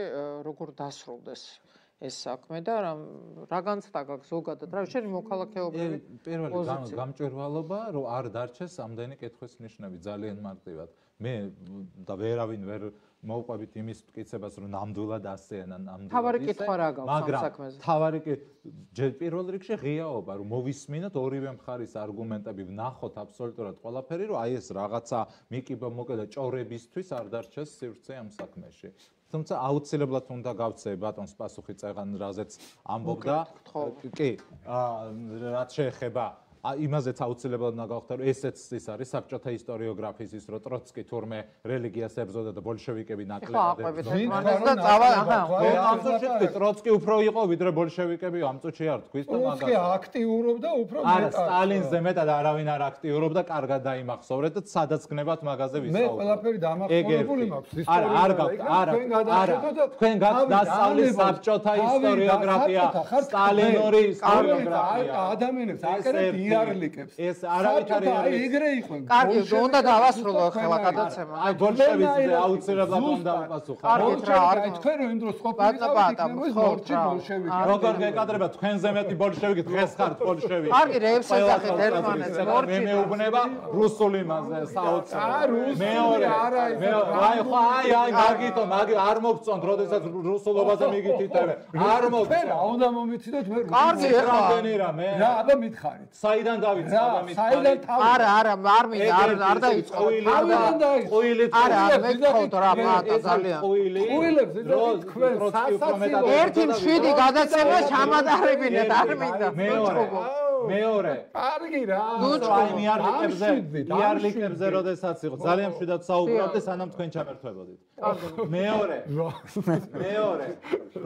როგორ დასრულდეს ეს საქმე და რა რა განცდა გაქვს ზოგადად, რა შენი მოქალაქეობრივი პირველი გამჭვირვალობა, რომ არ დარჩეს ამდენი კითხვის ნიშნები ძალიან მარტივად. მე და ვერავინ ვერ მოვყვებით იმის მტკიცებას, რომ ნამდვილად ასეა, ნამდვილად. თავარი კითხვა რა გაქვს ამ საქმეზე? თავარი ჯერ პირველ რიგში ღიაობა, რომ მოვისმინოთ ორივე მხარის არგუმენტები, ვნახოთ აბსოლუტურად ყველაფერი, რომ აი ეს რაღაცა მიკიბა მოკედა ჭორებისთვის არ დარჩეს სივრცე ამ საქმეში. თუმცა აუცილებლად უნდა გავცე ბატონს პასუხი წეღან, რაზეც ამბობდა. კი, რაც შეეხება იმაზეც აუცილებლად უნდა გავხდეთ, რომ ესეც ის არის საბჭოთა ისტორიოგრაფიის ის, რომ ტროცკი თურმე რელიგიას ებრძოდა და ბოლშევიკები ნაკლებად ებრძოდა. ამ წუთში ტროცკი უფრო იყო ვიდრე ბოლშევიკები, ამ წუთში არ თქვის და მაგას. ტროცკი აქტიურობდა უფრო მეტად. არა, სტალინზე მეტად არავინ არ აქტიურობდა, კარგად დაიმახსოვრეთ და სადაც გნებათ მაგაზე ვისაუბროთ. მე ყველაფერი დამახსოვრებული მაქვს ისტორიულად. არა, არ გაქვთ, არა, არა. თქვენ გაქვთ დასწავლი საბჭოთა ისტორიოგრაფია, სტალინური ისტორიოგრაფია. ადამიანებს აკერებთ იარლიკებს. ეს არავითარი აი ეგრე იყო. კარგი, უნდა დავასრულო ახლა გადაცემა. აი ბოლშევიკზე აუცილებლად უნდა უპასუხო. კარგი, აი თქვენ რომ იმ დროს ყოფილიყავით, მორჩი ბოლშევიკი. როგორ გეკადრება თქვენზე მეტი ბოლშევიკი დღეს ხართ ბოლშევიკი. კარგი, რეებს ეძახით ერთმანეთს, მორჩი. მე მეუბნება რუსული მასე საოცრად. აა რუსული მეორე მე აი ხო აი აი მაგითო მაგი არ მოგწონთ, როდესაც რუსულობაზე მიგითითებენ. არ მოგწონთ. რა უნდა მომიციდოთ მე რუსული. კარგი, რამდენი რამე. რა, აბა მითხარით. საიდან დავიწყო და მითხარით? არა, არა, არ მინდა, არ არ დაიწყო. თავიდან დაიწყო. ყუილი არა, არ მეკითხოთ რა, პატა ძალიან. ყუილი. ყუილებს თქვენ სასაცილო. ერთი მშვიდი გადაცემა ჩამატარებინეთ, არ მინდა. მეორე. მეორე. კარგი რა. აი მიარლიკებზე, მიარლიკებზე როდესაც იყო, ძალიან მშვიდად საუბრობდი, სანამ თქვენ ჩამერთვებოდით. მეორე. მეორე.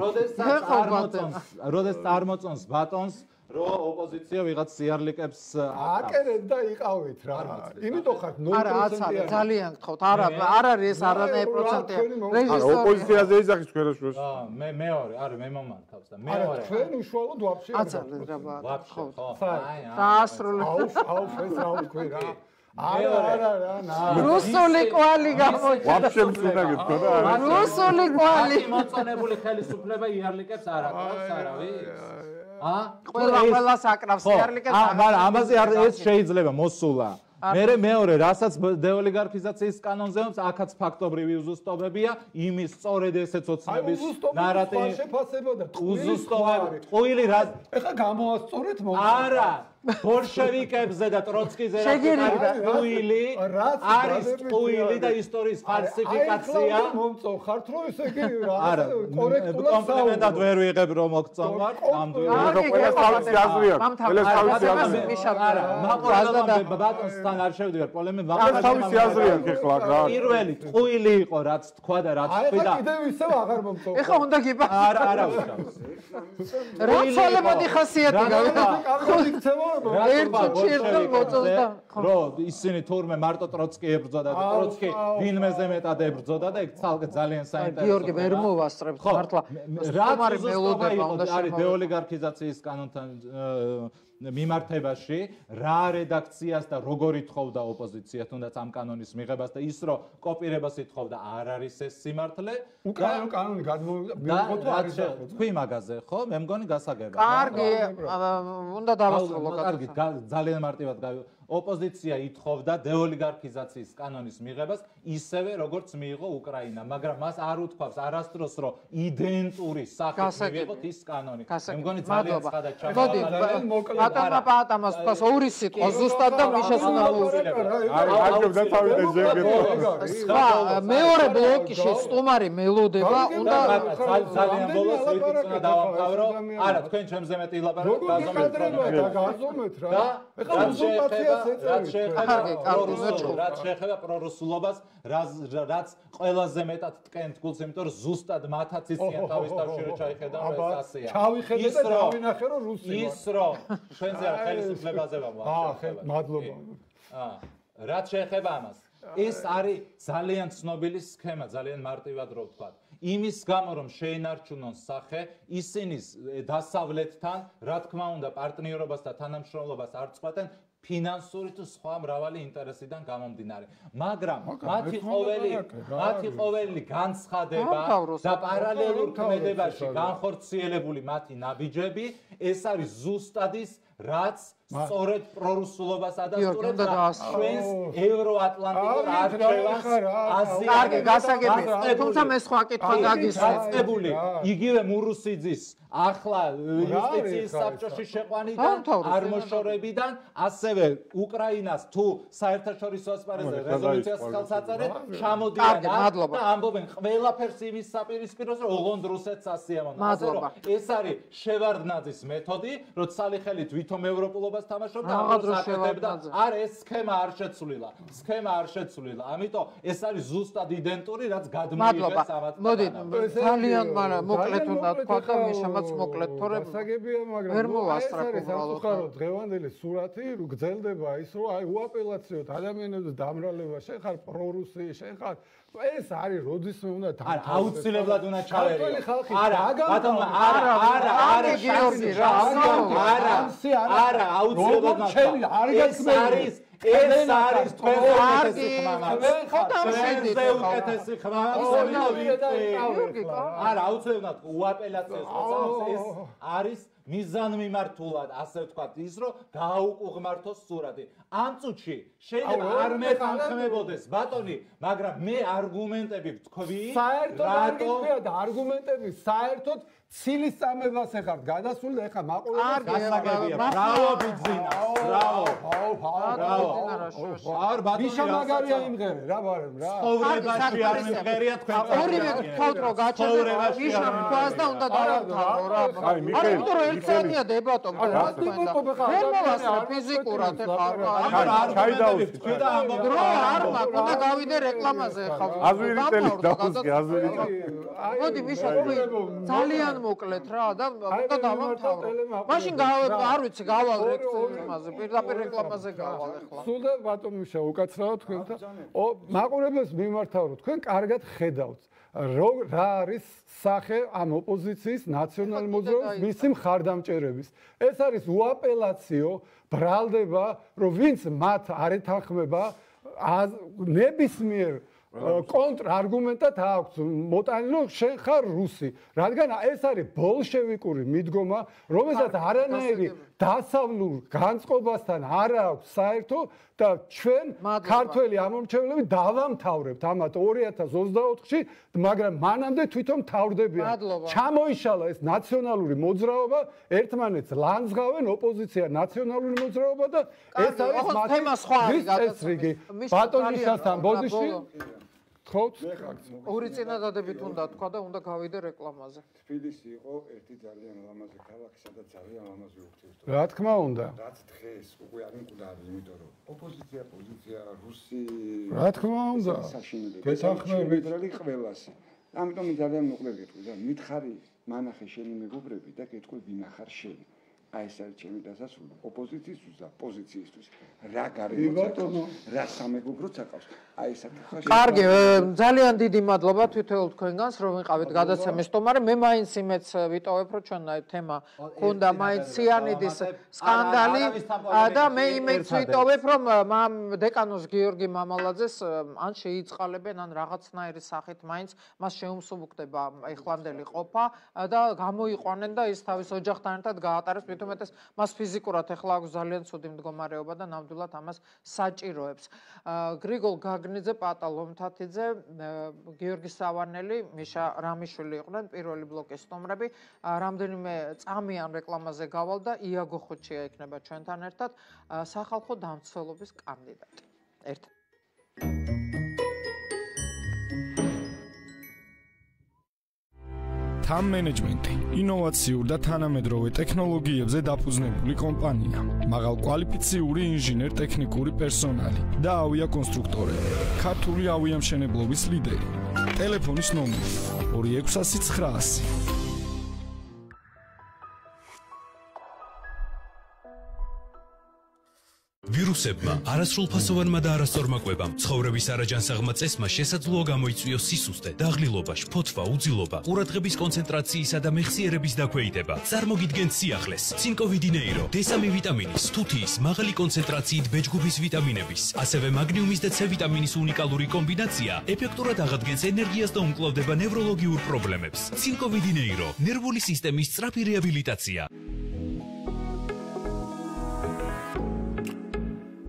როდესაც არ მოწონს, როდესაც არ მოწონს ბატონს რომ ოპოზიცია ვიღაც სიარლიკებს აკერეთ და იყავით რა. იმიტომ ხართ ნულ პროცენტიანი. არა, აცალე, ძალიან გთხოვთ. არა, არ არის ეს არანაირი პროცენტია. არა, ოპოზიციაზე ეძახის ქვეშ. აა, მე მეორე, არა, მე მომართავს და მეორე. არა, თქვენ უშუალოდ ვაფშე არ აცალე რა ვაფშე, ხო. აი, დაასრულე. აუ, აუ, ეს რა ვთქვი რა. არა, არა, რა, ნა. რუსული კვალი გამოჩნდა. ვაფშე მწუნა გეთქვა რა. რუსული კვალი. მოწონებული ხელისუფლება იარლიკებს არ აკრავს არავის. აა ყველა ყველას აკრავს იარლიკებს. აა მაგრამ ამაზე არ ეს შეიძლება მოსულა. მერე მეორე, რასაც დეოლიგარქიზაციის კანონზე აქვს, აქაც ფაქტობრივი უზუსტობებია, იმის სწორედ ესეც ოცნების ნარატივი. უზუსტობები. ყუილი რა? ეხა გამოასწორეთ მომ. არა. ბოლშევიკებზე და ტროცკიზე არის ყუილი, არის ყუილი და ისტორიის ფალსიფიკაცია. აი, მომწონხართ რომ ესე იგი რა კორექტულად კომპლიმენტად ვერ ვიღებ რომ მოგწონვარ, ნამდვილად. ყველა თავის აზრია. ყველა თავის აზრია. არა, მაყურებელმა ბატონსთან არ შევდივარ პოლემიკაზე, ყველა თავის აზრია ეხლა რა. პირველი ყუილი იყო, რაც თქვა და რაც თქვი და აი, კიდევ ისევ აღარ მომწონხარ. ეხა უნდა გიპასუხო. არა, არა უშავს. რა ცოლებოდი ხასიათი გავიდა. კარგი იქცევა ერთი ჩირდა მოწონდა. რო ისინი თურმე მარტო ტროცკი ებრძოდა და ტროცკი ვინმეზე მეტად ებრძოდა და ეგ ცალკე ძალიან საინტერესო. გიორგი ვერ მოვასწრებთ მართლა. რა მელოდება უნდა არის დეოლიგარქიზაციის კანონთან მიმართებაში, რა რედაქციას და როგორ ითხოვდა ოპოზიცია თუნდაც ამ კანონის მიღებას და ის რომ კოპირებას ითხოვდა არ არის ეს სიმართლე. უკანონო კანონი გადმოვიღო თუ არ იცახო. თქვი მაგაზე, ხო? მე მგონი გასაგებია. კარგი, უნდა დავასრულო კარგი, ძალიან მარტივად გავი ოპოზიცია ითხოვდა დეოლიგარქიზაციის კანონის მიღებას ისევე როგორც მიიღო უკრაინა, მაგრამ მას არ უთქვავს არასდროს რომ იდენტური სახით მიიღოთ ის კანონი. მე მგონი ძალიან ცხადად ჩამოყალიბდა. ბატონმა პაატამას თქვას ორი სიტყვა ზუსტად და მიშას უნდა მოუწოდო. აი, აგებდა თავიდან ზეგეთო. სხვა მეორე ბლოკში სტუმარი მელოდება, უნდა ძალიან ბოლოს ვიტყვი უნდა დავამთავრო. არა, თქვენ ჩემზე მეტი ილაპარაკეთ, გაზომეთ რა. ეხლა უზურპაცია რაც შეეხება პრორუსულობას, რაც ყველაზე მეტად ტკენთ გულს, იმიტომ რომ ზუსტად მათაც იციან თავის თავში რომ ჩაიხედა ეს ასეა. ჩავიხედე და დავინახე რომ რუსი ვარ. ის რომ ჩვენზე არ ხელისუფლებაზე ვარ. აა, მადლობა. აა, რაც შეეხება ამას, ეს არის ძალიან ცნობილი სქემა, ძალიან მარტივად რო ვთქვა. იმის გამო რომ შეინარჩუნონ სახე, ისინი დასავლეთთან, რა თქმა უნდა, პარტნიორობას და თანამშრომლობას არ წყვეტენ ფინანსური თუ სხვა მრავალი ინტერესიდან გამომდინარე. მაგრამ მათი ყოველი მათი ყოველი განცხადება და პარალელურ ქმედებაში განხორციელებული მათი ნაბიჯები, ეს არის ზუსტად ის, რაც სწორედ პრორუსულობას ადასტურებს და ჩვენს ევროატლანტიკურ არჩევანს კარგი, გასაგებია. თუმცა მე სხვა კითხვა გაგისწრებული. იგივე მურუსიძის ახლა იუსტიციის საბჭოში შეყვანიდან, არმოშორებიდან, ასევე უკრაინას თუ საერთაშორისო ასპარეზზე რეზოლუციას ხელს აწერენ, ჩამოდიან და ამბობენ ყველაფერს იმის საპირისპიროზე, რომ ოღონდ რუსეთს ასიამოვნებენ. ასე რომ ეს არის შევარდნაძის მეთოდი, რომ ცალი ხელით ვითომ ევროპულობას თამაშობდა, აკეთებდა. არა, ეს სქემა არ შეცვლილა. სქემა არ შეცვლილა. ამიტომ ეს არის ზუსტად იდენტური, რაც გადმოიღეს ამათ. მოდი, ძალიან მოკლედ უნდა თქვა და მიშამაც მოკლედ, თორემ გასაგებია, მაგრამ ვერ მოვასწრაფო უბრალოდ. დღევანდელი სურათი გრძელდება ის, რომ აი უაპელაციოდ ადამიანებს დამრალება, შენ ხარ პრორუსი, შენ ხარ ეს არის როდისმე უნდა არა აუცილებლად უნდა ჩავერიო. არა, ბატონო, არა, არა, არა, გიორგი რა, არა, არა, აუცილებლად ეს არის ეს არის თქვენზე უკეთესი ხმამა. თქვენზე უკეთესი ხმამა. არა, აუცილებლად უაპელაციოს მოწამს ეს არის მიზანმიმართულად, ასე ვთქვათ, ის რომ გააუკუღმართოს სურათი. ამ წუთში შეიძლება არ მეთანხმებოდეს ბატონი, მაგრამ მე არგუმენტები ვთქვი, საერთოდ არ გიქხია და არგუმენტები საერთოდ ცილის წამებას ეხართ გადასული და ეხა მაყურებელს გასაგებია. ბრავო ბიძინა. ბრავო. ბრავო. არ ბატონი მიშამაგარია იმღერე რა ბარემ რა. ცხოვრებაში არ მიმღერია თქვენ. ორივე გთხოვთ რომ გაჩერდება მიშამ თვალს და უნდა დავამთავრო რა. აი მიხეილ, იმიტომ რომ ერთსაათია დებატო თქვენ და ვერ მოვასწრე ფიზიკურად ეხლა არ ჩაიდაუს თქვენ და ამბობთ დრო არ მაქვს, უნდა გავიდე რეკლამაზე ხალხი. აზვირი წელი დაუსკი, აზვირი წელი. მოდი მიშა ძალიან მოკლედ რა და უნდა დავამთავრო. მაშინ არ ვიცი გავალ რეკლამაზე, პირდაპირ რეკლამაზე გავალ ეხლა. სულ და ბატონ მიშა უკაცრავად თქვენთან. ო მაყურებელს მიმართავ რომ თქვენ კარგად ხედავთ რა არის სახე ამ ოპოზიციის ნაციონალ მოძრაობის მისი მხარდამჭერების. ეს არის უაპელაციო ბრალდება, რომ ვინც მათ არ ეთანხმება ნებისმიერ კონტრარგუმენტად აქვს მოტანილი, რომ შენ ხარ რუსი, რადგან ეს არის ბოლშევიკური მიდგომა, რომელსაც არანაირი დასავლურ განწყობასთან არ აქვს საერთო და ჩვენ ქართველი ამომრჩევლები დავამთავრებთ ამათ ორი ათას ოცდაოთხში, მაგრამ მანამდე თვითონ თავრდებიან. ჩამოიშალა ეს ნაციონალური მოძრაობა, ერთმანეთს ლანძღავენ ოპოზიცია ნაციონალური მოძრაობა და ეს არის მათი წესრიგი. ბატონიშასთან ბოდიში ხოთ ორი წინადადებით უნდა თქვა და უნდა გავიდე რეკლამაზე. თბილისი იყო ერთი ძალიან ლამაზი ქალაქი, სადაც ძალიან ლამაზი ურთიერთობა. რა თქმა უნდა. რაც დღეს უკვე არ მკვდარი, იმიტომ რომ ოპოზიცია, პოზიცია, რუსი რა თქმა უნდა. გეთანხმებით ყველასი. ამიტომ ძალიან მოკლედ გეტყვი და მითხარი მანახე შენი მეგობრები და გეტყვი ვინა ხარ შენ. აი ეს არის ჩემი დასასრული ოპოზიციისთვის და პოზიციისთვის. რა გარემო, რა სამეგობროც აკავს. აი ეს არის. კარგი, ძალიან დიდი მადლობა თვითონ თქვენგანს, რომ ვიყავით გადაცემის სტუმარი. მე მაინც იმეც ვიტოვებ, რომ ჩვენ აი თემა ქონდა მაინც სიანიდის სკანდალი და მე იმეც ვიტოვებ, რომ მამ დეკანოს გიორგი მამალაძეს ან შეიწყალებენ, ან რაღაცნაირი სახით მაინც მას შეუმსუბუქდება ეხლანდელი ყოფა და გამოიყვანენ და ის თავის ოჯახთან ერთად გაატარებს. უმეტეს მას ფიზიკურად ახლა აქვს ძალიან ცუდი მდგომარეობა და ნამდვილად ამას საჭიროებს. გრიგოლ გაგნიძე, პატა ლომთათიძე, გიორგი სავანელი, მიშა რამიშვილი იყვნენ პირველი ბლოკის სტუმრები. რამდენიმე წამიან რეკლამაზე გავალ და იაგო ხოჩია იქნება ჩვენთან ერთად სახალხო დამცველობის კანდიდატი. ერთად Time Management ინოვაციურ და თანამედროვე ტექნოლოგიებზე დაფუძნებული კომპანია. მაღალ კვალიფიციური ინჟინერ-ტექნიკური პერსონალი და ავიაკონსტრუქტორები. ქართული ავიამშენებლობის ლიდერი. ტელეფონის ნომერი ორი ექვსასი ცხრაასი. ვირუსებმა, არასრულფასოვანმა და არასწორმაკვებამ, ცხოვრების არაჯანსაღმა წესმა შესაძლოა გამოიწვიოს სისუსტე, დაღლილობა, შფოთვა, უძილობა, ყურადღების კონცენტრაციისა და მეხსიერების დაქვეითება. წარმოგიდგენთ სიახლეს, ცინკოვიდინეირო, დე სამი ვიტამინის, თუთიის, მაღალი კონცენტრაციით ბეჯგუფის ვიტამინების, ასევე მაგნიუმის და C ვიტამინის უნიკალური კომბინაცია ეფექტურად აღადგენს ენერგიას და უმკლავდება ნევროლოგიურ პრობლემებს. ცინკოვიდინეირო, ნერვული სისტემის სწრაფი რეაბილიტაცია.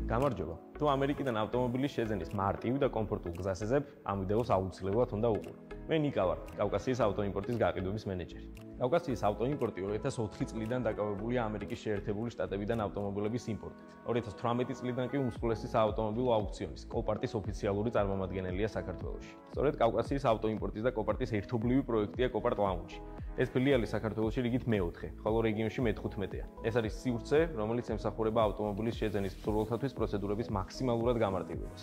გამარჯობა. თუ ამერიკიდან ავტომობილის შეძენის მარტივ და კომფორტულ გზას ეძებ, ამ ვიდეოს აუცილებლად უნდა უყურო. მე ნიკა ვარ, კავკასიის ავტოიმპორტის გაყიდვების მენეჯერი. კავკასიის ავტოიმპორტი ორი ათას ოთხი წლიდან დაკავებულია ამერიკის შეერთებული შტატებიდან ავტომობილების იმპორტით. ორი ათას თვრამეტი წლიდან კი უმსხვილესი საავტომობილო აუქციონის კოპარტის ოფიციალური წარმომადგენელია საქართველოში. სწორედ კავკასიის ავტოიმპორტის და კოპარტის ერთობლივი პროექტია კოპარტ ლაუნჯი. ეს ფილიალი საქართველოში რიგით მეოთხე, ხოლო რეგიონში მეთოთხმეტეა. ეს არის სივრცე, რომელიც ემსახურება ავტომობილის შეძენის მსურველთათვის პროცედურების მაქსიმალურად გამარტივებას.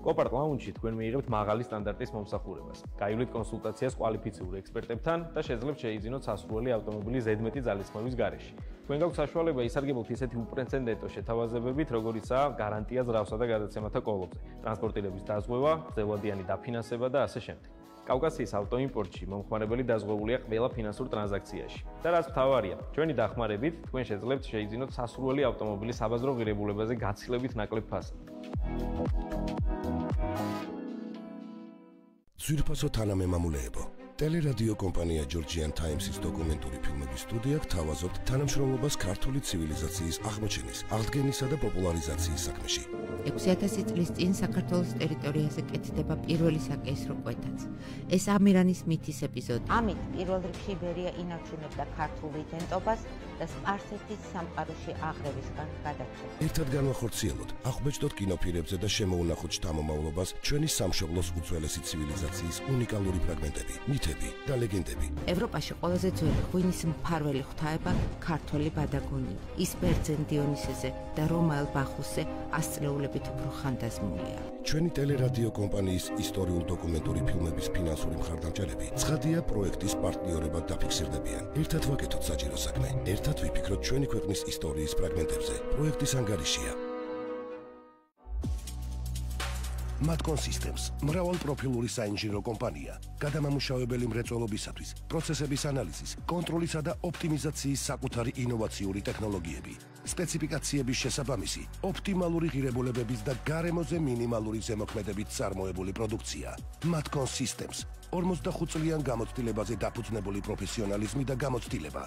კოპარტ ლაუნჯში თქვენ მიიღებთ მაღალი სტანდარტის მომსახურებას. გაივლით კონსულტაციას კვალიფიციურ ექსპერტებთან და შეძლებთ შეიძინოთ სასურველი ავტომობილის ზედმეტი ძალისხმევის გარეშე. თქვენ გაქვთ საშუალება ისარგებლოთ ისეთი უპრეცედენტო შეთავაზებებით, როგორიცაა გარანტია ზრავსა და გადაცემათა კოლოფზე, ტრანსპორტირების დაზღვევა, გრძელვადიანი დაფინანსება და ასე შემდეგ. კავკასიის ავტოიმპორტში მომხმარებელი დაზღვეულია ყველა ფინანსურ ტრანზაქციაში. და რაც მთავარია, ჩვენი დახმარებით თქვენ შეძლებთ შეიძინოთ სასურველი ავტომობილის საბაზრო ღირებულებაზე გაცილებით ნაკლებ ფასად. ძვირფასო თანამემამულეებო, ტელერადიო კომპანია Georgian Times-ის დოკუმენტური ფილმების სტუდია გთავაზობთ თანამშრომლობას ქართული ცივილიზაციის აღმოჩენის, აღდგენისა და პოპულარიზაციის საქმეში. ექვსი ათასი წლის წინ საქართველოს ტერიტორიაზე კეთდება პირველი საკეისრო კვეთაც. ეს ამირანის მითის ეპიზოდი. ამით პირველ რიგში იბერია ინარჩუნებდა ქართულ იდენტობას და სპარსეთის სამყაროში აღრევისგან გადარჩება. ერთად განვახორციელოთ, აღბეჭდოთ კინოფილმებზე და შემოუნახოთ შთამომავლობას ჩვენი სამშობლოს უძველესი ცივილიზაციის უნიკალური ფრაგმენტები, მითები და ლეგენდები. ევროპაში ყველაზე ძველი ღვინის მფარველი ღვთაება ქართველი ბადაგონია. ის ბერძენ დიონისეზე და რომაელ ბახუსზე ასწლეულებით უფრო ხანდაზმულია. ჩვენი ტელერადიო კომპანიის ისტორიულ დოკუმენტური ფილმების ფინანსური მხარდამჭერები ცხადია პროექტის პარტნიორებად დაფიქსირდებიან. ერთად ვაკეთოთ საჭირო საქმე. ერთად ვიფიქროთ ჩვენი ქვეყნის ისტორიის ფრაგმენტებზე. პროექტის ანგარიშია Matcon Systems, მრავალპროფილური საინჟინრო კომპანია, გადამამუშავებელი მრეწველობისათვის, პროცესების ანალიზის, კონტროლისა და ოპტიმიზაციის საკუთარი ინოვაციური ტექნოლოგიები, სპეციფიკაციების შესაბამისი, ოპტიმალური ღირებულებების და გარემოზე მინიმალური ზემოქმედებით წარმოებული პროდუქცია. Matcon Systems, ორმოცდახუთ წლიან გამოცდილებაზე დაფუძნებული პროფესიონალიზმი და გამოცდილება.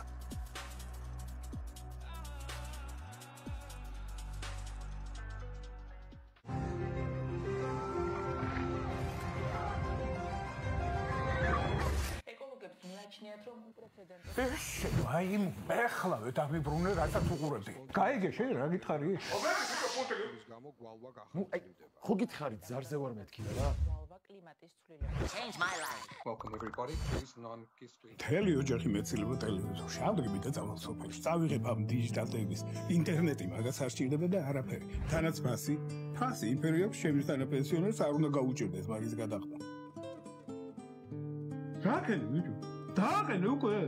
აი, ეხლა ვეთამიბრუნე რასაც უყურებდი. გაიგე შენ რა გითხარი? ნუ აი, ხო გითხარი ზარზე ვარ მეთქი რა? Change my life. Welcome everybody. This is non-history. თელი ოჯახი მეცილება ტელევიზორში. ამდგე მითხა წავალ სოფელში. წავიღებ ამ დიჯიტალ ტელევის. ინტერნეტი მაგას არ სჭირდება და არაფერი. თანაც ფასი. ფასი იმფერი აქვს ჩემს თანაპენსიონერს არ უნდა გაუჭირდეს მაგის გადახდა. რაკენ ვიდეო? დააყენ უკვე.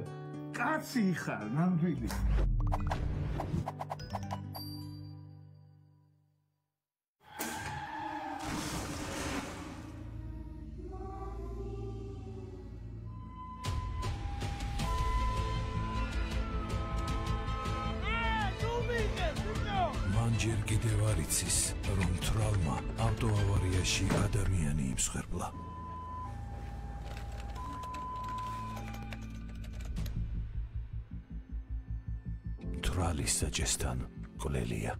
კაცი ხარ, ნამდვილი. ჯერ კიდევ არ იცის, რომ თრავმა ავტოავარიაში ადამიანი იმსხვერპლა. თვალის საჭესთან ყლელია.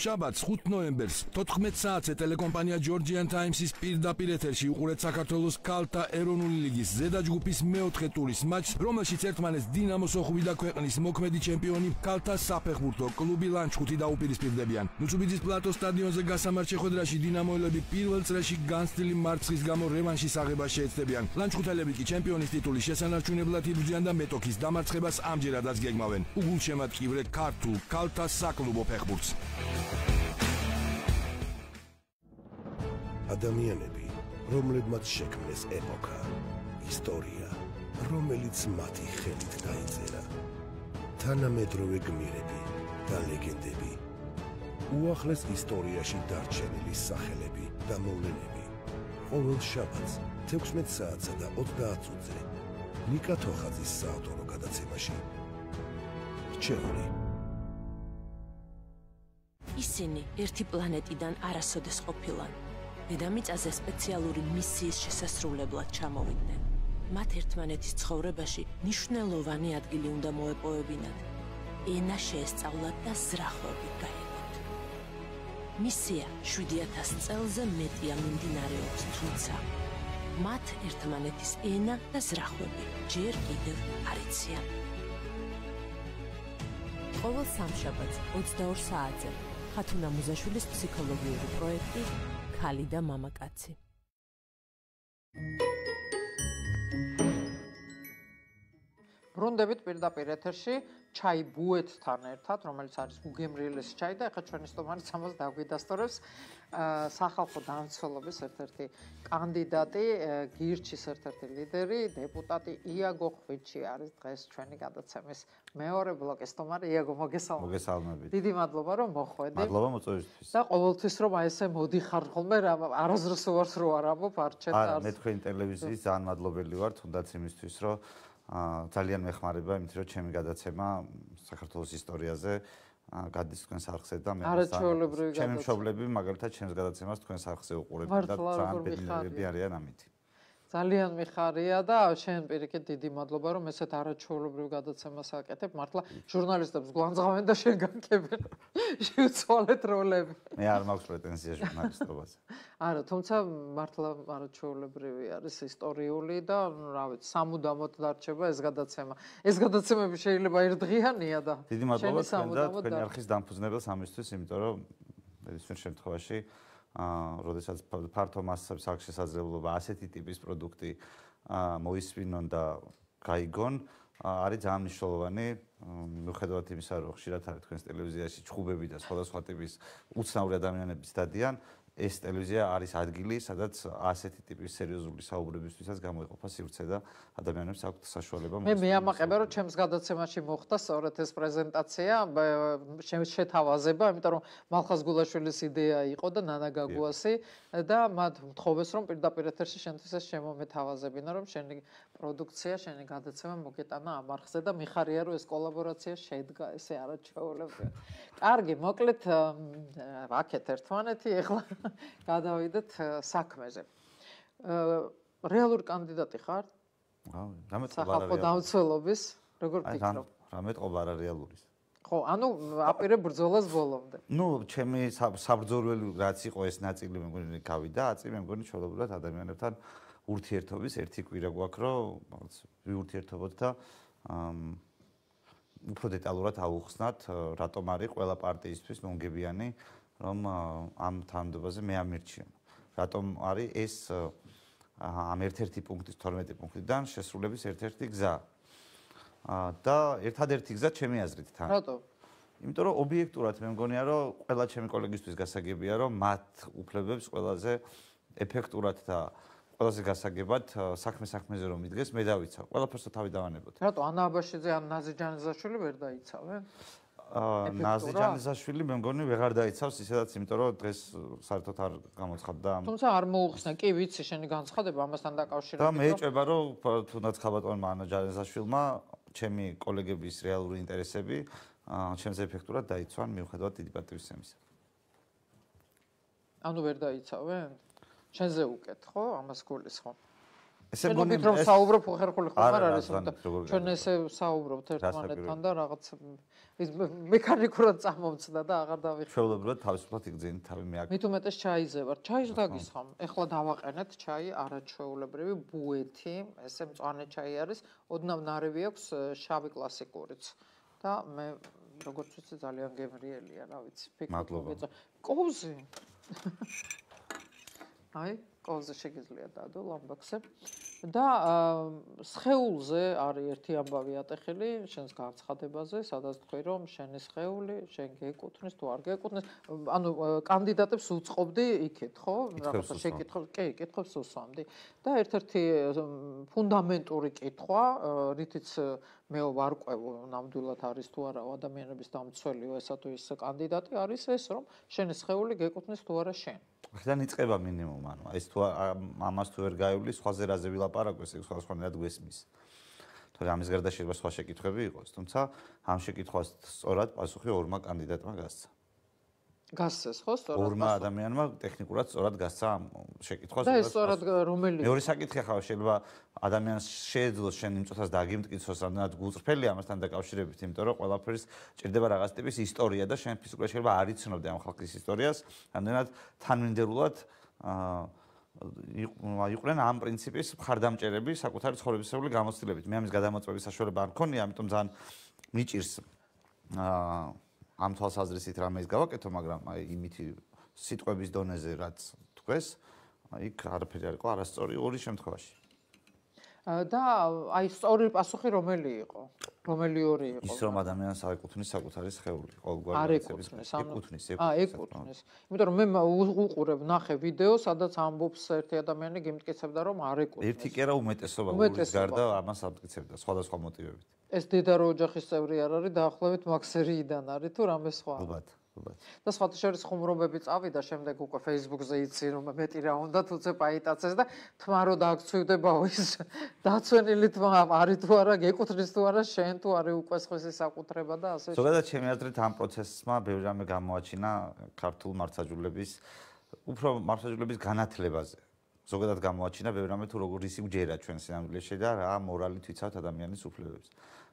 შაბათს ხუთი ნოემბერს თოთხმეტ საათზე ტელეკომპანია Georgian Times-ის პირდაპირ ეთერში უყურეთ საქართველოს ქალთა ეროვნული ლიგის ზედაჯგუფის მეოთხე ტურის მატჩს, რომელშიც ერთმანეთს დინამოს ოხვი და ქვეყნის მოქმედი ჩემპიონი ქალთა საფეხბურთო კლუბი ლანჩხუთი დაუპირისპირდებიან. ნუცუბიძის პლატოს სტადიონზე გასამართ შეხვედრაში დინამოელები პირველ წრეში განცდილი მარცხის გამო რევანშის აღებას შეეცდებიან. ლანჩხუთელები კი ჩემპიონის ტიტულის შესანარჩუნებლად იბრძვიან და მეტოქის დამარცხებას ამჯერადაც გეგმავენ. უგულშემატკივრე ქართულ ქალთა საკლუბო ფეხბურთს. ადამიანები, რომლებმაც შექმნეს ეპოქა, ისტორია, რომელიც მათი ხელით დაიწერა. თანამედროვე გმირები და ლეგენდები, უახლეს ისტორიაში დარჩენილი სახელები და მოვლენები. ყოველ შაბათს თექვსმეტ საათსა და ოცდაათ წუთზე ნიკა თოხაძის საავტორო გადაცემაში. რჩეული. ისინი ერთი პლანეტიდან არასოდეს ყოფილან. დედამიწაზე სპეციალური მისიის შესასრულებლად ჩამოვიდნენ. მათ ერთმანეთის ცხოვრებაში მნიშვნელოვანი ადგილი უნდა მოეპოვებინათ. ენა შეესწავლათ და ზრახვები გაეგოთ. მისია შვიდი ათას წელზე მეტია მიმდინარეობს, თუმცა მათ ერთმანეთის ენა და ზრახვები ჯერ კიდევ არ იციან. ყოველ სამშაბათს ოცდაორ საათზე ხათუნა მუზაშვილის ფსიქოლოგიური პროექტი ქალი და მამაკაცი. ბრუნდებით პირდაპირ ეთერში ჩაი ბუეთთან ერთად, რომელიც არის უგემრიელესი ჩაი და ეხლა ჩვენი სტუმარი სამას დაგვიდასტურებს სახალხო დამცველობის ერთ-ერთი კანდიდატი, გირჩის ერთ-ერთი ლიდერი, დეპუტატი იაგო ხვიჩი არის დღეს ჩვენი გადაცემის მეორე ბლოკის სტუმარი. იაგო, მოგესალმებით. მოგესალმებით. დიდი მადლობა რომ მოხვედი. მადლობა მოწვევისთვის. და ყოველთვის რომ აი ესე მოდიხარ ხოლმე, არასდროს უარს რო არ ამბობ, არ ჩეთ არა, მე თქვენი ტელევიზიის ძალიან მადლობელი ვარ, თუნდაც იმისთვის, რომ ძალიან მეხმარება იმით, რომ ჩემი გადაცემა საქართველოს ისტორიაზე გადის თქვენს არხზე და მე ჩემი მშობლები მაგალითად ჩემს გადაცემას თქვენს არხზე უყურებენ და ძალიან ბედნიერები არიან ამით. ძალიან მიხარია და შენ პირიქით დიდი მადლობა რომ ესეთ არაჩვეულებრივ გადაცემას აკეთებ. მართლა ჟურნალისტებს გვანძღავენ და შენ გაკეთებ შევცვალეთ როლები. მე არ მაქვს პრეტენზია ჟურნალისტობაზე. არა, თუმცა მართლა არაჩვეულებრივი არის ისტორიული და რა ვიცი, სამუდამოდ დარჩება ეს გადაცემა. ეს გადაცემები შეიძლება ერთდღიანია და დიდი მადლობა თქვენ და თქვენი არხის დამფუძნებელს ამისთვის, იმიტომ რომ ნებისმიერ შემთხვევაში აა, როდესაც ფართო მასშტაბის აქვს შესაძლებლობა ასეთი ტიპის პროდუქტი მოისმინონ და გაიგონ, არის ძალიან მნიშვნელოვანი, მიუხედავად იმისა, რომ ხშირად არის თქვენს ტელევიზიაში ჩხუბები და სხვადასხვა ტიპის უცნაური ადამიანებიც დადიან, ეს ტელევიზია არის ადგილი, სადაც ასეთი ტიპის სერიოზული საუბრებისთვისაც გამოიყოფა სივრცე და ადამიანებს აქვთ საშუალება. მე მეამაყება, რომ ჩემს გადაცემაში მოხდა სწორედ ეს პრეზენტაცია, შეთავაზება, იმიტომ რომ მალხაზ გულაშვილის იდეა იყო და ნანა გაგუასი და მათ მთხოვეს, რომ პირდაპირ ეთერში შენთვის ეს შემომეთავაზებინა, რომ შენი პროდუქცია, შენი გადაცემა მოგეტანა ამ არხზე და მიხარია, რომ ეს კოლაბორაცია შედგა ესე არაჩვეულებრივად. კარგი, მოკლედ ვაკეთ ერთმანეთი, ეხლა გადავიდეთ საქმეზე. რეალური კანდიდატი ხარ? სახალხო დამცველობის, როგორ ფიქრობ? რამეთყობა არა რეალურის. ხო, ანუ აპირებ ბრძოლას ბოლომდე. ნუ, ჩემი საბრძოლველი რაც იყო ეს ნაწილი მე მგონი გავიდა, აწი მე მგონი ჩვეულებრივად ადამიანებთან ურთიერთობის ერთი კვირა გვაქვს, რომ ვიურთიერთობოთ და უფრო დეტალურად ავუხსნათ, რატომ არის ყველა პარტიისთვის მომგებიანი რომ ამ თანამდებობაზე მე ამირჩიონ. რატომ არის ეს ამ ერთ-ერთი პუნქტის თორმეტი პუნქტიდან შესრულების ერთ-ერთი გზა. და ერთადერთი გზა ჩემი აზრით თან. რატო? იმიტომ რომ ობიექტურად მე მგონია რომ ყველა ჩემი კოლეგისთვის გასაგებია რომ მათ უფლებებს ყველაზე ეფექტურად და ყველაზე გასაგებად საქმე საქმეზე რომ მიდგეს მე დავიცავ. ყველაფერს თავი დავანებოთ. რატო ანა აბაშიძე ან ნაზი ჯანიზაშვილი ვერ დაიცავენ? ნაზი ჯანიზაშვილი მე მგონი ვეღარ დაიცავს ისედაც, იმიტომ რომ დღეს საერთოდ არ გამოცხადდა. თუმცა არ მოუხსნა, კი ვიცი შენი განცხადება ამასთან დაკავშირებით. და მე ეჭება რომ თუნდაც ხაბატონმა ანა ჯანიზაშვილმა ჩემი კოლეგების რეალური ინტერესები ჩემზე ეფექტურად დაიცვან მიუხედავად დიდი პატივისცემისა. ანუ ვერ დაიცავენ? შენზე უკეთ, ხო? ამას გულის ხო? ესე მგონი რომ საუბრობ ხერხული ხომ არ არის, ჩვენ ესე საუბრობთ ერთმანეთთან და რაღაც ის მექანიკურად წამომწდა და აღარ დავიხსნა. ჩვეულებრივად თავისუფლად იგრძინით თავი მე აქ. მით უმეტეს ჩაიზე ვარ. ჩაის დაგისხამ. ეხლა დავაყენეთ ჩაი არაჩვეულებრივი ბუეთი, ესე მწვანე ჩაი არის, ოდნავ ნარევი აქვს შავი კლასიკურიც. და მე როგორც ვიცი ძალიან გემრიელია, რა ვიცი, ფიქრობ. კოვზი. აი, კოვზე შეგიძლია დადო ლამბაქსზე. და სხეულზე არის ერთი ამბავი ატეხილი შენს განცხადებაზე, სადაც თქვი რომ შენი სხეული შენ გეკუთვნის თუ არ გეკუთვნის, ანუ კანდიდატებს უწყობდი იქეთ, ხო? რაღაცა შეკითხვა, კი, კითხვებს უსვამდი. და ერთ-ერთი ფუნდამენტური კითხვა, რითიც მე ვარკვევ ნამდვილად არის თუ არა ადამიანების დამცველიო ესა თუ ის კანდიდატი არის ეს რომ შენი სხეული გეკუთვნის თუ არა შენ. ხიდან იწყება მინიმუმ, ანუ ეს თუ ამას თუ ვერ გაივლი, სხვაზე რაზე ვილაპარაკოს, ეს სხვადასხვანაირად გვესმის. თორე ამის გარდა შეიძლება სხვა შეკითხვები იყოს, თუმცა ამ შეკითხვას სწორად პასუხი ორმა კანდიდატმა გასცა. გასცეს ხო სწორად? ორმა ადამიანმა ტექნიკურად სწორად გასცა ამ შეკითხვას. და ეს სწორად რომელი? მეორე საკითხი ახლა შეიძლება ადამიანს შეეძლოს შენ იმ წუთას დაგიმტკიცოს, რამდენად გულწრფელი ამასთან დაკავშირებით, იმიტომ რომ ყველაფერს ჭირდება რაღაც ტიპის ისტორია და შენ ფიზიკურად შეიძლება არ იცნობდე ამ ხალხის ისტორიას, რამდენად თანმიმდევრულად აა იყვნენ ამ პრინციპის მხარდამჭერები საკუთარი ცხოვრებისეული გამოცდილებით. მე ამის გადამოწმების საშუალება არ მქონია, ამიტომ ძალიან მიჭირს აა ამ თვალსაზრისით რამე ის გავაკეთო, მაგრამ აი იმითი სიტყვების დონეზე რაც თქვეს, იქ არაფერი არ იყო არასწორი ორი შემთხვევაში. და აი სწორი პასუხი რომელი იყო? რომელი ორი იყო? ის რომ ადამიანს არ ეკუთვნის საკუთარი სხეული, ყოველგვარი არ ეკუთვნის, ეკუთვნის, აა ეკუთვნის. იმიტომ რომ მე უყურებ, ნახე ვიდეო, სადაც ამბობს ერთი ადამიანი გიმტკიცებდა რომ არ ეკუთვნის. ერთი კი არა უმეტესობა ურის გარდა ამას ამტკიცებდა სხვადასხვა მოტივებით. ეს დედარო ოჯახის წევრი არ არის, დაახლოებით მაქსერიიდან არის თუ რამე სხვა. ალბათ, ალბათ. და სხვათა შორის ხუმრობები წავიდა, შემდეგ უკვე Facebook-ზე იცი რომ მეტი რა უნდა თუცე პაიტაცეს და თმა რო დააქცევდებაო ის დაცვენილი თმა არის თუ არა, გეკუთვნის თუ არა, შენ თუ არის უკვე სხვისი საკუთრება და ასე. ზოგადად ჩემი აზრით ამ პროცესმა ბევრი რამე გამოაჩინა ქართულ მართლმსაჯულების უფრო მართლმსაჯულების განათლებაზე. ზოგადად გამოაჩინა ბევრი რამე თუ როგორ ისი უჯერა ჩვენ სინამდვილეში და რა მორალით ვიცავთ ადამიანის უფლებებს.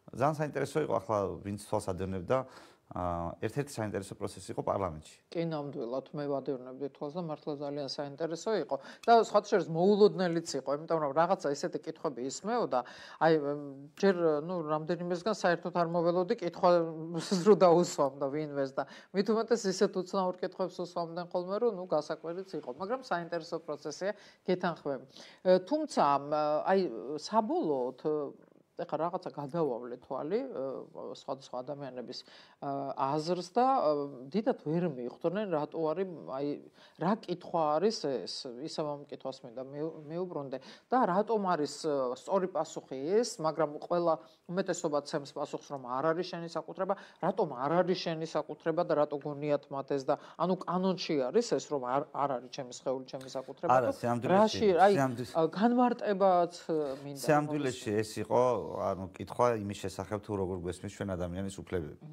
ძალიან საინტერესო იყო ახლა ვინც თვალს ადევნებდა ერთ-ერთი საინტერესო პროცესი იყო პარლამენტში. კი, ნამდვილად მე ვადევნებდი თვალს და მართლა ძალიან საინტერესო იყო და სხვათა შორის მოულოდნელიც იყო, იმიტომ რომ რაღაცა ისეთი კითხვები ისმეოდა, აი ჯერ ნუ რამდენიმესგან საერთოდ არ მოველოდი კითხვას რო დაუსვამდა ვინმეს და მით უმეტეს ისეთ უცნაურ კითხვებს უსვამდნენ ხოლმე, რომ ნუ გასაკვირიც იყო, მაგრამ საინტერესო პროცესია, გეთანხმები. თუმცა აი საბოლოოდ ეხლა რაღაცა გადავავლე თვალი სხვადასხვა ადამიანების აზრს და დიდად ვერ მიხვდნენ რატო არის აი რა კითხვა არის ეს ისევ ამ კითხვას მინდა მეუბრუნდე და რატომ არის სწორი პასუხი ეს მაგრამ ყველა უმეტესობა ცემს პასუხს რომ არ არის შენი საკუთრება რატომ არ არის შენი sakუთრება და რატო გონიათ მათ ეს და ანუ კანონში არის ეს რომ არ არ არის ჩემი სხეული ჩემი საკუთრება არა სიამდვილეში აი განმარტებაც მინდა სიამდვილეში ეს იყო ანუ კითხვა იმის შესახებ თუ როგორ გვესმის ჩვენ ადამიანის უფლებები.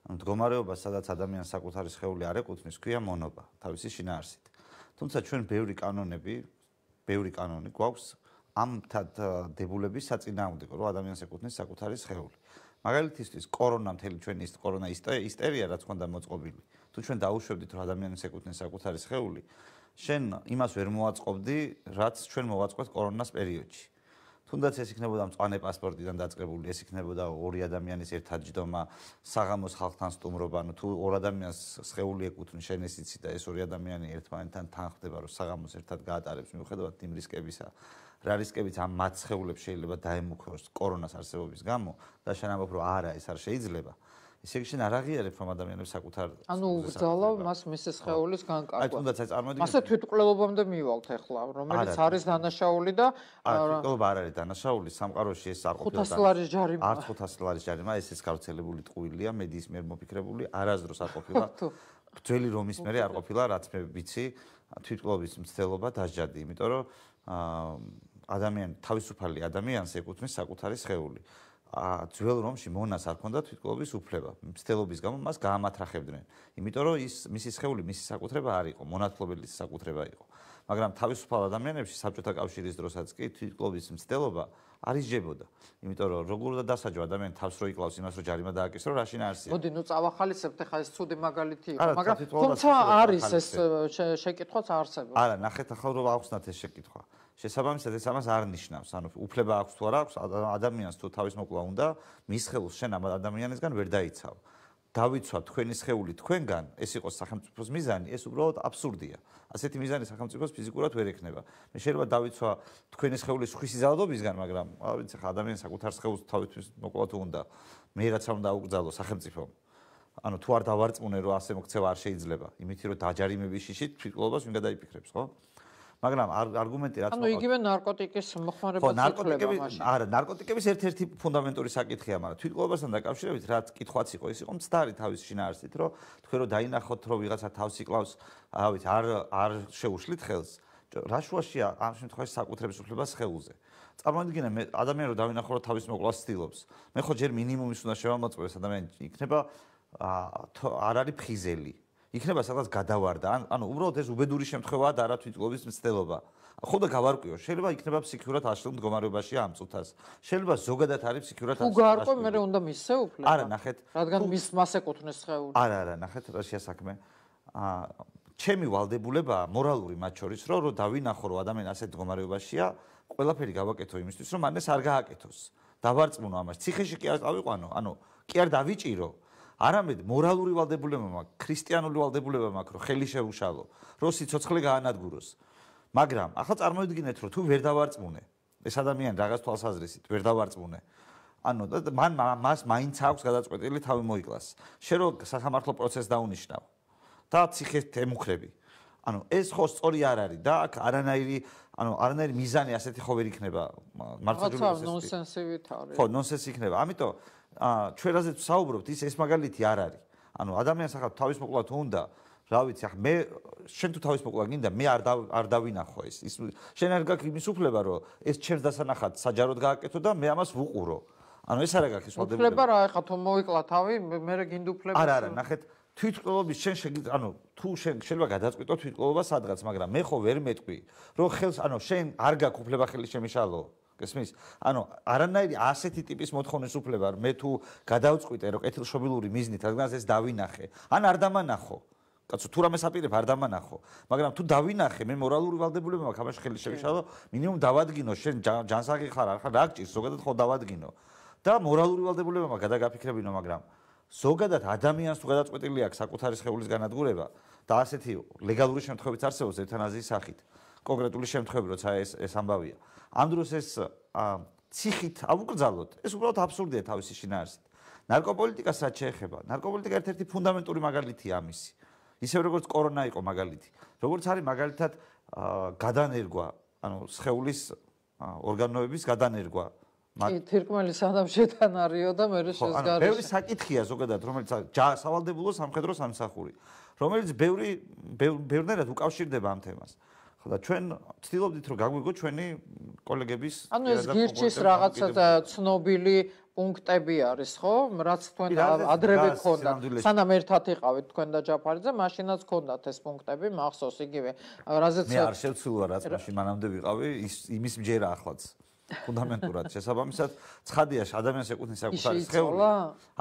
ანუ მდგომარეობა, სადაც ადამიანს საკუთარი სხეული არ ეკუთვნის, ქვია მონობა, თავისი შინაარსით. თუმცა ჩვენ ბევრი კანონები, ბევრი კანონი გვაქვს ამ დებულების საწინააღმდეგო, რომ ადამიანს ეკუთვნის საკუთარი სხეული. მაგალითისთვის, კორონა მთელი ჩვენი ის კორონა ისტერია, რაც ხონდა მოწყობილი. თუ ჩვენ დაუშვებდით, რომ ადამიანს ეკუთვნის საკუთარი სხეული, შენ იმას ვერ მოვაწყობდი, რაც ჩვენ მოვაწყოთ კორონას პერიოდში. თუნდაც ეს იქნებოდა მწვანე პასპორტიდან დაწყებული, ეს იქნებოდა ორი ადამიანის ერთადჯდომა, საღამოს ხალხთან სტუმრობა, ანუ თუ ორ ადამიანს სხეული ეკუთვნის, შენ ეს იცი და ეს ორი ადამიანი ერთმანეთთან თანხმდება, რომ საღამოს ერთად გაატარებს მიუხედავად იმ რისკებისა, რა რისკებიც ამ მათ სხეულებს შეიძლება დაემუქროს კორონას არსებობის გამო და შენ ამბობ, რომ არა, ეს არ შეიძლება. ისე იგი შენ არ აღიარებ რომ ადამიანებს საკუთარ ანუ უბრძალა მას მისი სხეულის განკარგვა. აი თუნდაც აი წარმოიდგინე. მასე თვითმკვლელობამდე მივალთ ახლა, რომელიც არის დანაშაული და არა, თვითმკვლელობა არ არის დანაშაული, სამყაროში ეს არ ყოფილა. ხუთასი ლარის ჯარიმა. არც ხუთასი ლარის ჯარიმა, ეს ის გავრცელებული ტყუილია, მედიის მიერ მოფიქრებული, არასდროს არ ყოფილა. ძველი რომის მერე არ ყოფილა, რაც მე ვიცი, თვითმკვლელობის მცდელობა დასჯადი, იმიტომ რომ ადამიანი თავისუფალი ადამიანს ეკუთვნის საკუთარი სხეული. ძველ რომში მონას არ ქონდა თვითმკვლელობის უფლება. მცდელობის გამო მას გაამათრახებდნენ. იმიტომ რომ ის მისი სხეული, მისი საკუთრება არ იყო, მონათმფლობელის საკუთრება იყო. მაგრამ თავისუფალ ადამიანებში საბჭოთა კავშირის დროსაც კი თვითმკვლელობის მცდელობა არ ისჯებოდა. იმიტომ რომ როგორ და დასაჯო ადამიანი თავს რო იკლავს იმას, რომ ჯარიმა დააკისრო, რა შინაარსია. მოდი, ნუ წავახალისებთ, ახლა ეს ცუდი მაგალითი იყო, მაგრამ თუმცა არის ეს შეკითხვაც არსებობს. არა, ნახეთ ახლა რომ ავხსნათ ეს შეკითხვა. შესაბამისად ეს ამას არ ნიშნავს, ანუ უფლება აქვს თუ არა აქვს ადამიანს თუ თავის მოკლა უნდა, მის ხელს შენ ამ ადამიანისგან ვერ დაიცავ. დავიცვა თქვენი სხეული თქვენგან, ეს იყოს სახელმწიფოს მიზანი, ეს უბრალოდ აბსურდია. ასეთი მიზანი სახელმწიფოს ფიზიკურად ვერ ექნება. მე შეიძლება დავიცვა თქვენი სხეულის სხვისი ძალადობისგან, მაგრამ ვიცი ხა ადამიანს საკუთარ სხეულს თავისთვის მოკლა თუ უნდა, მე რაც არ უნდა აუკრძალო სახელმწიფომ. ანუ თუ არ დავარწმუნე რომ ასე მოქცევა არ შეიძლება, იმით რომ დაჯარიმების შიშით თვითმკვლელობას ვინ გადაიფიქრებს, ხო? მაგრამ არგუმენტი რაც ანუ იგივე ნარკოტიკის მოხმარებაც ითვლება მაშინ. არა, ნარკოტიკების ერთ-ერთი ფუნდამენტური საკითხია, მაგრამ თვითმკვლელობასთან დაკავშირებით რაც კითხვაც იყო, ის იყო მცდარი თავის შინაარსით, რომ თქვენ რომ დაინახოთ, რომ ვიღაცა თავს იკლავს, რა ვიცი, არ არ შეუშლით ხელს. რა შუაშია ამ შემთხვევაში საკუთრების უფლება სხეულზე. წარმოიდგინე მე ადამიანი რომ დავინახო, რომ თავის მოკვლას ცდილობს. მე ხო ჯერ მინიმუმის უნდა შევამოწმოს ადამიანი იქნება არ არის ფხიზელი. იქნება სადღაც გადავარდა, ანუ უბრალოდ ეს უბედური შემთხვევაა და არა თვითმკვლელობის მცდელობა. ხო და გავარკვიო, შეიძლება იქნება ფსიქიურად აშლილ მდგომარეობაში ამ წუთას. შეიძლება ზოგადად არის ფსიქიურად აშლილი. თუ გაარკვე, მე უნდა მისცე უფლება. არა, ნახეთ. რადგან მის მას ეკუთვნის სხეული. არა, არა, ნახეთ რა შეასაქმე. აა ჩემი ვალდებულებაა მორალური მათ შორის, რომ რომ დავინახო, რომ ადამიანი ასეთ მდგომარეობაშია, ყველაფერი გავაკეთო იმისთვის, რომ მან ეს არ გააკეთოს. დავარწმუნო ამას. ციხეში კი არ წავიყვანო, ანუ კი არ დავიჭირო. არამედ მორალური ვალდებულება მაქვს, ქრისტიანული ვალდებულება მაქვს, რომ ხელი შეუშალო, რომ სიცოცხლე გაანადგუროს. მაგრამ ახლა წარმოიდგინეთ, რომ თუ ვერ დავარწმუნე, ეს ადამიანი რაღაც თვალსაზრისით ვერ დავარწმუნე. ანუ მან მას მაინც აქვს გადაწყვეტილი თავი მოიკლას. შენ რო სასამართლო პროცესს დაუნიშნავ და ციხეს ემუქრები. ანუ ეს ხო სწორი არ არის და აქ არანაირი, ანუ არანაირი მიზანი ასეთი ხო ვერ იქნება მართლმადიდებლობის. ხო, ნონსენსივით არის. ხო, ნონსენსი იქნება. ამიტომ აა ჩვენ რაზეც ვსაუბრობთ, ის ეს მაგალითი არ არის. ანუ ადამიანს ახლა თავის მოკლა თუ უნდა, რა ვიცი, ახლა მე შენ თუ თავის მოკლა გინდა, მე არ არ დავინახო ეს. ის შენ არ გაქვს იმის უფლება, რომ ეს ჩემს დასანახად საჯაროდ გააკეთო და მე ამას ვუყურო. ანუ ეს არ გაქვს ის ვალდებულება. უფლება რა, ახლა თუ მოიკლა თავი, მე რა გინდა უფლება? არა, არა, ნახეთ, თვითმკვლელობის შენ შეგიძლია, ანუ თუ შენ შეიძლება გადაწყვიტო თვითმკვლელობა სადღაც, მაგრამ მე ხო ვერ მეტყვი, რომ ხელს, ანუ შენ არ გაქვს უფლება ხელი შემიშალო. გესმის? ანუ არანაირი ასეთი ტიპის მოთხოვნის უფლება მე თუ გადავწყვიტე რომ კეთილშობილური მიზნით რადგანაც ეს დავინახე ან არ დამანახო კაცო თუ რამეს აპირებ არ დამანახო მაგრამ თუ დავინახე მე მორალური ვალდებულება მაქვს ამაში ხელი შევიშალო მინიმუმ დავადგინო შენ ჯანსაღი ხარ არ ხარ რა გჭირს ზოგადად ხო დავადგინო და მორალური ვალდებულება მაქვს გადაგაფიქრებინო მაგრამ ზოგადად ადამიანს თუ გადაწყვეტილი აქვს საკუთარი სხეულის განადგურება და ასეთი ლეგალური შემთხვევით არსებობს ევთანაზიის სახით კონკრეტული შემთხვევები როცა ეს ეს ამბავია ამ დროს ეს ციხით ავუკრძალოთ ეს უბრალოდ აბსურდია თავისი შინაარსით ნარკოპოლიტიკას რაც შეეხება ნარკოპოლიტიკა ერთ-ერთი ფუნდამენტური მაგალითია ამისი ისევ როგორც კორონა იყო მაგალითი როგორც არის მაგალითად გადანერგვა ანუ სხეულის ორგანოების გადანერგვა კი თირკმელი სანამ შეთანარიო და მე შესგარიშა ბევრი საკითხია ზოგადად რომელიც სავალდებულო სამხედრო სამსახური რომელიც ბევრი ბევრნაირად უკავშირდება ამ თემას და ჩვენ ვცდილობდით რომ გაგვიგო ჩვენი კოლეგების ანუ ეს გირჩის რაღაცა ცნობილი პუნქტები არის ხო რაც თქვენ ადრევე გქონდათ სანამ ერთად იყავით თქვენ და ჯაფარიძე მაშინაც გქონდათ ეს პუნქტები მახსოვს იგივე რაზეც მე არ შევცვლილა რაც მაშინ მანამდე ვიყავი ის იმის მჯერა ახლაც ფუნდამენტურად შესაბამისად ცხადია ადამიანს ეკუთვნის საკუთარი სხეული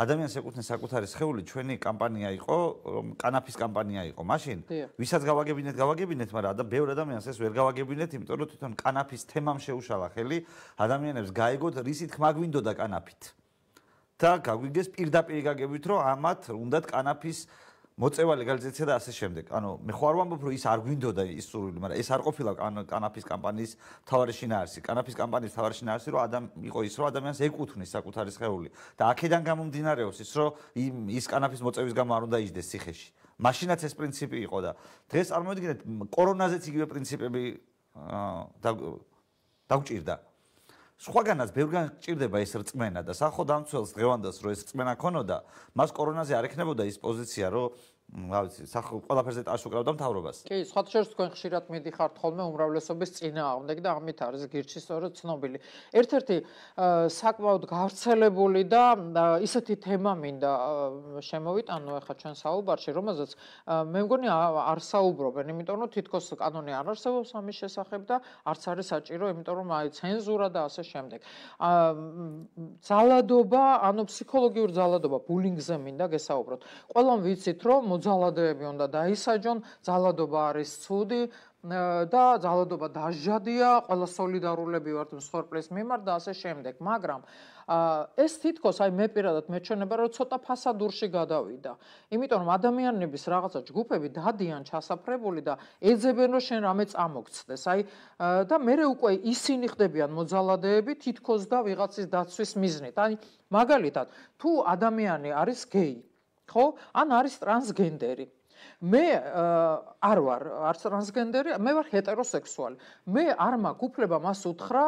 ადამიანს ეკუთვნის საკუთარი სხეული ჩვენი კამპანია იყო რომ კანაფის კამპანია იყო მაშინ ვისაც გავაგებინეთ გავაგებინეთ მაგრამ და ბევრ ადამიანს ეს ვერ გავაგებინეთ იმიტომ რომ თვითონ კანაფის თემამ შეუშალა ხელი ადამიანებს გაიგოთ რისი თქმა გვინდოდა კანაფით და გაგვიგეს პირდაპირ გაგებით რომ ამათ უნდათ კანაფის მოწევა ლეგალიზაცია და ასე შემდეგ. ანუ მე ხო არ ვამბობ რომ ის არ გვინდოდა ის სურვილი, მაგრამ ეს არ ყოფილა კანაფის კამპანიის მთავარი შინაარსი. კანაფის კამპანიის მთავარი შინაარსი რომ ადამ იყო ის რომ ადამიანს ეკუთვნის საკუთარი სხეული და აქედან გამომდინარეობს ის რომ ის კანაფის მოწევის გამო არ უნდა იჯდეს ციხეში. მაშინაც ეს პრინციპი იყო და დღეს წარმოიდგინეთ კორონაზეც იგივე პრინციპები დაგვჭირდა. სხვაგანაც ბევრგან ჭირდება ეს რწმენა და სახო დამცველს დღევანდელს რომ ეს რწმენა ქონოდა, მას კორონაზე არ ექნებოდა ის პოზიცია, რომ რა ვიცი, სახო ყველაფერზე ტაშ უკრავდა მთავრობას. კი, სხვათა შორის თქვენ ხშირად მიდიხართ ხოლმე უმრავლესობის წინააღმდეგ და ამით არის გირჩი სწორედ ცნობილი. ერთ-ერთი საკმაოდ გავრცელებული და ისეთი თემა მინდა შემოვიტანო ახლა ჩვენ საუბარში, რომელზეც მე მგონი არ საუბრობენ, იმიტომ რომ თითქოს კანონი არ არსებობს ამის შესახებ და არც არის საჭირო, იმიტომ რომ აი ცენზურა და ასე შემდეგ. ძალადობა, ანუ ფსიქოლოგიური ძალადობა, ბულინგზე მინდა გესაუბროთ. ყველამ ვიცით, რომ მოძალადეები უნდა დაისაჯონ, ძალადობა არის ცუდი და ძალადობა დაჟადია, ყველა სოლიდარულები ვართ მსხვერპლის მიმართ და ასე შემდეგ. მაგრამ ეს თითქოს აი მე პირადად მეჩვენება რომ ცოტა ფასადურში გადავიდა. იმიტომ რომ ადამიანების რაღაცა ჯგუფები დადიან ჩასაფრებული და ეძებენ რომ შენ რამე წამოგცდეს. აი და მე უკვე ისინი ხდებიან მოძალადეები თითქოს და ვიღაცის დაცვის მიზნით. აი მაგალითად, თუ ადამიანი არის გეი, ხო? ან არის ტრანსგენდერი. მე არ ვარ არც ტრანსგენდერი, მე ვარ ჰეტეროსექსუალი. მე არ მაქვს უფლება მას უთხრა,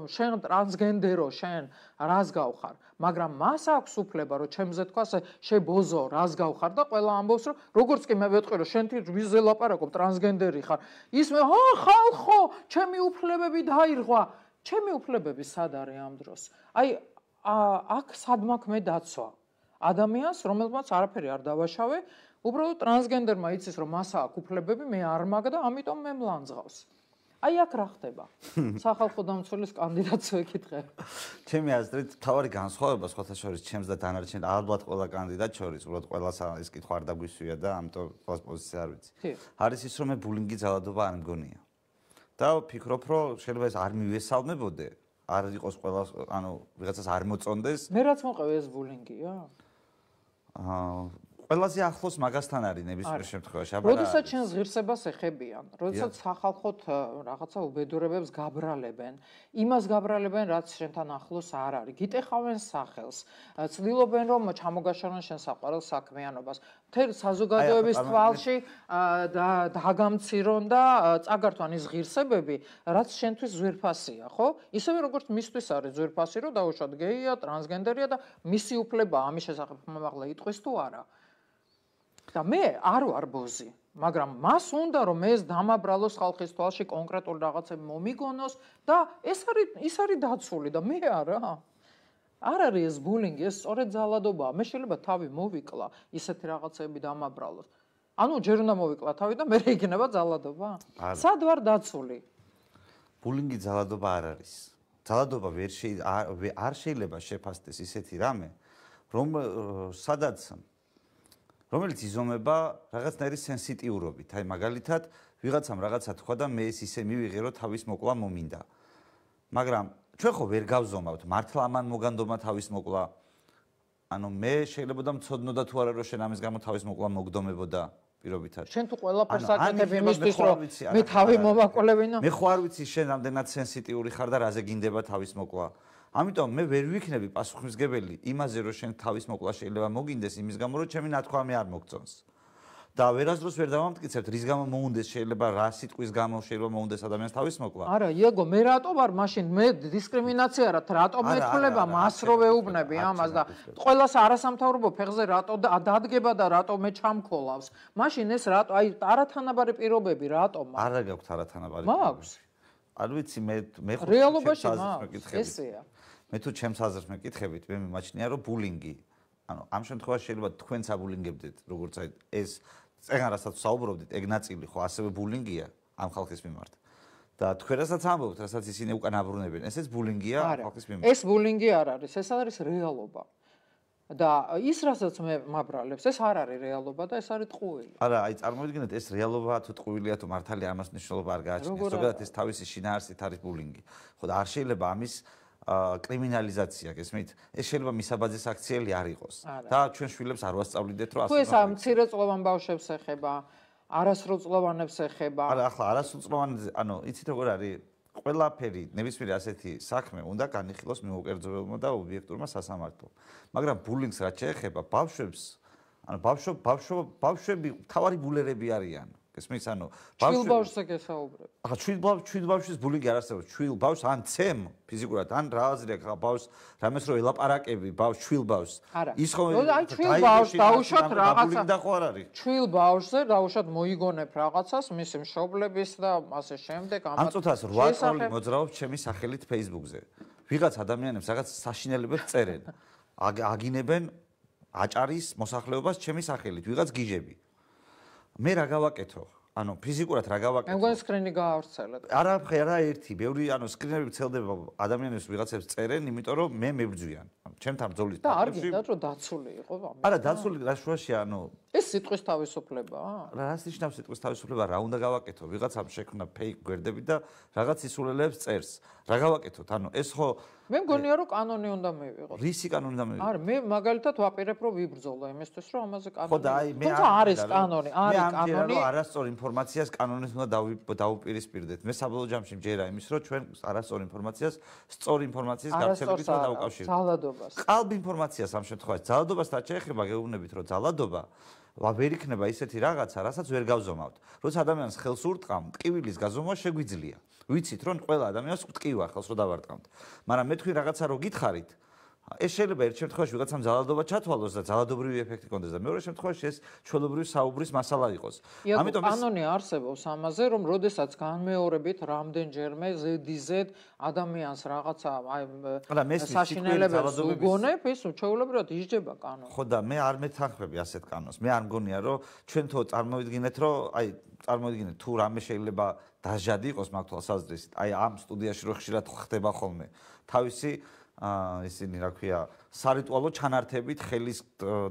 შენ ტრანსგენდერო, შენ რას გავხარ, მაგრამ მას აქვს უფლება, რომ ჩემზე თქვას, შებოზო, რას გავხარ და ყველა ამბობს, რომ როგორც კი მე ვეტყვი, რომ შენ ვიზზე ლაპარაკობ, ტრანსგენდერი ხარ. ის მე, ჰა, ხალხო, ჩემი უფლებები დაირღვა. ჩემი უფლებები სად არის ამ დროს? აი, აქ სად მაქვს მე დაცვა? ადამიანს, რომელმაც არაფერი არ დავაშავე, უბრალოდ ტრანსგენდერმა იცის რომ მას აქვს უფლებები, მე არ მაქვს და ამიტომ მე მლანძღავს. აი აქ რა ხდება? სახალხო დამცველის კანდიდატს ვეკითხებ. ჩემი აზრით, თავარი განსხვავება სხვათა შორის ჩემს და დანარჩენ ალბათ ყველა კანდიდატ შორის, უბრალოდ ყველას ეს კითხვა არ დაგვისვია და ამიტომ ყველას პოზიცია არ ვიცი. არის ის რომ მე ბულინგი ძალადობა არ მგონია. და ვფიქრობ რომ შეიძლება ეს არ მივესალმებოდე, არ იყოს ყველა, ანუ ვიღაცას არ მოწონდეს. მე რაც მოყევი ეს ბულინგია? აა ყველაზე ახლოს მაგასთან არის ნებისმიერ შემთხვევაში. აბა როდესაც ჩვენს ღირსებას ეხებიან, როდესაც სახალხოთ რაღაცა უბედურებებს გაბრალებენ, იმას გაბრალებენ, რაც შენთან ახლოს არ არის. გიტეხავენ სახელს, ცდილობენ რომ ჩამოგაშორონ შენ საყვარელ საქმიანობას. მთელ საზოგადოების თვალში დაგამცირონ და წაგართვან ის ღირსებები, რაც შენთვის ძვირფასია, ხო? ისევე როგორც მისთვის არის ძვირფასი, რომ დაუშვათ გეია, ტრანსგენდერია და მისი უფლება ამის შესახებ მომაღლა იტყვის თუ არა. და მე არ ვარ ბოზი, მაგრამ მას უნდა რომ ეს დამაბრალოს ხალხის თვალში კონკრეტულ რაღაცები მომიგონოს და ეს არის ის არის დაცული და მე არა. არ არის ეს ბულინგი, ეს სწორედ ძალადობაა. მე შეიძლება თავი მოვიკლა, ისეთი რაღაცები დამაბრალოს. ანუ ჯერ უნდა მოვიკლა თავი და მე იქნება ძალადობა? სად ვარ დაცული? ბულინგი ძალადობა არ არის. ძალადობა ვერ არ შეიძლება შეფასდეს ისეთი რამე, რომ სადაც რომელიც იზომება რაღაცნაირი სენსიტიურობით. აი მაგალითად, ვიღაცამ რაღაცა თქვა და მე ეს ისე მივიღე, რომ თავის მოკლა მომინდა. მაგრამ ჩვენ ხო ვერ გავზომავთ, მართლა ამან მოგანდომა თავის მოკლა. ანუ მე შეიძლება და მცოდნოდა თუ არა რომ შენ ამის გამო თავის მოკლა მოგდომებოდა პირობითად. შენ თუ ყველაფერს აკეთებ იმისთვის, რომ მე თავი მომაკლებინო? მე ხო არ ვიცი შენ რამდენად სენსიტიური ხარ და რაზე გინდება თავის მოკლა. ამიტომ მე ვერ ვიქნები პასუხისმგებელი იმაზე, რომ შენ თავის მოკლა შეიძლება მოგინდეს იმის გამო, რომ ჩემი ნათქვამი არ მოგწონს. და ვერასდროს ვერ დავამტკიცებთ, რის გამო მოუნდეს შეიძლება რა სიტყვის გამო შეიძლება მოუნდეს ადამიანს თავის მოკლა. არა, იაგო, მე რატო ვარ მაშინ მე დისკრიმინაცია რა, რატო მეთქულება მას რო ვეუბნები ამას და ყველას არასამთავრობო ფეხზე რატო დადგება და რატო მე ჩამქოლავს. მაშინ ეს რატო, აი არათანაბარი პირობები რატომ? არა გაქვთ არათანაბარი მაქვს. არ ვიცი მე მე ხო რეალობაში მაქვს, ესეა. მე თუ ჩემს აზრს მეკითხებით, მე მიმაჩნია რომ ბულინგი, ანუ ამ შემთხვევაში შეიძლება თქვენც აბულინგებდეთ, როგორც აი ეს წეგან რასაც საუბრობდით, ეგ ნაწილი ხო ასევე ბულინგია ამ ხალხის მიმართ. და თქვენ რასაც ამბობთ, რასაც ისინი უკან აბრუნებენ, ესეც ბულინგია ხალხის მიმართ. ეს ბულინგი არ არის, ეს არის რეალობა. და ის რასაც მე მაბრალებს, ეს არ არის რეალობა და ეს არის ტყუილი. არა, აი წარმოვიდგინეთ, ეს რეალობაა თუ ტყუილია თუ მართალია ამას მნიშვნელობა არ გააჩნია. ზოგადად ეს თავისი შინაარსით არის ბულინგი. ხო და არ შეიძლება ამის კრიმინალიზაცია, გესმით? ეს შეიძლება მისაბაძის აქციელი არ იყოს. და ჩვენ შვილებს არ ვასწავლიდეთ, რომ ასე. თუ ეს ამ მცირეწლოვან ბავშვებს ეხება, არასრულწლოვანებს ეხება. არა, ახლა არასრულწლოვანებზე, ანუ იცით როგორ არის? ყველაფერი, ნებისმიერი ასეთი საქმე უნდა განიხილოს მიუკერძოებულმა და ობიექტურმა სასამართლომ. მაგრამ ბულინგს რაც შეეხება ბავშვებს, ანუ ბავშვ ბავშვ ბავშვები თავარი ბულერები არიან. გესმის, ანუ ბავშვი ბავშვზე გესაუბრებ. ახლა ჩვიდ ბავშვ ჩვიდ ბავშვის ბულინგი არ არსებობს. ჩვიდ ბავშვს ან ცემ ფიზიკურად, ან რა აზრი აქვს ახლა ბავშვს, რამეს რო ელაპარაკები ბავშვ ჩვიდ ბავშვს. ის ხო აი ჩვიდ ბავშვს დაუშვათ რაღაცა. და ხო არ არის. ჩვიდ ბავშვზე დაუშვათ მოიგონებ რაღაცას, მისი მშობლების და ასე შემდეგ ამათ. ამ წუთას რვა წელი მოძრაობს ჩემი სახელით Facebook-ზე. ვიღაც ადამიანებს რაღაც საშინელებებს წერენ. აგინებენ აჭარის მოსახლეობას ჩემი სახელით, ვიღაც გიჟები. მე რა გავაკეთო? ანუ ფიზიკურად რა გავაკეთო? მე მგონი სკრინი გაავრცელეთ. არა, არა ერთი, ბევრი, ანუ სკრინები ვრცელდება ადამიანებს ვიღაცებს წერენ, იმიტომ რომ მე მებრძვიან. ჩემთან ბრძოლის და არ გინდათ რომ დაცული იყო ამით. არა, დაცული რა შუაშია, ანუ ეს სიტყვის თავისუფლებაა? რას ნიშნავს სიტყვის თავისუფლება? რა უნდა გავაკეთო? ვიღაცამ შექმნა ფეიქ გვერდები და რაღაც ისულელებს წერს. რა გავაკეთოთ? ანუ ეს ხო მე მგონია რომ კანონი უნდა მივიღოთ. რისი კანონი უნდა მივიღოთ? არა, მე მაგალითად ვაპირებ რომ ვიბრძოლო იმისთვის რომ ამაზე კანონი. ხო და აი მე არის კანონი, არის კანონი. მე არასწორ ინფორმაციას კანონით უნდა დავუპირისპირდეთ. მე საბოლოო ჯამში მჯერა იმის რომ ჩვენ არასწორ ინფორმაციას სწორ ინფორმაციის გავცელებით უნდა დავუკავშირდეთ. ძალადობას. ყალბ ინფორმაციას ამ შემთხვევაში ძალადობას რაც შეეხება გეუბნებით რომ ძალადობა ვერ იქნება ისეთი რაღაცა, რასაც ვერ გავზომავთ. როცა ადამიანს ხელს ურტყამ, ტკივილის გაზომვა შეგვიძლია. ვიცით რომ ყველა ადამიანს ტკივა ხელს რო დავარტყამთ. მაგრამ მე თქვი რაღაცა რო გითხარით, ეს შეიძლება ერთ შემთხვევაში ვიღაცამ ძალადობა ჩათვალოს და ძალადობრივი ეფექტი კონდეს და მეორე შემთხვევაში ეს ჩვეულებრივი საუბრის მასალა იყოს. ამიტომ კანონი არსებობს ამაზე, რომ როდესაც განმეორებით რამდენჯერმე ზედიზედ ადამიანს რაღაცა აი საშინელებებს უგონებ, ეს ჩვეულებრივად ისჯება კანონი. ხო და მე არ მეთანხმები ასეთ კანონს. მე არ მგონია რომ ჩვენ თო წარმოვიდგინეთ რომ აი წარმოვიდგინეთ თუ რამე შეიძლება დასჯადი იყოს მაგ თვალსაზრისით. აი ამ სტუდიაში რო ხშირად ხდება ხოლმე თავისი აა ისინი რა ქვია სარიტუალო ჩანართებით, ხელის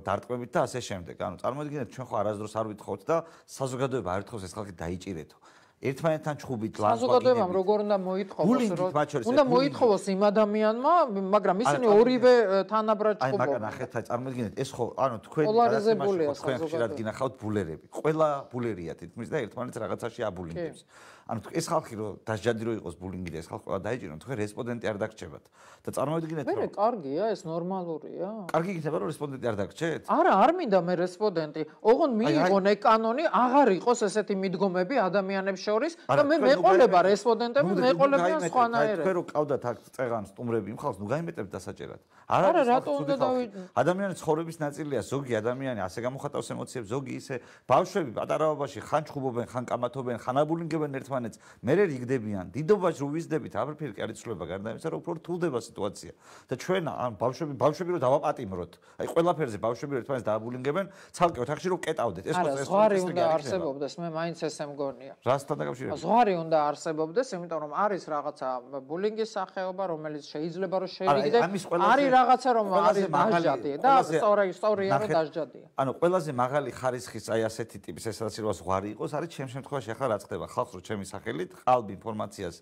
დარტყმებით და ასე შემდეგ. ანუ წარმოიდგინეთ ჩვენ ხო არასდროს არ ვითხოვთ და საზოგადოება არ ითხოვს ეს ხალხი დაიჭირეთო. ერთმანეთთან ჩხუბით ლანძღვა საზოგადოებამ როგორ უნდა მოითხოვოს რომ უნდა მოითხოვოს იმ ადამიანმა, მაგრამ ისინი ორივე თანაბრად ჩხუბობენ. აი მაგან ახეთ წარმოიდგინეთ ეს ხო ანუ თქვენ თქვენ ხშირად გინახავთ ბულერები. ყველა ბულერია თითქმის და ერთმანეთს რაღაცაში აბულინგებს. ანუ ეს ხალხი რომ დასჯადი რო იყოს ბულინგი და ეს ხალხი ყველა დაიჭირონ, თქვენ რესპონდენტი არ დაგრჩებათ. და წარმოიდგინეთ რომ მე კარგია, ეს ნორმალურია. კარგი იქნება რომ რესპონდენტი არ დაგრჩეთ? არა, არ მინდა მე რესპონდენტი. ოღონ მიიღონ ეგ კანონი, აღარ იყოს ესეთი მიდგომები ადამიანებს შორის და მე მეყოლება რესპონდენტები, მეყოლებიან სხვანაირად. თქვენ რო ყავდათ აქ წეღან სტუმრები იმ ხალხს, ნუ გაიმეტებთ დასაჭერად. არა, რატო უნდა დავი ადამიანის ცხოვრების ნაწილია, ზოგი ადამიანი ასე გამოხატავს ემოციებს, ზოგი ისე ბავშვები პატარაობაში ხან ჩხუბობენ, ხან კამათობენ, ხან აბულინგებენ ერთმანეთს, მე რიგდებიან. დიდობაში რო ვიზდებით, არაფერი არ იცვლება გარდა იმისა, რომ უფრო რთულდება სიტუაცია. და ჩვენ ან ბავშვები, ბავშვები რო დავაპატიმროთ. აი ყველაფერზე ბავშვები ერთმანეთს დააბულინგებენ, ცალკე ოთახში რო კეტავდეთ. ეს ხო ეს ზღვარი უნდა არსებობდეს, მე მაინც ესე მგონია. რასთან დაკავშირებით? ზღვარი უნდა არსებობდეს, იმიტომ რომ არის რაღაცა ბულინგის სახეობა, რომელიც შეიძლება რომ შევიგდე. არის რაღაცა რომ არის დასჯადი და სწორი სწორია რომ დასჯადია. ანუ ყველაზე მაღალი ხარისხის აი ასეთი ტიპის ესაც რომ ზღვარი იყოს, არის ჩემ შემთხვევაში ახლა რაც ხდება ხალხს რო ჩემი სახელით ყალბ ინფორმაციას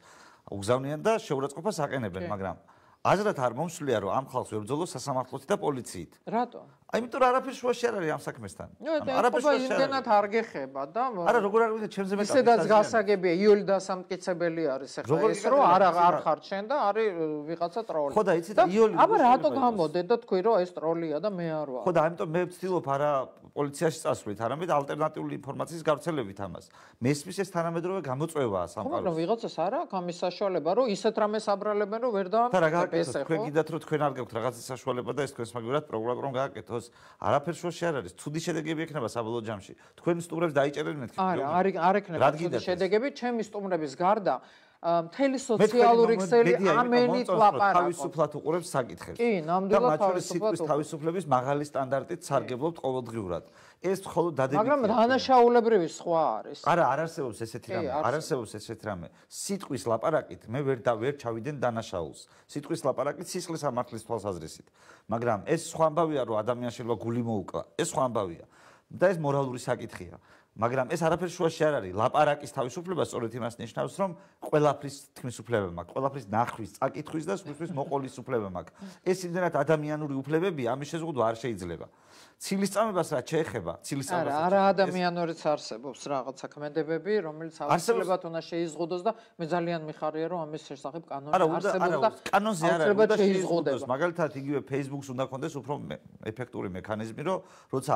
უგზავნიან და შეურაცხყოფას აყენებენ, მაგრამ აზრად არ მომსვლია რომ ამ ხალხს ვებრძოლო სასამართლოთი და პოლიციით. რატო? აი იმიტომ რომ არაფერი შუაში არ არის ამ საქმესთან. არაფერი შუაში იმდენად არ გეხება და არა როგორ არ ვიცი ჩემზე მეტად ისედაც გასაგებია იოლი დასამტკიცებელი არის ახლა ეს რომ არ არ ხარ შენ და არის ვიღაცა ტროლი. ხო და იცით იოლი აბა რატო გამოდე და თქვი რომ ეს ტროლია და მე არ ვარ. ხო და ამიტომ მე ვცდილობ არა პოლიციაში წასვლით, არამედ ალტერნატიული ინფორმაციის გავრცელებით ამას. მესმის ეს თანამედროვე გამოწვევაა სამყაროს. ხო მაგრამ ვიღაცას არა აქვს ამის საშუალება რომ ისეთ რამეს აბრალებენ რომ ვერ დაამტკიცებს ეს ხო? თქვენ გიდათ რომ თქვენ არ გაქვთ რაღაცის საშუალება და ეს თქვენს მაგალითად პროკურორმა გააკეთოს. არაფერ შუაში არ არის. ცუდი შედეგები ექნება საბოლოო ჯამში. თქვენ სტუმრებს დაიჭერენ მეთქი. არა, არ არ ექნება ცუდი შედეგები, ჩემი სტუმრების გარდა მთელი სოციალური ქსელი ამენით ლაპარაკობს. თავისუფლად უყურებს საკითხებს. კი, ნამდვილად თავისუფლად უყურებს. თავისუფლების მაღალი სტანდარტით სარგებლობთ ყოველდღიურად. ეს მხოლოდ დადებითია. მაგრამ დანაშაულებრივი სხვა არის. არა, არ არსებობს ესეთი რამე. არ არსებობს ესეთი რამე. სიტყვის ლაპარაკით მე ვერ და ვერ ჩავიდენ დანაშაულს. სიტყვის ლაპარაკით სისხლის ამართლის თვალსაზრისით. მაგრამ ეს სხვა ამბავია, რომ ადამიანს შეიძლება გული მოუკლა. ეს სხვა ამბავია. და ეს მორალური საკითხია. მაგრამ ეს არაფერი შუაში არ არის. ლაპარაკის თავისუფლება სწორედ იმას ნიშნავს, რომ ყველაფრის თქმის უფლება მაქვს, ყველაფრის ნახვის, წაკითხვის და სხვისთვის მოყოლის უფლება მაქვს. ეს იმდენად ადამიანური უფლებებია, ამის შეზღუდვა არ შეიძლება. ცილისწამებას რაც შეეხება, ცილისწამებას. არა, არა ადამიანურიც არსებობს რაღაცა ქმედებები, რომელიც აუცილებლად უნდა შეიზღუდოს და მე ძალიან მიხარია, რომ ამის შესახებ კანონი არსებობს და კანონზე არ არის, უნდა შეიზღუდოს. მაგალითად, იგივე Facebook-ს უნდა კონდეს უფრო ეფექტური მექანიზმი, რომ როცა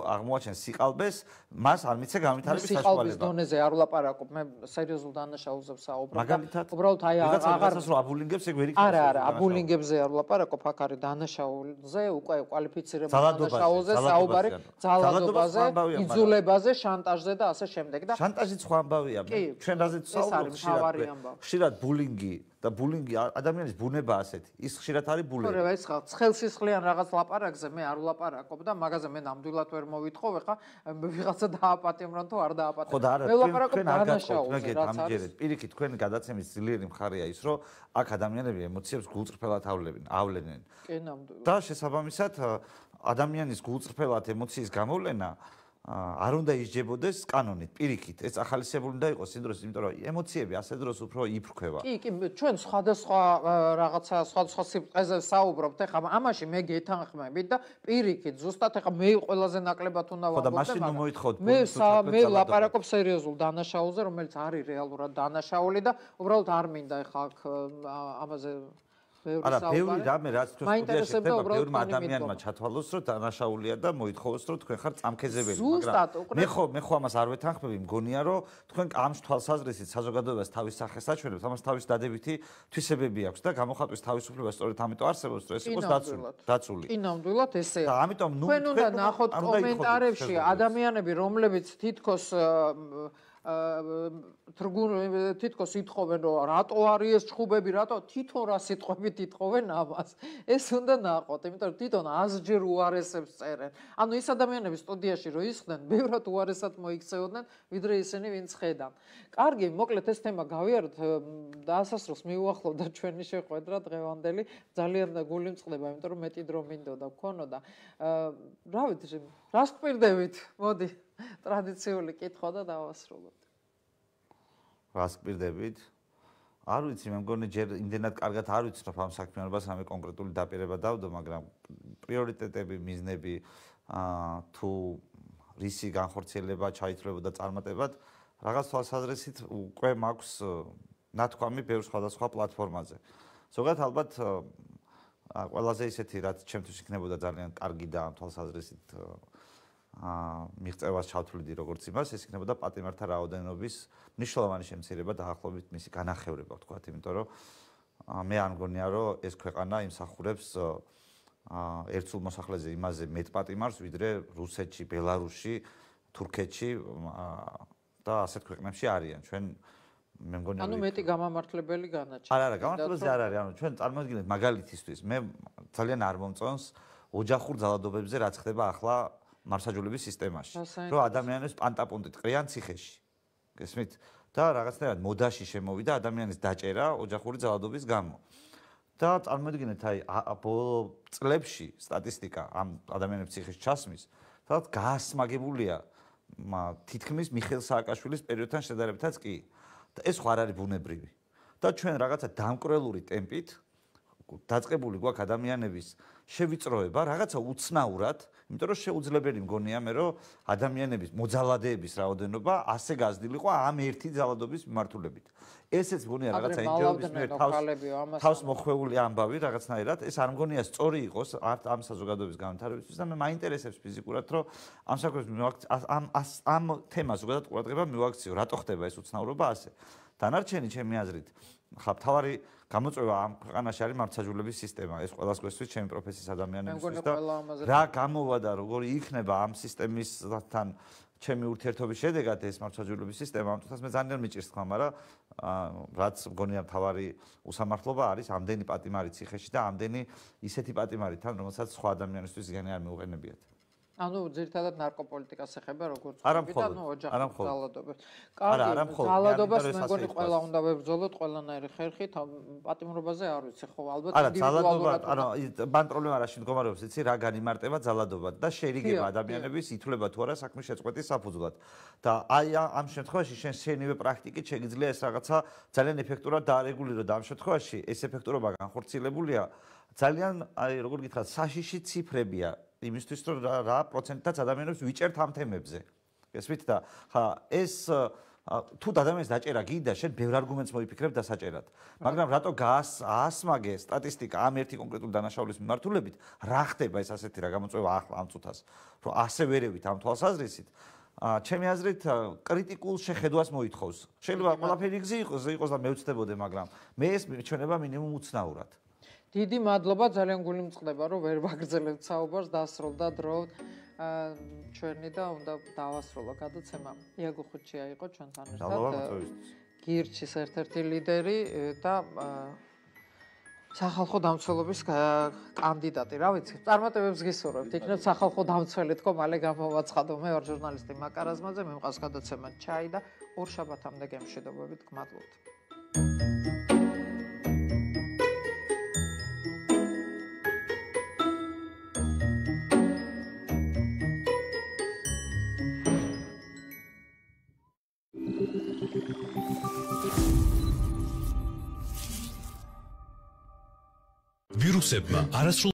აღმოაჩენს სიყალბეს, მას არ მიცე განვითარების საშუალება. სიყალბის დონეზე არ ვლაპარაკობ, მე სერიოზულ დანაშაულზე ვსაუბრობ. მაგალითად, უბრალოდ აი აღარ რომ აბულინგებს ეგ ვერ იქნება. არა, არა, აბულინგებზე არ ვლაპარაკობ, აქ არის დანაშაულზე, უკვე კვალიფიცირებული დანაშაულზე. საუბარი ძალადობაზე, იძულებაზე, შანტაჟზე და ასე შემდეგ და შანტაჟიც სხვა ამბავია. ჩვენ რაზეც საუბრობთ ხშირად ბულინგი და ბულინგი ადამიანის ბუნება ასეთი. ის ხშირად არის ბულინგი. ხო, ეს ხა ცხელსისხლიან რაღაც ლაპარაკზე მე არ ვლაპარაკობ და მაგაზე მე ნამდვილად ვერ მოვითხო, ხა ვიღაცა დააპატიმრონ თუ არ დააპატიმრონ. ხო და არა, მე ვლაპარაკობ დანაშაულზე, რაც არის. პირიქით, თქვენ გადაცემის ძლიერი მხარეა ის, რომ აქ ადამიანები ემოციებს გულწრფელად ავლენენ, ავლენენ. კი, ნამდვილად. და შესაბამისად ადამიანის გულწრფელად ემოციის გამოვლენა არ უნდა ისჯებოდეს კანონით, პირიქით. ეს ახალისებული უნდა იყოს იმ დროს, იმიტომ რომ ემოციები ასე დროს უფრო იფრქვევა. კი, კი, ჩვენ სხვადასხვა რაღაცა სხვადასხვა სიბრტყეზე საუბრობთ. ეხლა ამაში მე გეთანხმებით და პირიქით, ზუსტად ეხლა მე ყველაზე ნაკლებად უნდა ვამბობ. ხო და მაშინ ნუ მოითხოვთ. მე მე ლაპარაკობ სერიოზულ დანაშაულზე, რომელიც არის რეალურად დანაშაული და უბრალოდ არ მინდა ეხლა აქ ამაზე არა, ბევრი რამე რაც თქვენ სტუდიაში ხდება, ბევრმა ადამიანმა ჩათვალოს, რომ დანაშაულია და მოითხოვოს, რომ თქვენ ხართ წამქეზებელი, მაგრამ მე ხო მე ხო ამას არ ვეთანხმები, მგონია, რომ თქვენ ამ თვალსაზრისით საზოგადოებას თავის სახეს აჩვენებთ, ამას თავის დადებითი თვისებები აქვს და გამოხატვის თავისუფლება სწორედ ამიტომ არსებობს, რომ ეს იყოს დაცული. დაცული. კი, ნამდვილად ესეა. და ამიტომ ნუ თქვენ უნდა ნახოთ კომენტარებში ადამიანები, რომლებიც თითქოს თრგუნ თითქოს ითხოვენ რომ რატო არის ეს ჩხუბები, რატო თვითონ რა სიტყვებით ითხოვენ ამას. ეს უნდა ნახოთ, იმიტომ რომ თვითონ ასჯერ უარესებს წერენ. ანუ ის ადამიანები სტუდიაში რო ისხდნენ, ბევრად უარესად მოიქცეოდნენ, ვიდრე ისინი ვინც ხედან. კარგი, მოკლედ ეს თემა გავიაროთ, დაასასრულს მიუახლოვდა ჩვენი შეხვედრა დღევანდელი, ძალიან გული მწყდება, იმიტომ რომ მეტი დრო მინდოდა გქონოდა. რა ვიცი, რას გვპირდებით? მოდი ტრადიციული კითხვა და დავასრულოთ. რას გვპირდებით? არ ვიცი, მე მგონი ჯერ იმდენად კარგად არ ვიცნობ ამ საქმიანობას, რამე კონკრეტული დაპირება დავდო, მაგრამ პრიორიტეტები, მიზნები, აა თუ რისი განხორციელება ჩაითვლებოდა წარმატებად, რაღაც თვალსაზრისით უკვე მაქვს ნათქვამი ბევრ სხვადასხვა პლატფორმაზე. ზოგადად ალბათ ყველაზე ისეთი, რაც ჩემთვის იქნებოდა ძალიან კარგი და თვალსაზრისით აა მიღწევას ჩავთვლიდი როგორც იმას, ეს იქნებოდა პატიმართა რაოდენობის მნიშვნელოვანი შემცირება დაახლოებით მისი განახევრება, ვთქვათ, იმიტომ რომ მე არ მგონია, რომ ეს ქვეყანა იმსახურებს აა ერთსულ მოსახლეზე იმაზე მეტ პატიმარს, ვიდრე რუსეთში, ბელარუსში, თურქეთში და ასეთ ქვეყნებში არიან. ჩვენ მე მგონია ანუ მეტი გამამართლებელი განაჩენი. არა, არა, გამამართლებელი არ არის, ანუ ჩვენ წარმოვიდგინეთ მაგალითისთვის, მე ძალიან არ მომწონს ოჯახურ ძალადობებზე რაც ხდება ახლა მარსაჯულების სისტემაში, რომ ადამიანებს პანტაპონტით ყრიან ციხეში. გესმით? და რაღაცნაირად მოდაში შემოვიდა ადამიანის დაჭერა ოჯახური ძალადობის გამო. და წარმოვიდგინეთ, აი, ბოლო წლებში სტატისტიკა ამ ადამიანების ციხეში ჩასმის, სადაც გაასმაგებულია თითქმის მიხეილ სააკაშვილის პერიოდთან შედარებითაც კი. და ეს ხო არ არის ბუნებრივი. და ჩვენ რაღაცა დამკვრელური ტემპით დაწყებული გვაქვს ადამიანების შევიწროება რაღაცა უცნაურად, იმიტომ რომ შეუძლებელი მგონია მე რომ ადამიანების მოძალადეების რაოდენობა ასე გაზრდილიყო ამ ერთი ძალადობის მიმართულებით. ესეც მგონია რაღაცა ინჯერობის მიერ თავს თავს მოხვეული ამბავი რაღაცნაირად, ეს არ მგონია სწორი იყოს ამ საზოგადოების განვითარებისთვის და მე მაინტერესებს ფიზიკურად რომ ამ საქმეს ამ ამ თემას ზოგადად ყურადღება მივაქციო, რატო ხდება ეს უცნაურობა ასე. დანარჩენი ჩემი აზრით ხა თავარი გამოწვევა ამ ქვეყანაში არის მართლმსაჯულების სისტემა. ეს ყველას გვესწრის ჩემი პროფესიის ადამიანებისთვის და რა გამოვა და როგორი იქნება ამ სისტემისთან ჩემი ურთიერთობის შედეგად ეს მართლმსაჯულების სისტემა, ამ თვითონ მე ძალიან მიჭირს თქვა, მაგრამ რაც მგონია თავარი უსამართლობა არის ამდენი პატიმარი ციხეში და ამდენი ისეთი პატიმარი თან, რომელსაც სხვა ადამიანისთვის ზიანი არ მიუყენებიათ. ანუ ძირითადად ნარკოპოლიტიკას ეხება როგორც ვთქვით, ანუ ოჯახის ძალადობებს. კარგი, ძალადობას მე მგონი ყველა უნდა ვებრძოლოთ ყველანაირი ხერხით, პატიმრობაზე არ ვიცი, ხო, ალბათ ინდივიდუალურად. არა, ძალიან მან პრობლემა რაში მდგომარეობს, იცი, რა განიმარტება ძალადობა და შეერიგება ადამიანების ითვლება თუ არა საქმის შეწყვეტის საფუძვლად. და აი ამ შემთხვევაში შენ შენივე პრაქტიკით შეგიძლია ეს რაღაცა ძალიან ეფექტურად დაარეგულირო და ამ შემთხვევაში ეს ეფექტურობა განხორციელებულია ძალიან, აი, როგორ გითხრათ, საშიში ციფრებია. იმისთვის რომ რა პროცენტაც ადამიანებს ვიჭერთ ამ თემებზე. გესმით და ხა ეს თუ ადამიანის დაჭერა გინდა, შენ ბევრ არგუმენტს მოიფიქრებ დასაჭერად. მაგრამ რატო გაასმაგე სტატისტიკა ამ ერთი კონკრეტული დანაშაულის მიმართულებით, რა ხდება ეს ასეთი რა გამოწვევა ახლა ამ წუთას, რომ ასე ვერევით ამ თვალსაზრისით, ჩემი აზრით კრიტიკულ შეხედვას მოითხოვს. შეიძლება ყველაფერი გზი იყოს, იყოს და მე ვწდებოდე, მაგრამ მე ეს მიჩვენება მინიმუმ უცნაურად. დიდი მადლობა, ძალიან გული მწყდება, რომ ვერ ვაგრძელებთ საუბარს, დასრულდა დრო ჩვენი და უნდა დავასრულო გადაცემა. იაგო ხუჩია იყო ჩვენთან ერთად. გირჩის ერთ-ერთი ლიდერი და სახალხო დამცველობის კანდიდატი. რა ვიცი, წარმატებებს გისურვებთ. იქნებ სახალხო დამცველი თქო, მალე გამოვაცხადო. მე ვარ ჟურნალისტი მაკა რაზმაძე, მე მყავს გადაცემა ჩაი და ორ შაბათამდე გემშვიდობებით, გმადლობთ. ვირუსებმა არასრულ